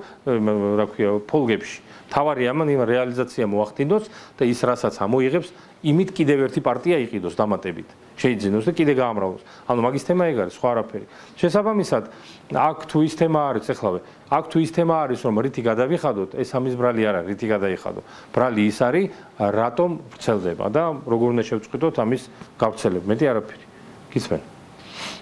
რა ქვია, ფოლგებში. თავარია ამან იმ რეალიზაცია მოახდინოს და ის რასაც ამოიღებს, იმით კიდევ ერთი პარტია იყიდოს დამატებით. შეიძინოს და კიდე გაამრავლოს. ანუ მაგის თემა ეგ არის, სხვა არაფერი. შესაბამისად, აქ თუ ის თემა არის, ეხლავე, აქ თუ ის თემა არის, რომ რითი გადავიხადოთ, ეს ამის ბრალი არ არის, რითი გადაიხადო. ბრალი ის არის, რატომ ვრცელდება და როგორ უნდა შევწყვიტოთ ამის გავრცელება. მეტი არაფერი. გისმენ?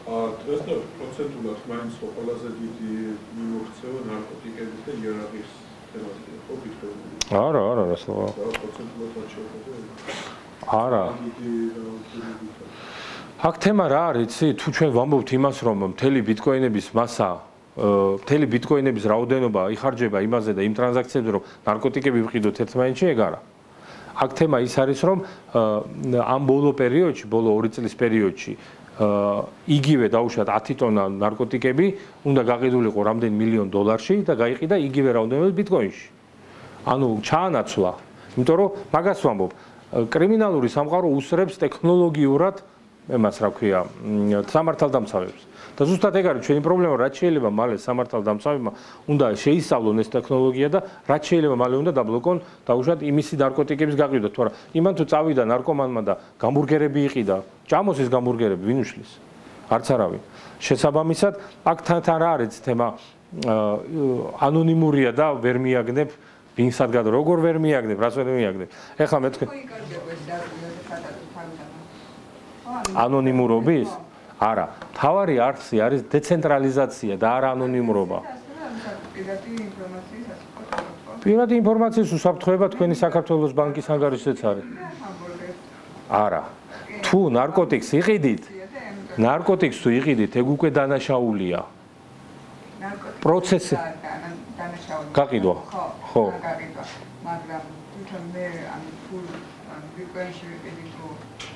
დღეს და პროცენტულად მაინც ყველაზე დიდი მიმოქცევა ნარკოტიკების და იარაღის თემატიკა ხო გითხრები? არა, სულ. პროცენტულად რაც შეეხება. არა. აქ თემა რა არის, იცი? თუ ჩვენ ვამბობთ იმას, რომ მთელი ბიტკოინების მასა, მთელი ბიტკოინების რაოდენობა იხარჯება იმაზე და იმ ტრანზაქციებზე, რომ ნარკოტიკები ვყიდოთ ერთმანეთში, ეგ არა. აქ თემა ის არის, რომ ამ ბოლო პერიოდში, ბოლო 2 წლის პერიოდში იგივე დაუშვათ 10 ტონა ნარკოტიკები უნდა გაყიდულიყო რამდენ მილიონ დოლარში და გაიყიდა იგივე რაოდენობით ბიტკოინში. ანუ ჩაანაცვლა, იმიტომ რომ მაგას ვამბობ, კრიმინალური სამყარო უსწრებს ტექნოლოგიურად ემას რა ქვია, სამართალდამცავებს. და ზუსტად ეგ არის ჩვენი პრობლემა, რაც შეიძლება მალე სამართალდამცავებმა უნდა შეისწავლონ ეს ტექნოლოგია და რაც შეიძლება მალე უნდა დაბლოკონ დაუშვათ იმისი ნარკოტიკების გაყიდვა. თუ არა, იმან თუ წავიდა ნარკომანმა და გამბურგერები იყიდა, ჭამოს ის გამბურგერები, ვინ უშლის? არც არავინ. შესაბამისად, აქ თან რა არის თემა ანონიმურია და ვერ მიაგნებ ვინ სადგად როგორ ვერ მიაგნებ, რას ვერ მიაგნებ. ეხლა მე თქვენ ანონიმურობის? არა, თავარი არსი არის დეცენტრალიზაცია და არა ანონიმურობა. პირადი ინფორმაციის უსაფრთხოება თქვენი საქართველოს ბანკის ანგარიშზეც არის. არა. თუ ნარკოტიკს იყიდით, ნარკოტიკს თუ იყიდით, ეგ უკვე დანაშაულია. პროცესი გაყიდვა. ხო. მაგრამ თვითონ მე ამ ფულ ბიტკოინში ვიყიდით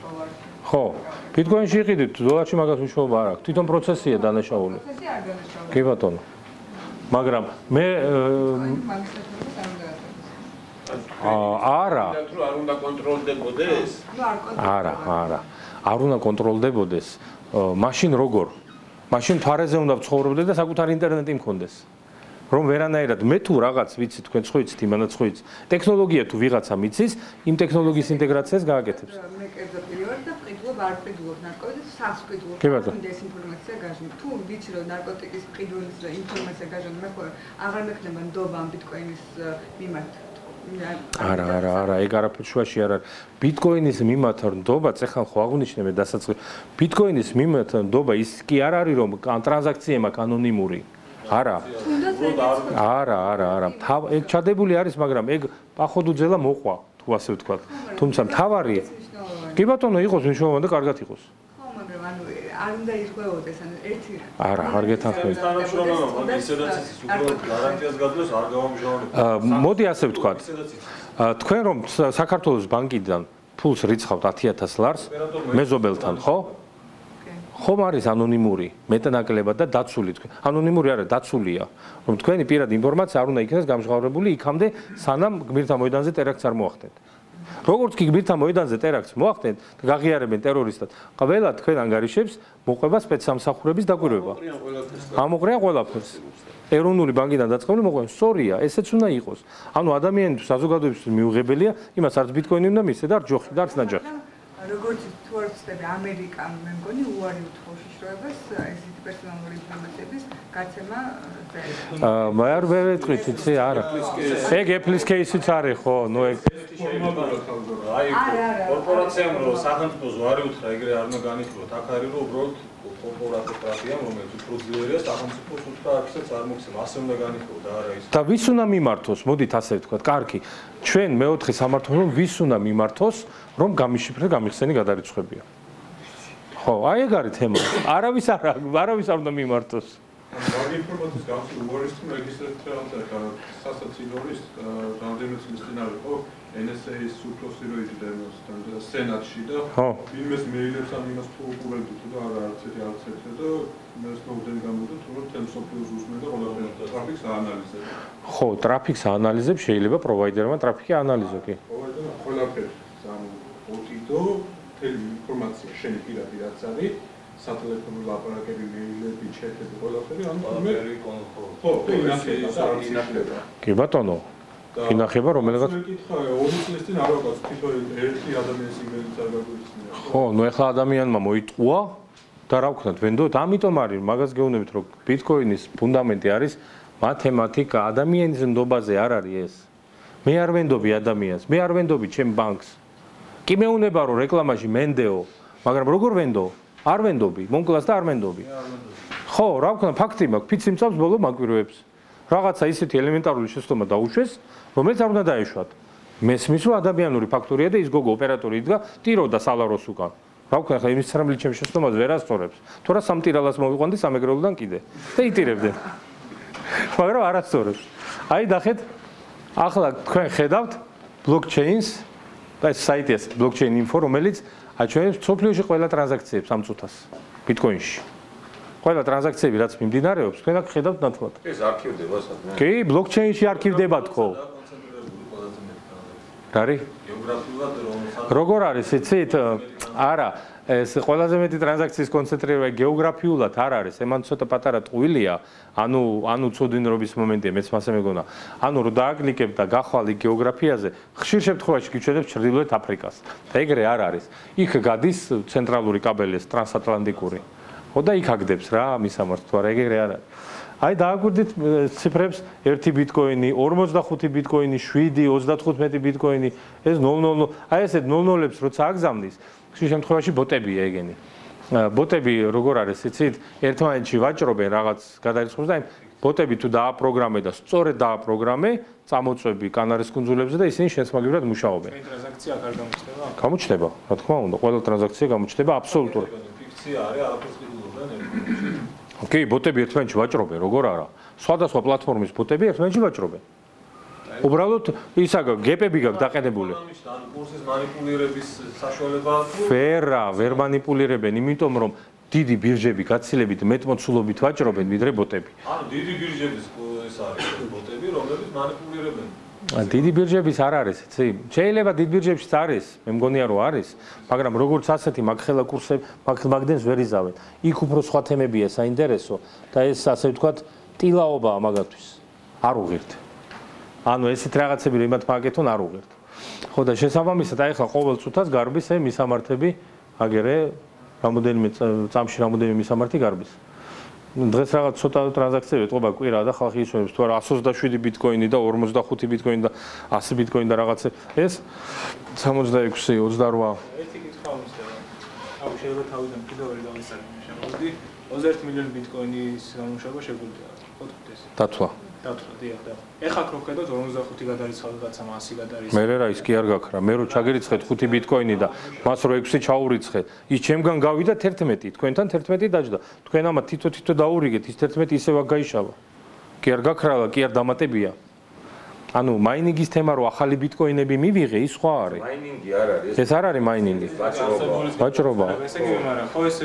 დოლარში. ხო, ბიტკოინში იყიდით, დოლარში მაგას მნიშვნელობა არ აქვს. თვითონ პროცესია დანაშაული. პროცესი არ დანაშაულია. კი ბატონო. მაგრამ მე არა. თუ არ უნდა კონტროლდებოდეს? არა. არ უნდა კონტროლდებოდეს. მაშინ როგორ? მაშინ თვარეზე უნდა ვცხოვრობდე და საკუთარი ინტერნეტი მქონდეს. რომ ვერანაირად მე თუ რაღაც ვიცი თქვენ ხო იცით იმანაც ხო იცით ტექნოლოგია თუ ვიღაცა მიცის იმ ტექნოლოგიის ინტეგრაციას გააკეთებს მე კერძო ვარ და ყიდულობ არ ყიდულობ ნარკოტიკს სას ყიდულობ დეзинფორმაცია გაჟნებ თუ ვიცი რომ ნარკოტიკის ყიდულის ინფორმაცია გაჟნებ მე ხო აღარ მექნება ნდობა ამ ბიტკოინის მიმართ არა ეგ არაფერ შუაში არ არის ბიტკოინის მიმართ ნდობა ეხლა ხო აღნიშნე მე დასაწყისში ბიტკოინის მიმართ ნდობა ის კი არ არის რომ ტრანზაქცია მაქვს ანონიმური არა ეგ ჩადებული არის მაგრამ ეგ პახოდუძელა მოყვა თუ ასე ვთქვათ თუმცა მთავარი კი ბატონო იყოს მნიშვნელოვანი და კარგად იყოს ხო მაგრამ ანუ არ უნდა იხვეოდეს ანუ ერთი არა არ გეთანხმებით თანამშრომლობა მაგ ისედაც ის უბრალოდ გარანტიას გაძლევს არ გავამჟღავნებთ მოდი ასე ვთქვათ თქვენ რომ საქართველოს ბანკიდან ფულს რიცხავთ 10000 ლარს მეზობელთან ხო ხომ არის ანონიმური მეტნაკლებად და დაცული თქვენ ანონიმური არა დაცულია რომ თქვენი პირადი ინფორმაცია არ უნდა იქნას გამჟღავნებული იქამდე სანამ გმირთა მოედანზე ტერაქტს არ მოახდენთ როგორც კი გმირთა მოედანზე ტერაქტს მოახდენთ და გაღიარებენ ტერორისტად ყველა თქვენ ანგარიშებს მოყვება სპეცსამსახურების დაკვირვება ამოყრიან ყველაფერს ეროვნული ბანკიდან დაწყებული მოყვება სწორია ესეც უნდა იყოს ანუ ადამიანის საზოგადოებისთვის მიუღებელია იმას არც ბიტკოინი უნდა მისცე და არც ჯოხი და არც ნაჯახი როგორც თუ არ ვწდები ამერიკამ მე მგონი უარი უთხოვს შიშროებას ესეთი პერსონალური ინფორმაციების გაცემა მე არ ვეთქვით იცი არა ეგ Apple-ის кейსიც არის ხო ნუ ეგ აი კორპორაციამ რო სახელმწიფოს უარი უთხრა ეგრე არ უნდა განიხილოთ აქ არის რომ უბრალოდ კორპორატიამ რომელიც უფრო ძლიერია სახელმწიფოს უთხრა აქცაც არ მოხსენ ასე უნდა განიხილოთ და არა ის და ვის უნდა მიმართოს მოდით ასე ვთქვათ კარგი ჩვენ მეოთხე სამართლო რომ ვის უნდა მიმართოს რომ გამიშიფრე გამიხსენი გადარიცხებია ხო აი ეგ არის თემა არავის არ უნდა მიმართოს მაგ ინფორმაციის გამოსი უარის რეგისტრაცია სასაცილოების რამდენიმე წლის წინ არის ხო NSA-ის უფროსი რო იჯდა და სენატში და ვინმეს მეილებს ამ იმას თუ უყურებდით და არა არც ერთი და მე სნოუდენი გამოდი თუ რომ თემ სოფლიოს უსმენ და ყველაფერი ტრაფიკს აანალიზებს ხო ტრაფიკს აანალიზებს შეიძლება პროვაიდერმა ტრაფიკი აანალიზო კი პროვაიდერმა ყველაფერი ოდიდო თელი ინფორმაცია შენი პირადი რაც არის სატელეფონო ლაპარაკები, მეილები, ჩეტები, ყველაფერი, ანუ მე ხო, ინახება. კი ბატონო. ინახება რომელიღაც მეკითხა 2 წლის წინ არ ვაკაც თვითონ ერთი ადამიანის იმედიც არ გაგვიცნია. ხო, ნუ ეხლა ადამიანმა მოიტყუა და რა ვქნათ, ვენდოთ, ამიტომ არის, მაგას გეუბნებით, რომ ბიტკოინის ფუნდამენტი არის მათემატიკა, ადამიანის ნდობაზე არ არის ეს. მე არ ვენდობი ადამიანს, მე არ ვენდობი ჩემ ბანკს. კი მეუნება რომ რეკლამაში მენდეო, მაგრამ როგორ ვენდო? არ ვენდობი, მონკლას და არ ვენდობი. ხო, რა ვქნა, ფაქტი მაქვს, ფიცი მწავს ბოლო მაკვირვებს. რაღაცა ისეთი ელემენტარული შეცდომა დაუშვეს, რომელიც არ უნდა დაეშვათ. მესმის რომ ადამიანური ფაქტორია და ის გოგო ოპერატორი იდგა, ტიროდა სალაროს უკან. რა ვქნა, ხა იმის ცრემლი ჩემ შეცდომას ვერ ასწორებს. თორა სამ ტირალას მოვიყვანდი სამეგრელოდან კიდე და იტირებდნენ. მაგრამ არ ასწორებს. აი ნახეთ, ახლა თქვენ ხედავთ blockchains და ეს საიტია blockchain info, რომელიც აჩვენებს სოფლიოში ყველა ტრანზაქციებს ამ წუთას ბიტკოინში. ყველა ტრანზაქციები რაც მიმდინარეობს, თქვენ აქ ხედავთ ნათლად. ეს არქივდება სადმე? კი, blockchain-ში არქივდება თქო. რა არის? გეოგრაფიულად როგორ არის, იცით? არა, ეს ყველაზე მეტი ტრანზაქციის კონცენტრირება გეოგრაფიულად არ არის, ემან ცოტა პატარა ტყუილია, ანუ ცოდინრობის მომენტია, მეც მასე მეგონა. ანუ რომ დააკლიკებ და გახვალ იქ გეოგრაფიაზე, ხშირ შემთხვევაში გიჩვენებს ჩრდილოეთ აფრიკას. და ეგრე არ არის. იქ გადის ცენტრალური კაბელი, ტრანსატლანტიკური. ხო და იქ აგდებს რა მისამართს, თუ არა ეგრე არ არის. აი დააგვირდით ციფრებს 1 ბიტკოინი, 45 ბიტკოინი, 7, 35 ბიტკოინი, ეს 00. აი ესეთ 00-ებს როცა აგზავნის, ხშირ შემთხვევაში ბოტებია ეგენი. ბოტები როგორ არის, იცით? ერთმანეთში ვაჭრობენ რაღაც გადარიცხვის და ბოტები თუ დააპროგრამე და სწორედ დააპროგრამე, წამოწვევი კანარის კუნძულებზე და ისინი შესაძლებლად მუშაობენ. ტრანზაქცია არ გამოჩნდება? გამოჩნდება, რა თქმა უნდა, ყველა ტრანზაქცია გამოჩნდება აბსოლუტურად. ფიქცია არის, არაფერს ყიდულობენ. კი, ბოტები ერთმანეთში ვაჭრობენ, როგორ არა? სხვადასხვა პლატფორმის ბოტები ერთმანეთში ვაჭრობენ. უბრალოდ ისა გეპები გაქვს დაყენებული. ან კურსის манипуლირების საშუალება თუ ვერ манипуლირებენ, იმიტომ რომ დიდი ბირჟები გაცილებით მეტმოცულობით ვაჭრობენ ვიდრე ბოტები. ანუ დიდი ბირჟების ეს არის ბოტები, რომლებიც манипуლირებენ. დიდი ბირჟების არ არის, იცი? შეიძლება დიდ ბირჟებშიც არის, მე მგონია რომ არის, მაგრამ როგორც ასეთი მაგხელა კურსები, მაგდენს ვერ იზავენ. იქ უფრო სხვა თემებია საინტერესო და ეს ასე ვთქვათ, ტილაობაა მაგათთვის. არ უღირთ. ანუ ესეთ რაღაცები რომ იმათ მაგეთონ არ უღირთ. ხო და შესაბამისად აი ხა ყოველ წუთას გარბის მისამართები აგერე რამოდენიმე წამში რამოდენიმე მისამართი გარბის. დღეს რაღაც ცოტა ტრანზაქციები ეთყობა კვირა და ხალხი ისვენებს თუ არა 127 ბიტკოინი და 45 ბიტკოინი და 100 ბიტკოინი და რაღაცა ეს 66 28 ერთი კითხვა მომსდა. აუ შეიძლება თავიდან კიდევ ვერ გავისწრებინე შემოდი 21 მილიონი ბიტკოინის გამოშვება შეგვიძლია. ხო ეს. დათვა. დათვა, დიახ და. ეხლა რო ხედავთ 45 გადარიცხა რაღაცამ 100 გადარიცხა. მე რა ის კი არ გაქრა. მე რო ჩაგერიცხეთ 5 ბიტკოინი და მას რო 6 ჩაურიცხეთ, ის ჩემგან გავიდა 11, თქვენთან 11 დაჯდა. თქვენ ამათ თითო დაურიგეთ, ის 11 ისევ გაიშალა. კი არ გაქრალა, კი არ დამატებია. ანუ მაინინგის თემა რო ახალი ბიტკოინები მივიღე, ის სხვა არის. მაინინგი არ არის. ეს არ არის მაინინგი. ვაჭრობა. ესე იგი მაგრამ ხო ეს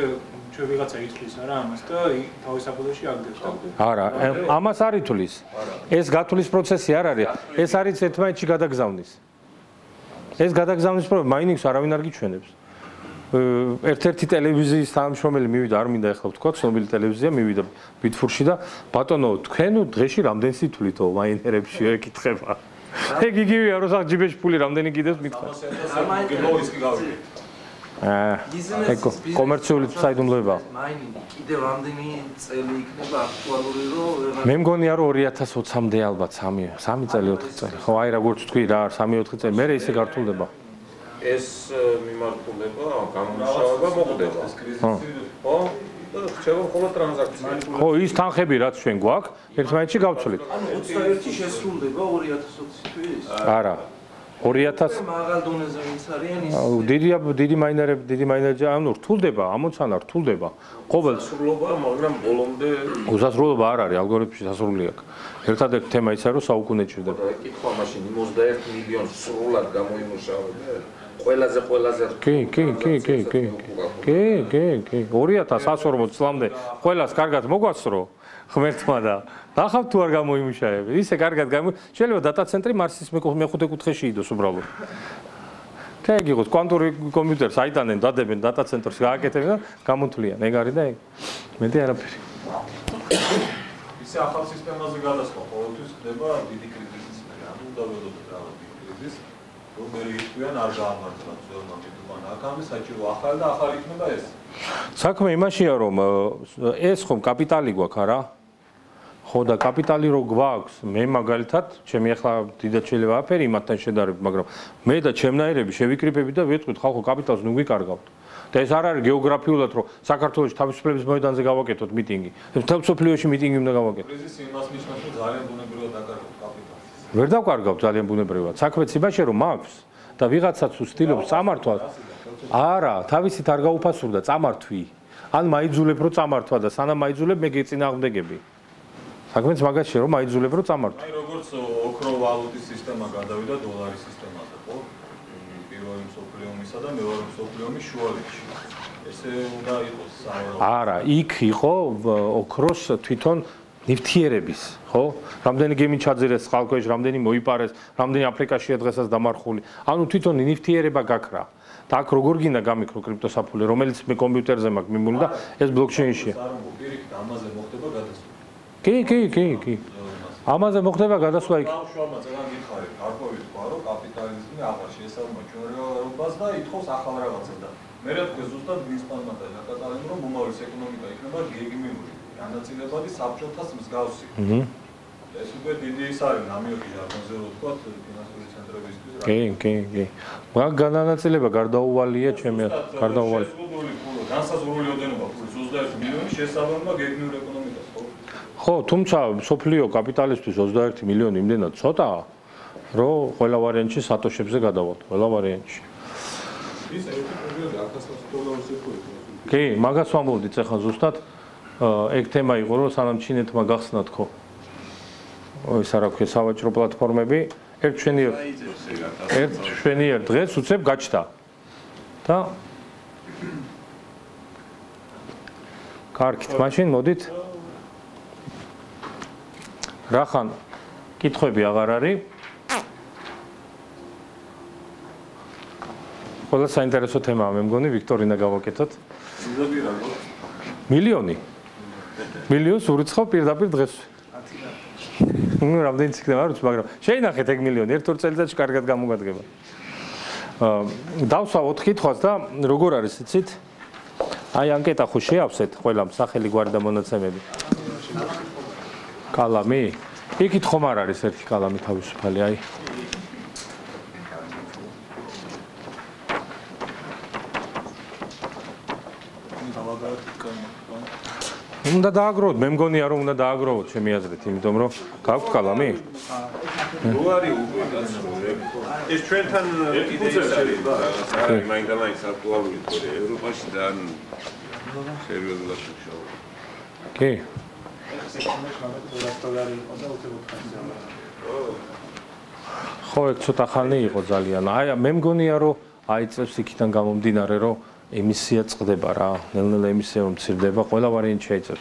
ჩვენ ვიღაცა ითვლის არა ამას და თავის საფუძველში აგდებს და არა, ამას არ ითვლის. ეს გათვლის პროცესი არ არის. ეს არის ერთმანეთში გადაგზავნის. ეს გადაგზავნის პროცესი მაინინგს არავინ არ გიჩვენებს. ერთ-ერთი ტელევიზიის თანამშრომელი მივიდა, არ მინდა ეხლა ვთქვა, ცნობილი ტელევიზია მივიდა ბიტფურში და ბატონო, თქვენ დღეში რამდენს ითვლითო მაინერებში ეკითხება. ეგ იგივეა, რომ სახ ჯიბეში ფული რამდენი კიდევ მითხრა. გელოვის კი გავიგე. კომერციული საიდუმლოება. მაინინგი კიდევ რამდენი წელი იქნება აქტუალური რომ მე მგონია რომ 2020-მდე ალბათ 3 წელი 4 წელი. ხო, აი როგორც თქვი რა, 3-4 წელი, მე ისე გართულდება. ეს მიმართულება, გამომუშავება მოხდება. ხო? და რჩება მხოლოდ ტრანზაქცია. ხო, ის თანხები რაც ჩვენ გვაქვს, ერთმანეთში გავცვლით. ანუ 21 შესრულდება 2020 თვის? არა. 2000 მაღალ დონეზე ვინც არიან ის დიდი მაინერები, ანუ რთულდება, ამოცანა რთულდება. ყოველ სრულობა, მაგრამ ბოლომდე უსასრულობა არ არის, ალგორითმში სასრული აქვს. ერთადერთი თემა ისა რომ საუკუნე ჭირდება. კითხვა მაშინ 21 მილიონს სრულად გამოიმუშავებენ. ყველაზე კი. 2140 წლამდე ყველას კარგად მოგვასწრო ღმერთმა და ნახავთ თუ არ გამოიმუშავებ. ისე კარგად შეიძლება დატა ცენტრი მარსის მეხუთე კუთხეში იდოს უბრალოდ. და ეგ იყოს კვანტური კომპიუტერს აიტანენ, დადებენ დატა ცენტრს, გააკეთებენ და გამოთვლიან. ეგ არის და ეგ. მეტი არაფერი. ისე ახალ სისტემაზე გადასვლა ყოველთვის ხდება დიდი კრიზისი. უნდა ველოდოთ რაღაც კრიზისს, რომ მე იყვიან არ გაამართლა ძველმა მიტოვან აქამდე საჭირო ახალი და ახალი იქნება ეს. საქმე იმაშია რომ ეს ხომ კაპიტალი გვაქვს არა? ხო და კაპიტალი რო გვაქვს, მე მაგალითად, ჩემი ახლა დიდად შეიძლება აფერი იმათთან შედარებით, მაგრამ მე და ჩემნაირები შევიკრიფებით და ვიტყვით ხალხო კაპიტალს ნუ გვიკარგავთ. და ეს არ არის გეოგრაფიულად რომ საქართველოს თავისუფლების მოედანზე გავაკეთოთ მიტინგი. მთელ მსოფლიოში მიტინგი უნდა გავაკეთოთ. კრიზისი იმას ნიშნავს, რომ ძალიან ბუნებრივად აკარგავთ კაპიტალს. ვერ დავკარგავთ ძალიან ბუნებრივად. საქმეც იმაშია რომ მაქვს და ვიღაცაც უსტილობს წამართვას. არა, თავისით არ გაუფასურდა წამართვი. ან მაიძულებ რომ წამართვა და სანამ მაიძულებ მე გეწინააღმდეგები. საქმეც მაგაშია რომ მაიძულებ რომ წამართვა. აი როგორც ოქრო ვალუტის სისტემა გადავიდა დოლარის სისტემაზე, ხო? პირველი მსოფლიო ომისა და მეორე მსოფლიო ომის შუალედში. ესე უნდა იყოს საერთოდ. არა, იქ იყო ოქროს თვითონ ნივთიერების, ხო? რამდენი გემი ჩაძირეს ხალხქვეშ, რამდენი მოიპარეს, რამდენი აფრიკაშია დღესაც დამარხული. ანუ თვითონ ნივთიერება გაქრა. და აქ როგორ გინდა გამიქრო კრიპტოსაფული, რომელიც მე კომპიუტერზე მაქვს მიმული და ეს ბლოკჩეინშია. პირიქით ამაზე მოხდება გადასვლა. კი. ამაზე მოხდება გადასვლა იქ. ბავშვებმა ძალიან გიხარით, გარკვევით თქვა, რომ კაპიტალიზმი აღარ შეესაბამება ჩვენ რეალობას და ითხოვს ახალ რაღაცას და მე რა თქვა ზუსტად ვინსტონმა და აკატალემ რომ მომავლის ეკონომიკა იქნება გეგმიური, განაწილებადი საბჭოთას მსგავსი. ეს უკვე დიდი ის არის ნამიოდი ჟარგონზე რო თქვა ფინანსური ცენტრებისთვის. კი. მაგ განაწილება გარდაუვალია ჩემი გარდაუვალი. განსაზღვრული ოდენობა ფულის 21 მილიონი შესაბამება გეგმიურ ეკონომიკას, ხო? ხო, თუმცა სოფლიო კაპიტალისტვის 21 მილიონი იმდენად ცოტაა, რომ ყველა ვარიანტში სატოშებზე გადავალთ, ყველა ვარიანტში. ის ერთი პერიოდი $100,000 იყო. კი, მაგას ვამბობდით ახლა ზუსტად. ეგ თემა იყო, რომ სანამ ჩინეთმა გახსნა თქო. ის არა ქვია სავაჭრო პლატფორმები, ერთ შვენიერ დღეს უცებ გაჩნდა. და კარგით, მაშინ მოდით. რახან კითხვები აღარ არის. ყველა საინტერესო თემაა, მე მგონი ვიქტორინა გავაკეთოთ. მილიონი. მილიონს ურიცხავ პირდაპირ დღეს. ნუ რამდენიც იქნება არ ვიცი, მაგრამ შეინახეთ ეგ მილიონი, ერთ-ორ წელიწადში კარგად გამოგადგება. დავსვა 4 კითხვას და როგორ არის იცით? აი ანკეტა ხო შეავსეთ ყველამ სახელი გვარი და მონაცემები. კალამი? იქით ხომ არ არის ერთი კალამი თავისუფალი, აი. უნდა დააგროვოთ, მე მგონია რომ უნდა დააგროვოთ ჩემი აზრით, იმიტომ რომ გაქვთ კალამი? რო არის უკვე ეს ჩვენთან იდეის არის მაინდ-მაინც აქტუალური თორე ევროპაში ძალიან სერიოზულად შეხშავა. კი. ხო, ეგ ცოტა ხანი იყო ძალიან. აი, მე მგონია რომ აიწევს იქიდან გამომდინარე, რომ ემისია წყდება რა. ნელ-ნელა ემისია რომ მცირდება, ყველა ვარიანტი შეიწევს.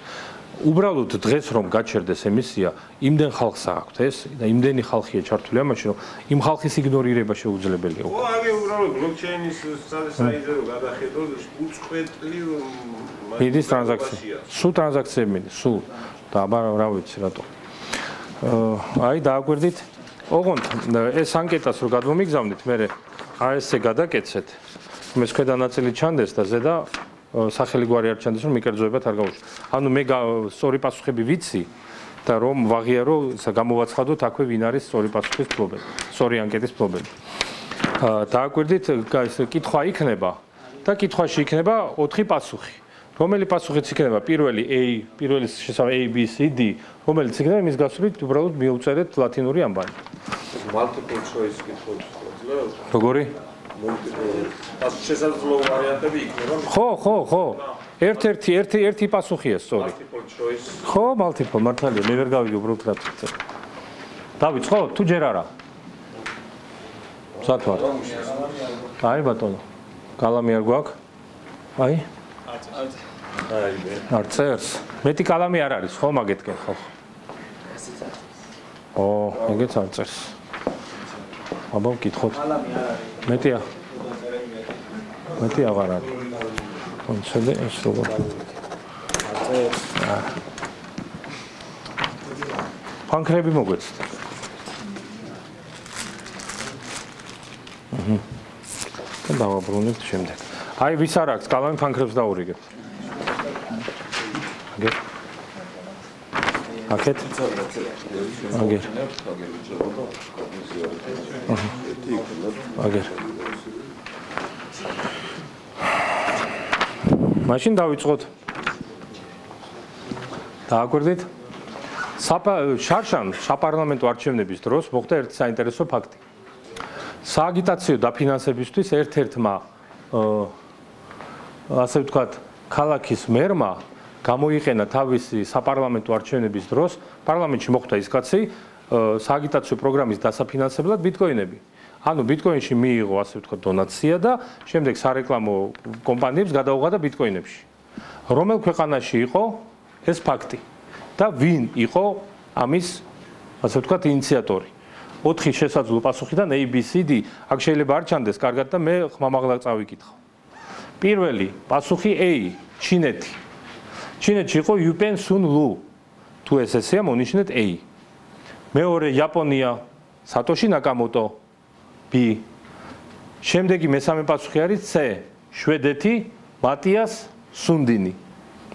უბრალოდ დღეს რომ გაჩერდეს ემისია, იმდენ ხალხს აქვს ეს და იმდენი ხალხია ჩართული ამაში, რომ იმ ხალხის იგნორირება შეუძლებელია. ხო, აი უბრალოდ ბლოკჩეინის საიდეო გადახედო უწყვეტლი მიდის ტრანზაქცია. სულ ტრანზაქციები მიდის, სულ. და აბა რა ვიცი რატო. აი დააგვერდით. ოღონდ ეს ანკეტას რო გადმომიგზავნით, მე AS-ზე გადაკეთეთ. ეს ქვედა ნაწილი ჩანდეს და ზედა სახელი გვარი არ ჩანდეს, რომ მიკერძოებათ არ გაუშვი. ანუ მე სწორი პასუხები ვიცი და რომ ვაღიარო, გამოვაცხადოთ აქვე ვინ არის სწორი პასუხის მფლობელი, სწორი ანკეტის მფლობელი. დააკვირდით, ეს კითხვა იქნება და კითხვაში იქნება 4 პასუხი. რომელი პასუხიც იქნება პირველი A, პირველი შესაბამისი A, B, C, D, რომელიც იქნება იმის გასვლით უბრალოდ მიუწერეთ ლათინური ამბანი. multiple choice კითხვები ძლევს. როგორი? შესაძლო ვარიანტები იქნება. ხო. ერთი პასუხია სწორი. multiple choice. ხო, multiple მართალია, მე ვერ გავიგე უბრალოდ რა თქმა. დავიწყოთ თუ ჯერ არა? სათვარ. აი ბატონო. კალამი არ გვაქვს? აი. აი მე. არ წერს. მეტი კალამი არ არის, ხო, მაგეთკენ ხო? ო, ეგეც არ წერს. აბა ვკითხოთ. კალამი არ არის. მეტია. მეტი აღარ არის. კონცედე ეს როგორ? არ წერს. ფანქრები მოგვეცით. და დავაბრუნებთ შემდეგ. აი ვის არ აქვს კალამი ფანქრებს დაურიგებთ. აგერ. აკეთ. აგერ. აგერ. მაშინ დავიწყოთ. დააკვირდით? შარშან საპარლამენტო არჩევნების დროს მოხდა ერთი საინტერესო ფაქტი. სააგიტაციო დაფინანსებისთვის ერთ-ერთმა ასე ვთქვათ, ქალაქის მერმა გამოიყენა თავისი საპარლამენტო არჩევნების დროს პარლამენტში მოხდა ის კაცი სააგიტაციო პროგრამის დასაფინანსებლად ბიტკოინები. ანუ ბიტკოინში მიიღო ასე ვთქვათ დონაცია და შემდეგ სარეკლამო კომპანიებს გადაუღადა ბიტკოინებში. რომელ ქვეყანაში იყო ეს ფაქტი და ვინ იყო ამის ასე ვთქვათ ინიციატორი? 4 შესაძლო პასუხიდან A, B, C, D. აქ შეიძლება არ ჩანდეს კარგად და მე ხმამაღლა წავიკითხო. პირველი პასუხი A, ჩინეთი. ჩინეთში იყო Yupen Sun Lu. თუ ეს ესეა, მონიშნეთ A. მეორე იაპონია, სატოში ნაკამოტო. B. შემდეგი მესამე პასუხი არის C, შვედეთი, მატიას სუნდინი.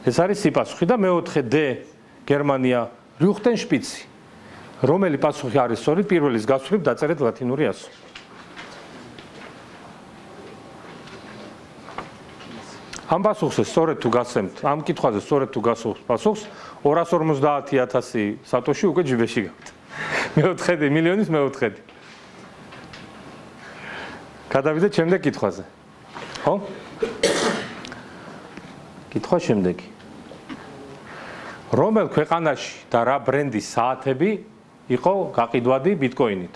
ეს არის C პასუხი და მეოთხე D, გერმანია, რიუხტენ შპიცი. რომელი პასუხი არის სწორი? პირველის გასვლით დაწერეთ ლათინური ასო. ამ პასუხზე სწორედ თუ გასცემთ, ამ კითხვაზე სწორედ თუ გასცემთ პასუხს, 250,000 სატოში უკვე ჯიბეში გაქვთ. მეოთხედი, მილიონის მეოთხედი. გადავიდეთ შემდეგ კითხვაზე. ხო? კითხვა შემდეგი. რომელ ქვეყანაში და რა ბრენდის საათები იყო გაყიდვადი ბიტკოინით?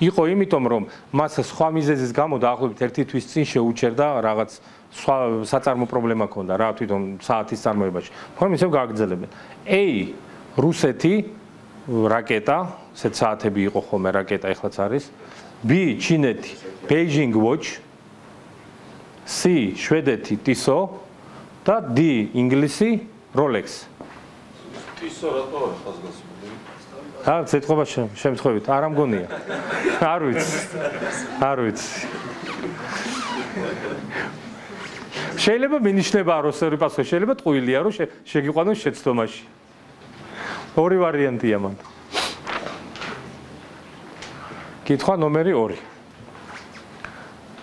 იყო იმიტომ, რომ მას სხვა მიზეზის გამო დაახლოებით 1 თვის წინ შეუჩერდა რაღაც სხვა საწარმო პრობლემა ჰქონდა რა თვითონ საათის წარმოებაში. მაგრამ ისევ გააგრძელებენ. A, რუსეთი, რაკეტა, ესეთ საათები იყო ხოლმე რაკეტა, ეხლაც არის. B, ჩინეთი, Beijing Watch. C, შვედეთი, Tissot და D, ინგლისი, Rolex. Tissot რატო არის ხაზგასმული? ცეთყობა შემთხვევით, არ ამგონია. არ ვიცი. არ ვიცი. შეიძლება მინიშნება როსერი პასუხი, შეიძლება ტყუილია, რომ შეგიყვანოს შეცდომაში. ორი ვარიანტია მან. კითხვა ნომერი 2.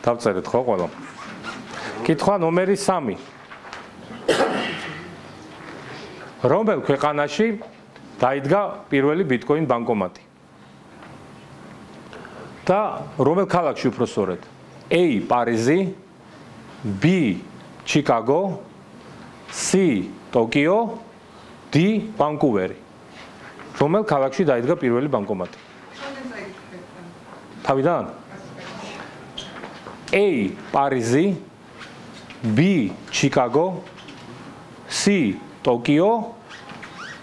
დავწერეთ ხო ყველა? კითხვა ნომერი 3. რომელ ქვეყანაში დაიდგა პირველი ბიტკოინ ბანკომატი? და რომელ ქალაქში უფრო სწორედ? A, პარიზი, B, ჩიკაგო, C, ტოკიო, D, ვანკუვერი. რომელ ქალაქში დაიდგა პირველი ბანკომატი? თავიდან? A, პარიზი, B, ჩიკაგო, C, ტოკიო,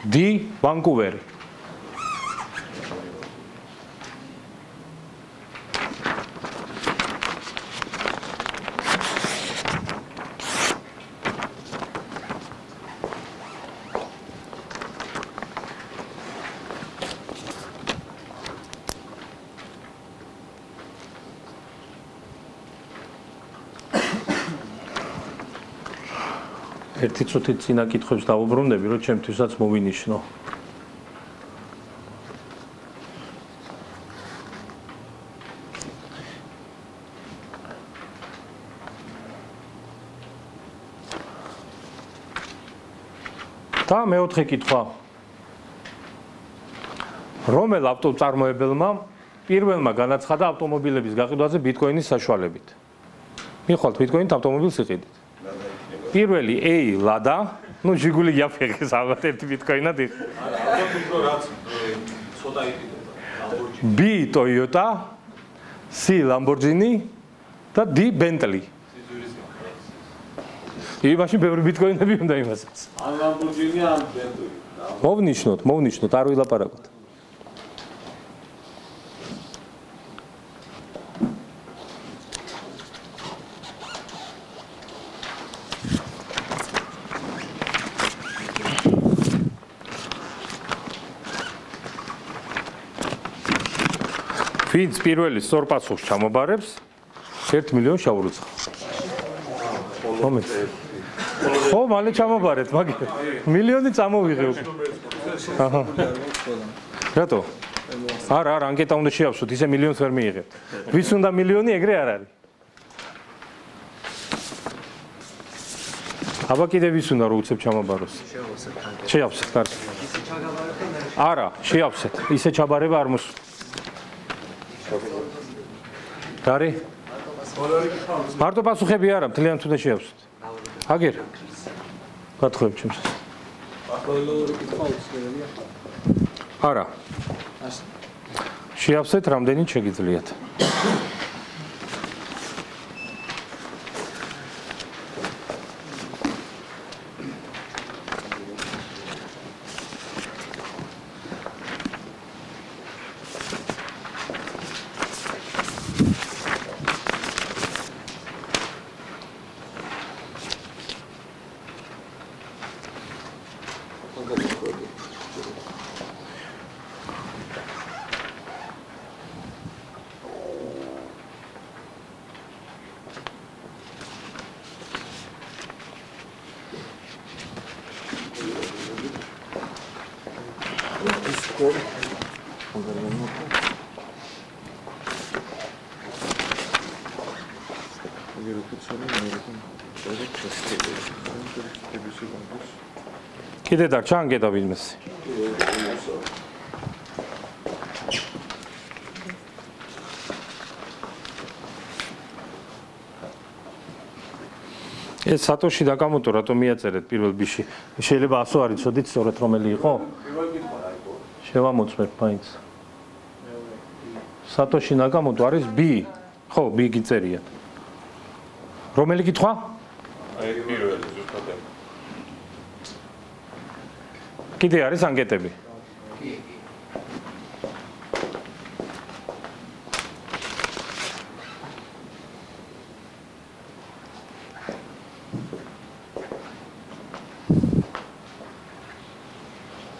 D, ვანკუვერი. ერთი წუთით წინა კითხვებს დავუბრუნდები, რომ ჩემთვისაც მოვინიშნო. და მეოთხე კითხვა. რომელ ავტომწარმოებელმა პირველმა განაცხადა ავტომობილების გაყიდვაზე ბიტკოინის საშუალებით? მიხვალთ ბიტკოინით ავტომობილს იყიდით. პირველი A, ლადა, ну ჟიგული იაფეხეს ალბათ ერთი ბიტკოინად იყო. რაც ცოტა იყიდება. B, Toyota, C, Lamborghini და D, Bentley. იმაში ბევრი ბიტკოინები უნდა იმასაც. ან Lamborghini, ან Bentley. მოვნიშნოთ, არ ვილაპარაკოთ. ვინც პირველი სწორ პასუხს ჩამობარებს 1 მილიონს შაურუცხა. მომეც. ხო, მალე ჩამობარეთ, მაგრამ მილიონი წამოვიღე უკვე. აჰა. რატო? არა, ანკეტა უნდა შეავსოთ, ისე მილიონს ვერ მიიღებთ. ვის უნდა მილიონი, ეგრე არ არის. აბა კიდე ვის უნდა რომ უცებ ჩამაბაროს? შეავსეთ, კარგი. არა, შეავსეთ. ისე ჩაბარება არ მოსულა. გარი? მარტო პასუხები არა, მთლიანად უნდა შეავსოთ. აგერ. გათხოვებ ჩემს. აკოლორი კითხვა უცნაურია. არა. შეავსეთ რამდენი შეგიძლიათ. კიდე დარჩა ანკეტა ვინმეს. ეს სატოში დაკამოტო რატომ მიაწერეთ პირველ ბიში? შეიძლება 100 არ იცოდით სწორედ რომელი იყო? შევამოწმებ მაინც. სატოში ნაკამოტო არის B. ხო, B გიწერია. რომელი კითხვა? აი პირველი ზუსტად. კიდე არის ანკეტები?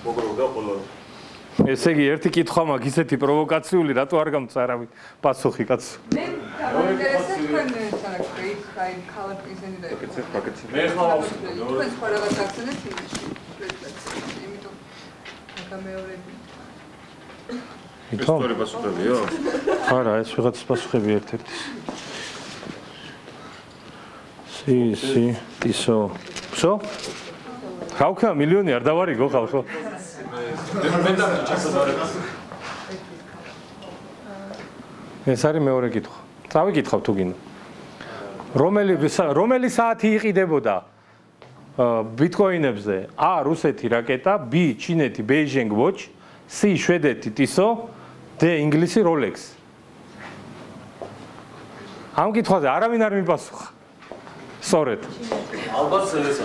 მოგროვდა ყველანი. ესე იგი ერთი კითხვა მაქვს ისეთი პროვოკაციული, რატო არ გამწარავი პასუხი კაცო? მე გამაინტერესებს თქვენ საერთოდ აი ქალაქიზენი და პაკეტი. მე ხმა ავსვით. თქვენ სხვა რაღაც აქცენტებს იმაში. იმიტომ გამეორები. ისტორია პასუხებიო? არა, ეს ვიღაც პასუხები ერთ-ერთი. სი, ისო. ვსო? რა ვქნა მილიონი არ დავარიგო ხალხო? ეს არის მეორე კითხვა. წავიკითხავ თუ გინდა. რომელი საათი იყიდებოდა ბიტკოინებზე? A რუსეთი რაკეტა, B ჩინეთი Beijing Watch, C შვედეთი Tissot, D ინგლისი Rolex. ამ კითხვაზე არავინ არ მიპასუხა. სწორედ. ალბათ ეს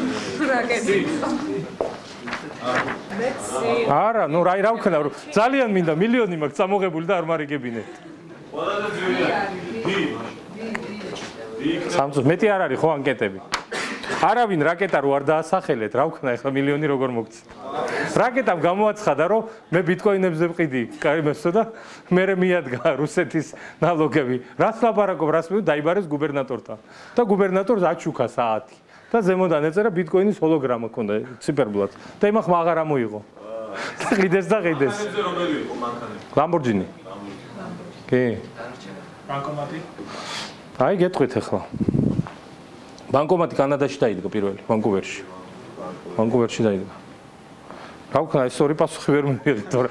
არა, ნუ რა ვქნა, ძალიან მინდა მილიონი მაქვს წამოღებული და არ მარიგებინეთ. სამწუხაროდ მეტი არ არის ხო ანკეტები. არავინ რაკეტა რო არ დაასახელეთ, რა ვქნა ახლა მილიონი როგორ მოგცეთ. რაკეტამ გამოაცხადა რომ მე ბიტკოინებზე ვყიდი, კაიმესო და მე მიადგა რუსეთის ნალოგები. რას ლაპარაკობ, რას მე დაიბარეს გუბერნატორთან. და გუბერნატორს აჩუქა საათი. და ზემოდან ეწერა ბიტკოინის ჰოლოგრამა ქონდა ციფერბლად. და იმახ მაგარ ამოიღო. და ყიდეს და ყიდეს. რომელი იყო მანქანები? ლამბორჯინი. კი. ბანკომატი? აი გეტყვით ახლა. ბანკომატი კანადაში დაიდგა პირველი, ვანკუვერში. ვანკუვერში დაიდგა. რა ვქნა, ეს ორი პასუხი ვერ მივიღეთ, თორე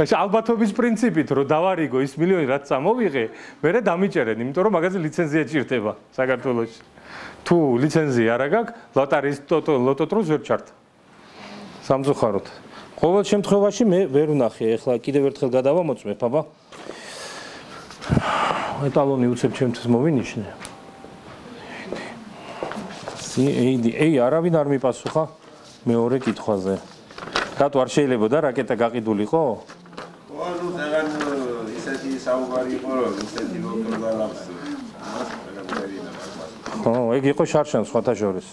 ალბათობის პრინციპით რომ დავარიგო ის მილიონი რაც წამოვიღე, მერე დამიჭერენ, იმიტომ რომ მაგაზე ლიცენზია ჭირდება საქართველოში. თუ ლიცენზია არა გაქვს, ლოტარის ლოტოტროს ვერ ჩართ. სამწუხაროდ. ყოველ შემთხვევაში მე ვერ ვნახე, ახლა კიდევ ერთხელ გადავამოწმებ, აბა. ეტალონი უცებ ჩემთვის მოვინიშნე. ეი არავინ არ მიპასუხა მეორე კითხვაზე. რატო არ შეიძლებოდა რაკეტა გაყიდულიყო? ანუ ძალიან ისეთი საუბარი იყო რომ ისეთი ლოკალს ხო, ეგ იყო შარშან სხვათა შორის.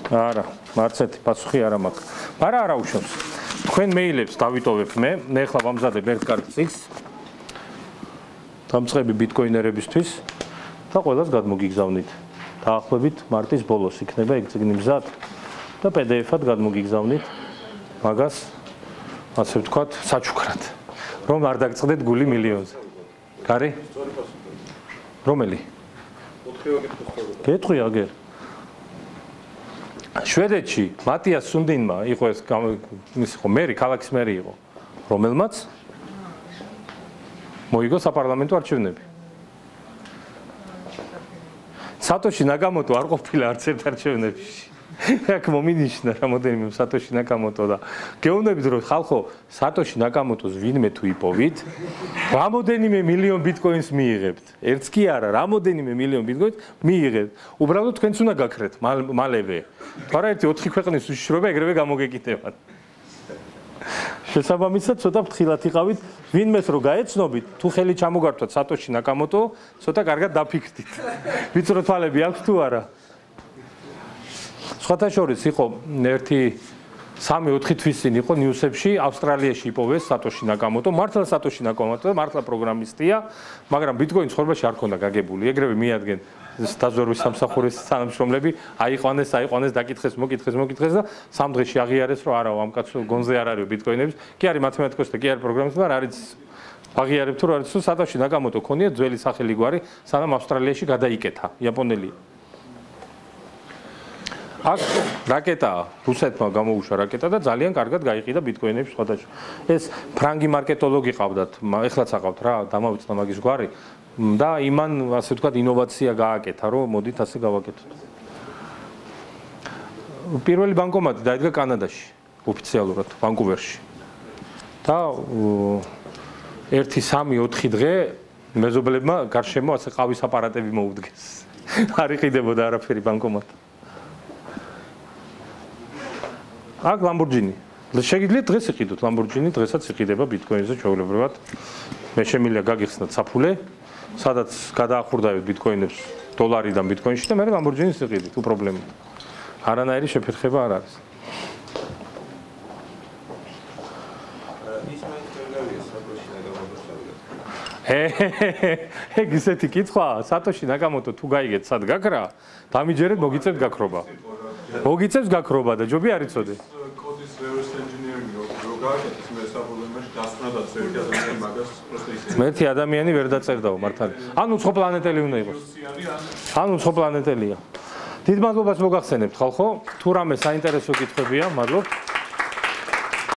არა, მარცეთი პასუხი არა მაქვს. მაგრამ არა უშავს. თქვენ მეილებს დავიტოვებ მე ახლა ვამზადებ ერთ კარგ წიგს. დამწყები ბიტკოინერებისთვის და ყველას გადმოგიგზავნით. დაახლოებით მარტის ბოლოს იქნება ეგ წიგნი მზად და PDF-ად გადმოგიგზავნით მაგას ასე ვთქვათ საჩუქრად რომ არ დაგწყდეთ გული მილიონზე. გარი? რომელი? გეტყვი აგერ. შვედეთში მატიას სუნდინმა იყო ეს ის იყო მერი, ქალაქის მერი იყო, რომელმაც მოიგო საპარლამენტო არჩევნები. სატოში ნაკამოტო არ ყოფილა არც ერთ არჩევნებში. აქ მომინიშნა რამოდენიმე სატოში ნაკამოტო და გეუბნებით რომ ხალხო სატოში ნაკამოტოს ვინმე თუ იპოვით, რამოდენიმე მილიონ ბიტკოინს მიიღებთ. ერთს კი არა, რამოდენიმე მილიონ ბიტკოინს მიიღებთ. უბრალოდ თქვენც უნდა გაქრეთ მალევე. თორე ერთი 4 ქვეყნის უშიშროება ეგრევე გამოგეკითებათ. შესაბამისად ცოტა ფრთხილად იყავით, ვინმეს რო გაეცნობით, თუ ხელი ჩამოგართვათ სატოში ნაკამოტო, ცოტა კარგად დაფიქრდით. ვიწრო თვალები აქვს თუ არა? სხვათა შორის იყო ერთი 3-4 თვის წინ იყო ნიუსებში ავსტრალიაში იპოვეს სატოში ნაკამოტო, მართლა სატოში ნაკამოტო, მართლა პროგრამისტია, მაგრამ ბიტკოინი ცხოვრებაში არ ქონდა გაგებული. ეგრევე მიადგენ დაზვერვის სამსახურის თანამშრომლები, აიყვანეს, დაკითხეს, მოკითხეს და 3 დღეში აღიარეს, რომ არა, ამ კაცს გონზე არ არის ბიტკოინების. კი არის მათემატიკოსი და კი არის პროგრამისტი, მაგრამ არის აღიარებთ, რომ არის სატოში ნაკამოტო ქონია ძველი სახელი გვარი, სანამ ავსტრალიაში გადაიკეთა იაპონელი. აქ რაკეტაა, რუსეთმა გამოუშვა რაკეტა და ძალიან კარგად გაიყიდა ბიტკოინების სხვადასხვა. ეს ფრანგი მარკეტოლოგი ყავდათ, ეხლაც აყავთ რა, დამავიწყდა მაგის გვარი და იმან ასე ვთქვათ ინოვაცია გააკეთა, რომ მოდით ასე გავაკეთოთ. პირველი ბანკომატი დაიდგა კანადაში, ოფიციალურად, ვანკუვერში. და 1-3-4 დღე მეზობლებმა გარშემო ასე ყავის აპარატები მოუდგეს. არ იყიდებოდა არაფერი ბანკომატი. აქ ლამბორჯინი. შეგიძლიათ დღეს იყიდოთ ლამბორჯინი, დღესაც იყიდება ბიტკოინზე ჩვეულებრივად. მე შემიძლია გაგიხსნათ საფულე, სადაც გადაახურდავთ ბიტკოინებს დოლარიდან ბიტკოინში და მე ლამბორჯინის იყიდით, უპრობლემო. არანაირი შეფერხება არ არის. ეგ ისეთი კითხვა, სატოში ნაკამოტო თუ გაიგეთ სად გაქრა, დამიჯერეთ მოგიწევთ გაქრობა. მოგიწევს გაქრობა და ჯობი არ იცოდე. კოდის reverse engineering რო გააკეთეს მე საფრთხეებში დასწრადაც ერთი ადამიანი მაგას просто ისე. ერთი ადამიანი ვერ დაწერდაო მართალი. ანუ სხვა პლანეტელი უნდა იყოს. ანუ სხვა პლანეტელია. დიდ მადლობას მოგახსენებთ ხალხო. თუ რამე საინტერესო კითხვებია, მადლობთ.